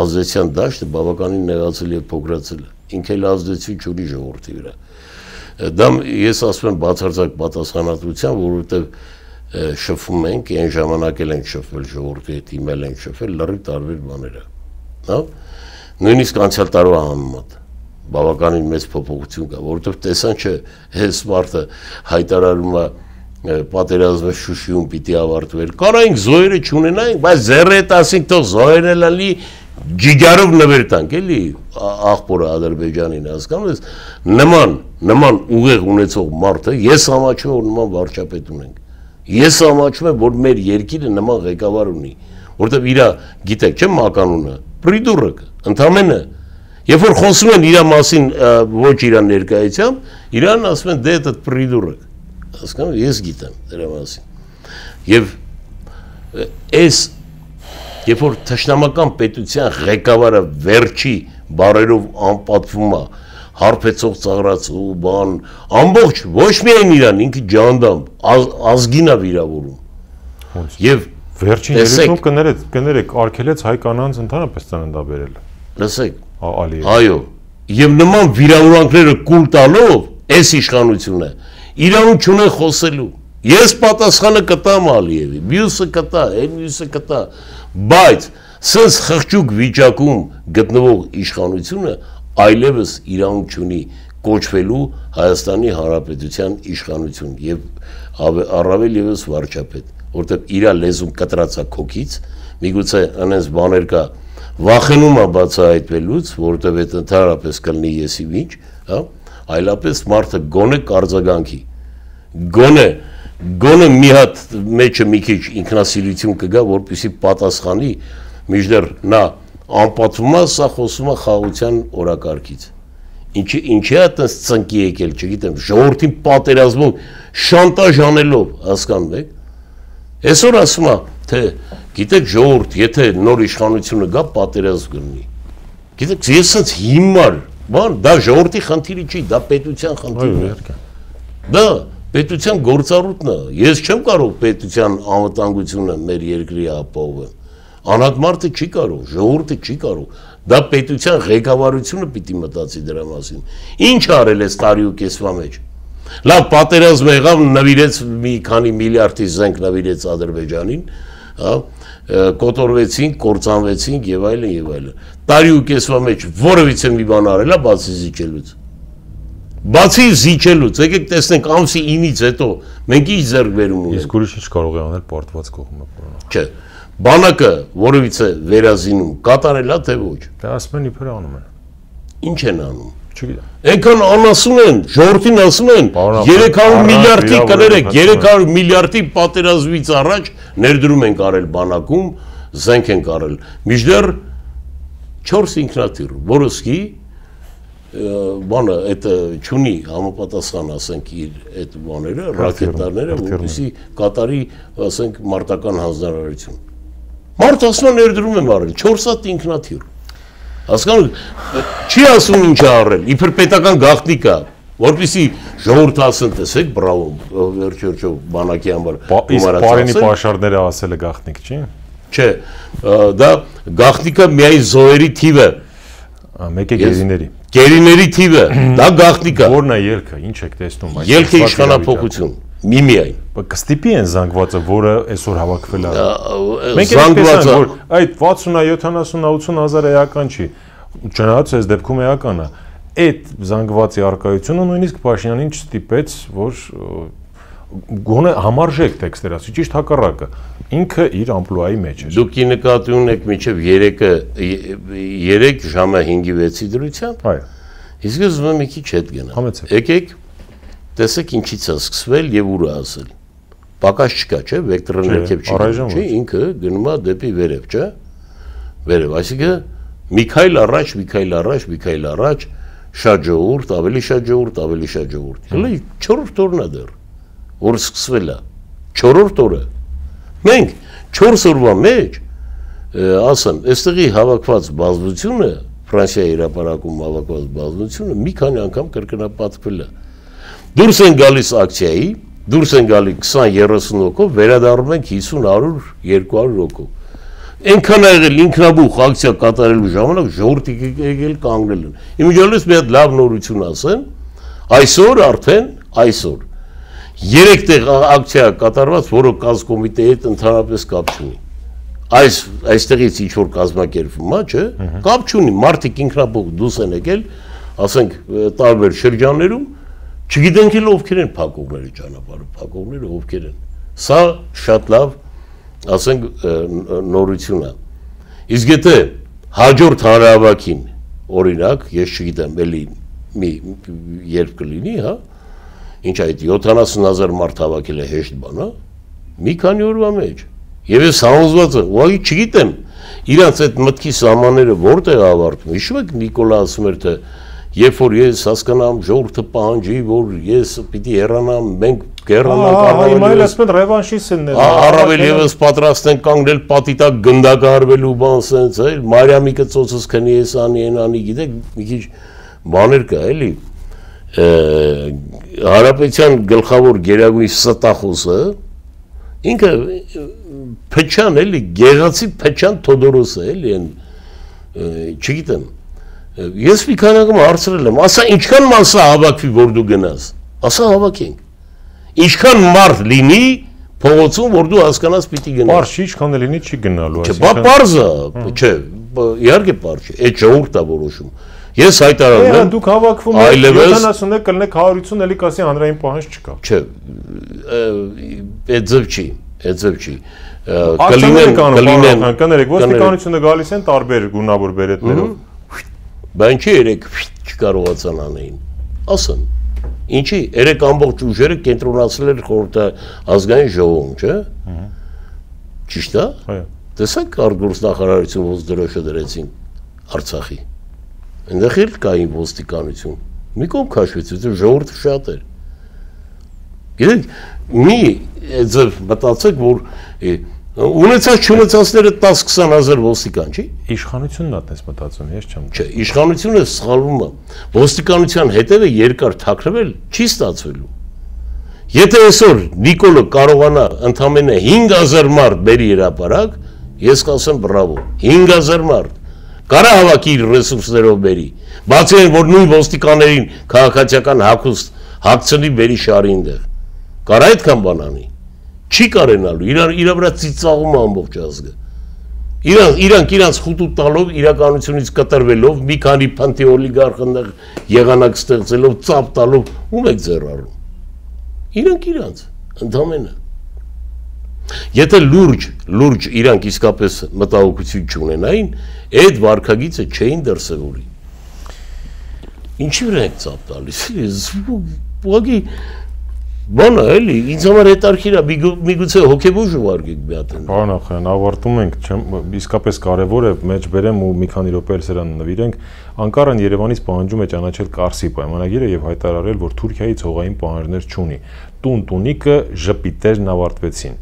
ազդեցության դաշտը բավականին նեղացել եւ փոքրացել է։ Ինքը էլ ազդեցություն չունի ժողովրդի վրա։ Դա ես ասում եմ բացարձակ պատասխանատվությամբ, որովհետեւ շփվում ենք, այն ժամանակ էլ ենք շփվել ժողովրդի հետ, իմել ենք շփվել, լրիվ տարբեր բաներ է։ Հա։ Նույնիսկ անցյալ տարվա համեմատ բավականին մեծ փոփոխություն կա, որովհետև տեսան չէ, հենց մարդը հայտարարում է պատերազմը Շուշիում պիտի ավարտվեր։ Կարայինք զոհերը չունենայինք, բայց ձեռը տասինք թող զոհերն էլ ալի ջիջարով նվեր տանք, էլի աղբորը Ադրբեջանին հասկանում ես, նման ուղեղ ունեցող մարդը ես համաչում եմ, որ նման վարչապետ ունենք։ Ես համաչում եմ, որ մեր երկիրը նման ղեկավար ունի, որովհետև իրա գիտեք, չէ՞ մականունը, պրիդուրակ, ընդամենը Երբ որ խոսում են իր մասին ոչ իր ներկայությամբ, իրան ասում են դե դա պրիդուրակ։ Հասկանում ես գիտեմ դրա մասին։ Եվ այս երբ որ թշնամական պետության ղեկավարը վերջի բարերով անպատվում է, հարբեցող ծաղրացու բան, ամբողջ ոչ միայն իրան, ինքը ջանդամ, ազգին է վիրավորում։ Եվ վերջին երեքում կներեք արգելեց հայ կանանց ընդհանրապես ծննդաբերել։ Լսեք, այո, եւ նման վիրավորանքները կուլ տալով այս իշխանությունը իրավունք չունեն խոսելու։ Ես պատասխանը կտամ Ալիևի, մյուսը կտա, մյուսը կտա, բայց սենց խղճուկ վիճակում գտնվող իշխանությունը այլևս իրավունք չունի կոչվելու Հայաստանի Հանրապետության իշխանություն եւ առավել եւս վարչապետ, որտեղ իր լեզուն կտրածա քոքից, միգուցե անենց բաներ կա վախենում է բացահայտվելուց, որովհետև այդ ընդհանրապես կլինի եսի ինչ, հա, այլապես մարդը գոնե կարձագանքի, գոնե մի հատ մեջը մի քիչ ինքնասիրություն կգա, որպեսզի պատասխանի, մինչդեռ նա անպատվում է, սա խոսում է խաղաղության օրակարգից։ Ինչի է այդպես ծնկի եկել, չգիտեմ, ժողովրդին պատերազմում շանտաժ անելով, հասկանում եք։ Այսօր ասում է, թե գիտեք ժողովուրդ, եթե նոր իշխանությունը գա, պատերազմ կլինի։ Գիտեք, ես ասած հիմար, բան, դա ժողովրդի խնդիրը չի, դա պետության խնդիրն է։ Դա պետության գործառույթն է։ Ես չեմ կարող պետության անվտանգությունը մեր երկրի ապահովել։ Անհատ մարդը չի կարող, ժողովուրդը չի կարող։ Դա պետության ղեկավարությունը պիտի մտածի դրա մասին։ Ինչ արել է տարի ու կեսվա մեջ։ Լավ պատերազմ եղավ, նվիրեց մի քանի միլիարդի զենք նվիրեց Ադրբեջանին, հա, կոտորվեցինք, կործանվեցինք եւ այլն եւ այլն։ Տարի ու կեսվա մեջ որևիցե մի բան արել է բացի զիջելուց։ Բացի զիջելուց, եկեք տեսնենք ամսի 9-ից հետո մենք ինչ ձեռք բերում ունենք։ Իսկ ուրիշ ինչ կարող է անել պարտված կողմը, պարոն։ Չէ, բանակը որևիցե վերազինում կատարել է թե ոչ։ Դա ասում են իբր անում են։ Ինչ են անում։ Այնքան անասուն են, ժողովրդին ասում են 300 միլիարդի կներեք, 300 միլիարդի պատերազմից առաջ ներդրում են կարել բանակում, զենք են կարել։ Մինչդեռ 4 ինքնաթիռ, որոսկի բանը այդ չունի համապատասխան, ասենք, իր այդ բաները, ռակետաները, որպեսզի կատարի, ասենք, մարտական հանձնարարություն։ Մարդ ասում է ներդրում եմ արել 4 հատ ինքնաթիռ։ Հասկանում չի ասում ինչ արել, իբր պետական գաղտնիք է, որպեսզի ժողովուրդը ասեն, տեսեք, բրավո, վերջ բանակի համար իսկ Պարենի պաշարները ասել է գաղտնիք, չի։ Չէ, դա գաղտնիքը միայն զոհերի թիվը, մեկ է գերիների։ Գերիների թիվը, դա գաղտնիք է։ Որն է ելքը, ինչ եք տեսնում այս։ Ելքը իշխանափոխություն, միայն։ Կստիպի են զանգվածը, որը այսօր հավաքվել է։ Մենք զանգվածը որ այդ 60-70-80 հազար էական չի, չնայած այս դեպքում էական է։ Այդ զանգվածի արկայությունը նույնիսկ Փաշինյանին չստիպեց, որ գոնե համարժեք տեքստեր ասի, ճիշտ հակառակը։ Ինքը իր ամպլուայի մեջ էր։ Դուք նկատի ունեք մինչև 3 ժամը 5-ի 6-ի դրությամբ։ Այո։ Իսկ ես ուզում եմ մի քիչ հետ գնալ։ Եկեք, տեսեք ինչից է սկսվել եւ ուր է ասել։ Պակաս չկա, չէ՞, վեկտորը ներքև չի, չէ՞, ինքը գնում է դեպի վերև, չէ՞։ Վերև, այսինքն Միքայել առաջ, շատ ժողովուրդ, ավելի շատ ժողովուրդ։ Հələ 4-րդ օրն է դեռ, որ սկսվել է։ 4-րդ օրը։ Մենք 4 օրվա մեջ, ասեմ, այստեղի հավաքված բազմությունը, Ֆրանսիայի հրապարակում հավաքված բազմությունը մի քանի անգամ կրկնապատկվել է։ Դուրս են գալիս ակցիայի, դուրս են գալի 20-30 հոգով, վերադառնում ենք 50-100-200 հոգով։ Այնքան է եղել ինքնաբուխ ակցիա կատարելու ժամանակ ժողովրդի եկել կանգնել են։ Իմիջիալից մի հատ լավ նորություն ասեմ, այսօր արդեն, այսօր 3 տեղ ակցիա կատարված, որը կազմկոմիտեի հետ ընդհանրապես կապ չունի։ Այստեղից ինչ որ կազմակերպվում է, չէ՞, կապ չունի, մարդիկ ինքնաբուխ դուրս են եկել, ասենք տարբեր շրջաններում, չգիտենք էլ ովքեր են փակողները ճանապարհը, փակողները ովքեր են։ Սա շատ լավ, ասենք, նորություն է։ Իսկ եթե հաջորդ հանրահավաքին, օրինակ, ես չգիտեմ, էլի մի երբ կլինի, հա, ինչ այդ 70,000 մարդ հավաքել է հեշտ բան, հա, մի քանի օրվա մեջ։ Եվ ես համոզված եմ, ուղղակի չգիտեմ, իրանց այդ մտքի սահմանները որտեղ է ավարտվում։ Հիշում եք Նիկոլա ասում էր, թե երբ որ ես հասկանամ ժողովուրդը պահանջի, որ ես պիտի հեռանամ, մենք կհեռանանք, առավել ևս պատրաստ են կանգնել պատի տակ գնդակահարվելու բան սենց, էլ Մարիամի կծոցս քնի ես անի, են անի, գիտեք, մի քիչ բաներ կա, էլի։ Հանրապետության գլխավոր գերագույն ստախոսը ինքը Փեչան էլի, գեղացի Փեչան Թոդորոսը էլի, չգիտեմ։ Ես մի քանի անգամ հարցրել եմ, ասա ինչքան մասա հավաքվի, որ դու գնաս, ասա հավաքենք, ինչքան մարդ լինի փողոցում, որ դու հասկանաս պիտի գնաս։ Պարզ չի, ինչքան լինի չի գնալու, չէ, բա պարզ է, չէ, իհարկե պարզ չէ, այդ ժողովուրդն է որոշում։ Ես հայտարարում եմ, դուք հավաքվում եք 70-ը կլինեք 150, էլի կասի հանրային պահանջ չկա։ Չէ, այդ ձև չի, այդ ձև չի։ Կներեք, ոստիկանությունը գալիս են տարբեր գունավոր բերետներով։ Բա ինչի երեք չկարողացան անեին, ասեն, ինչի, երեք ամբողջ ուժերը կենտրոնացել էր ազգային ժողովում, չէ, ճիշտ է, տեսակ արտգործնախարարություն ոնց դրոշը դրեցին Արցախի, այնտեղ էլ կային ոստիկանություն, մի կողմ քաշվեց, ժողովուրդը շատ էր, գիտեք, մի ձև մտածեք, որ ունեցած չունեցածները 10-20 հազար ոստիկան, չի։ Իշխանությունն է այդպես մտածում, ես չեմ։ Չէ, իշխանությունը սխալվում է։ Ոստիկանության հետևը երկար թաքնվել չի ստացվելու։ Եթե այսօր Նիկոլը կարողանա ընդամենը 5000 մարդ բերի հրապարակ, ես կասեմ բրավո, 5000 մարդ։ Կարա հավաքի իր ռեսուրսներով բերի։ Բացի այն, որ նույն ոստիկաններին քաղաքացիական հագուստ հագցնի բերի շարի այնտեղ։ Կարա այդքան բան անի։ Չի կարենալու, իր վրա ծիծաղում է ամբողջ ազգը։ Իրանք իրանց խուտու տալով, իրականությունից կտրվելով, մի քանի փանտի օլիգարխ այնտեղ եղանակ ստեղծելով, ծապ տալով, ում եք ձեռ առում։ Իրանք, ընդամենը։ Եթե լուրջ իրանք իսկապես մտահոգություն չունենային, այդ վարքագիծը չէին դրսևորի։ Ինչի վրա եք ծափ տալիս։ Ուղղակի բանը էլի, ինձ համար հետարքիր է, միգուցե հոգեբուժ ուղարկեք մի հատ։ Պարոն Ախայան, ավարտում ենք, իսկապես կարևոր է մեջ բերեմ ու մի քանի րոպե սրան նվիրենք։ Անկարան Երևանից պահանջում է ճանաչել Կարսի պայմանագիրը եւ հայտարարել, որ Թուրքիայից հողային պահանջներ չունի։ Տուն-տունիկը ժպիտերն ավարտվեցին։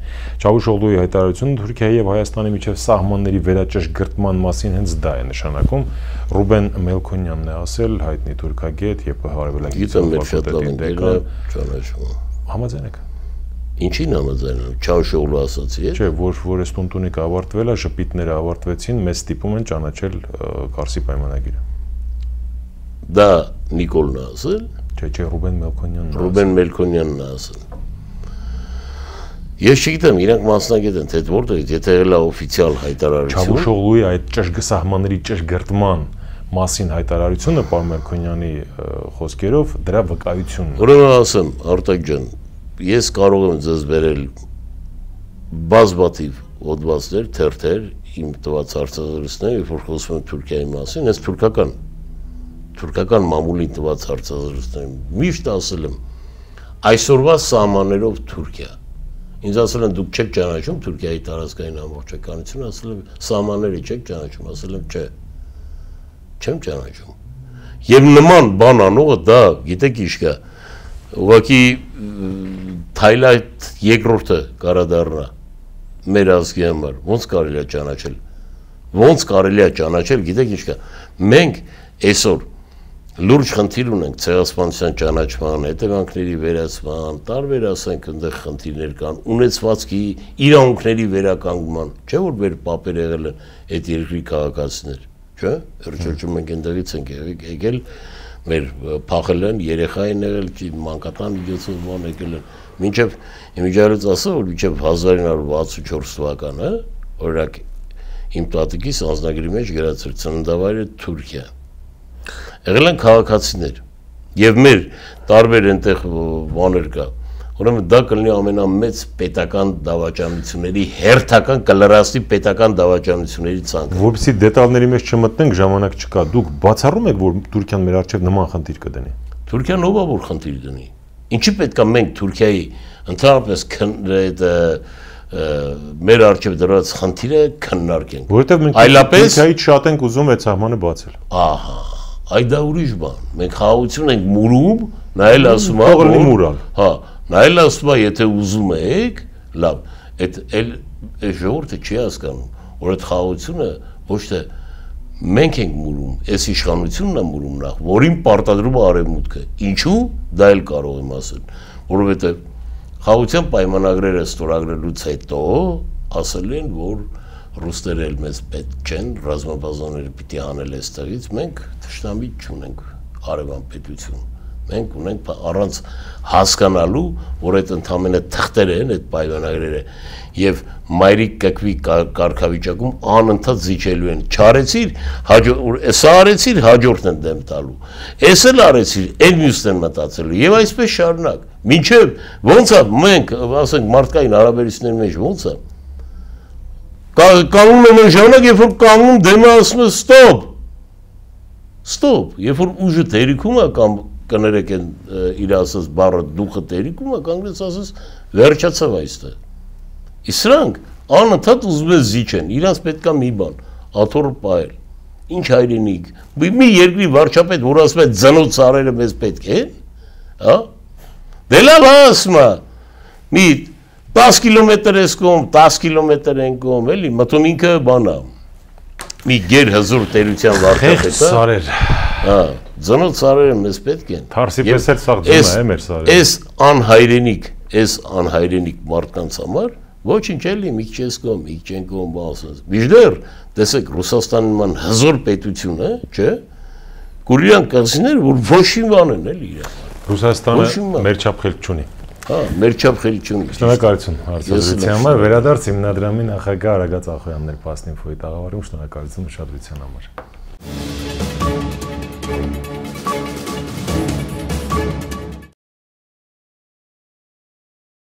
Չավուշօղլուի հայտարարությունը Թուրքիայի եւ Հայաստանի միջև սահմանների վերաճշգրտման մասին հենց դա է նշանակում։ Ռուբեն Մելքոնյանն է ասել, հայտնի թուրքագետ եւ հարավելագիտության ֆակուլտետի դեկան։ Համաձայն եք։ Ինչին համաձայն եմ, Չավուշօղլու ասացի է։ Չէ, որ այս տուն-տունիկը ավարտվել է, ժպիտները ավարտվեցին, մեզ ստիպում են ճանաչել Կարսի պայմանագիրը։ Դա Նիկոլն է ասել։ Չէ, Ռուբեն Մելքոնյանն է։ Ռուբեն Մելքոնյանն է ասել։ Ես չգիտեմ, իրանք մասնագետ են, թե որտեղից, եթե եղել է օֆիցիալ հայտարարություն։ Չավուշօղլուի այդ սահմանների ճշգրտման մասին հայտարարությունը պարոն Մելքոնյանի խոսքերով դրա վկայությունն է։ Ուրեմն ասեմ, Արտակ ջան, ես կարող եմ ձեզ բերել բազմաթիվ հոդվածներ, թերթեր, իմ տված հարցազրույցներ, երբ որ խոսում եմ Թուրքիայի մասին, ես թուրքական մամուլին տված հարցազրույցներ միշտ ասել եմ այսօրվա սահմաններով Թուրքիա։ Ինձ ասել են դուք չեք ճանաչում Թուրքիայի տարածքային ամբողջականությունը, ասել եմ սահմանները չեք ճանաչում, ասել եմ չէ։ Չեմ ճանաչում։ Եվ նման բան անողը դա, գիտեք ինչ կա, ուղղակի Թայլայթ երկրորդը կարադառնա մեր ազգի համար, ոնց կարելի է ճանաչել։ Ոնց կարելի է ճանաչել, գիտեք ինչ կա։ Մենք այսօր լուրջ խնդիր ունենք ցեղասպանության ճանաչման, հետևանքների վերացման, տարբեր ասենք այնտեղ խնդիրներ կան, ունեցվածքի իրավունքների վերականգնման, չէ՞ որ մեր պապերը եղել են այդ երկրի քաղաքացիներ, չէ՞։ Հրճրջում ենք այնտեղից ենք եկել, մեր փախել են, երեխա են եղել, մանկատան միջոցով բան եկել են, մինչև իմիջիալից ասա, որ մինչև 1964 թվականը, օրինակ իմ տատիկիս անձնագրի մեջ գրած էր ծննդավայրը Թուրքիա։ Եղել են քաղաքացիներ եւ մեր տարբեր այնտեղ բաներ կա։ Ուրեմն դա կլինի ամենամեծ պետական դավաճանությունների հերթական կլրացնի պետական դավաճանությունների ցանկը։ Որպեսզի դետալների մեջ չմտնենք, ժամանակ չկա։ Դուք բացառում եք, որ Թուրքիան մեր առջև նման խնդիր կդնի։ Թուրքիան ով է որ խնդիր դնի։ Ինչի պետք է մենք Թուրքիայի ընդհանրապես մեր առջև դրած խնդիրը քննարկենք։ Որովհետև մենք Թուրքիայից շատ ենք ուզում այդ սահմանը բացել։ Ահա, այ դա ուրիշ բան։ Մենք խաղաղություն ենք մուրում, նայել ասում է, որ մուրալ։ Հա, նայել ասում է, եթե ուզում եք, լավ, այդ ժողովուրդը չի հասկանում, որ այդ խաղաղությունը ոչ թե մենք ենք մուրում, այս իշխանությունն է մուրում նախ, որին պարտադրում է արևմուտքը։ Ինչու՞, դա էլ կարող եմ ասել, որովհետև խաղաղության պայմանագրերը ստորագրելուց հետո ասել են, որ ռուսները էլ մեզ պետք չեն, ռազմաբազաները պիտի անել այստեղից, մենք թշնամի չունենք արևան պետություն։ Մենք ունենք առանց հասկանալու, որ այդ ընդամենը թղթեր են, այդ պայմանագրերը, եւ մայրիկ կկվի կարգավիճակում անընդհատ զիջելու են։ Չարեցիր, սա արեցիր, հաջորդն են դեմ տալու։ Էս էլ արեցիր, այն մյուսն են մտածելու եւ այսպես շարունակ։ Մինչեւ ոնց է մենք, ասենք, մարդկային հարաբերությունների մեջ ոնց է։ Կանգնում են ժամանակ, երբ որ կանգնում դեմը ասում է ստոպ։ Ստոպ, երբ որ ուժը թերիքում է կամ կներեք են իր ասած բառը դուխը տերիքում է, կանգնեց ասած վերջացավ այստեղ։ Իսկ սրանք անընդհատ ուզում են զիջեն, իրանց պետքա մի բան, աթոռը պահել։ Ինչ հայրենիք, մի երկրի վարչապետ, որ ասում է ձնոց ծառերը մեզ պետք են, հա։ Դե լավ ասում է, մի 10 կիլոմետր ես կողմ, 10 կիլոմետր են կողմ, էլի, մտում ինքը բան է։ Մի գեր հզոր տերության վարչապետ է։ Սարեր։ Հա, ձնոց ծառերը մեզ պետք են։ Թարսի պես էլ սաղ ձնա է մեր սարերը։ Այս անհայրենիք մարդկանց համար ոչինչ էլի, մի քիչ ես կողմ, մի քիչ են կողմ ասած։ Միշտեր, տեսեք, Ռուսաստանի նման հզոր պետություն է, չէ՞։ Կուրիան կղզիներ, որ ոչ մի բան են էլի իրար։ Ռուսաստանը մեր չափ խելք չունի։ Հա, մեր չափ խելք չունի։ Շնորհակալություն հարցազրույցի համար, վերադարձ հիմնադրամի նախագահ Արագած Ախոյանն էր Պասնինֆոյի տաղավարում, շնորհակալություն ուշադրության համար։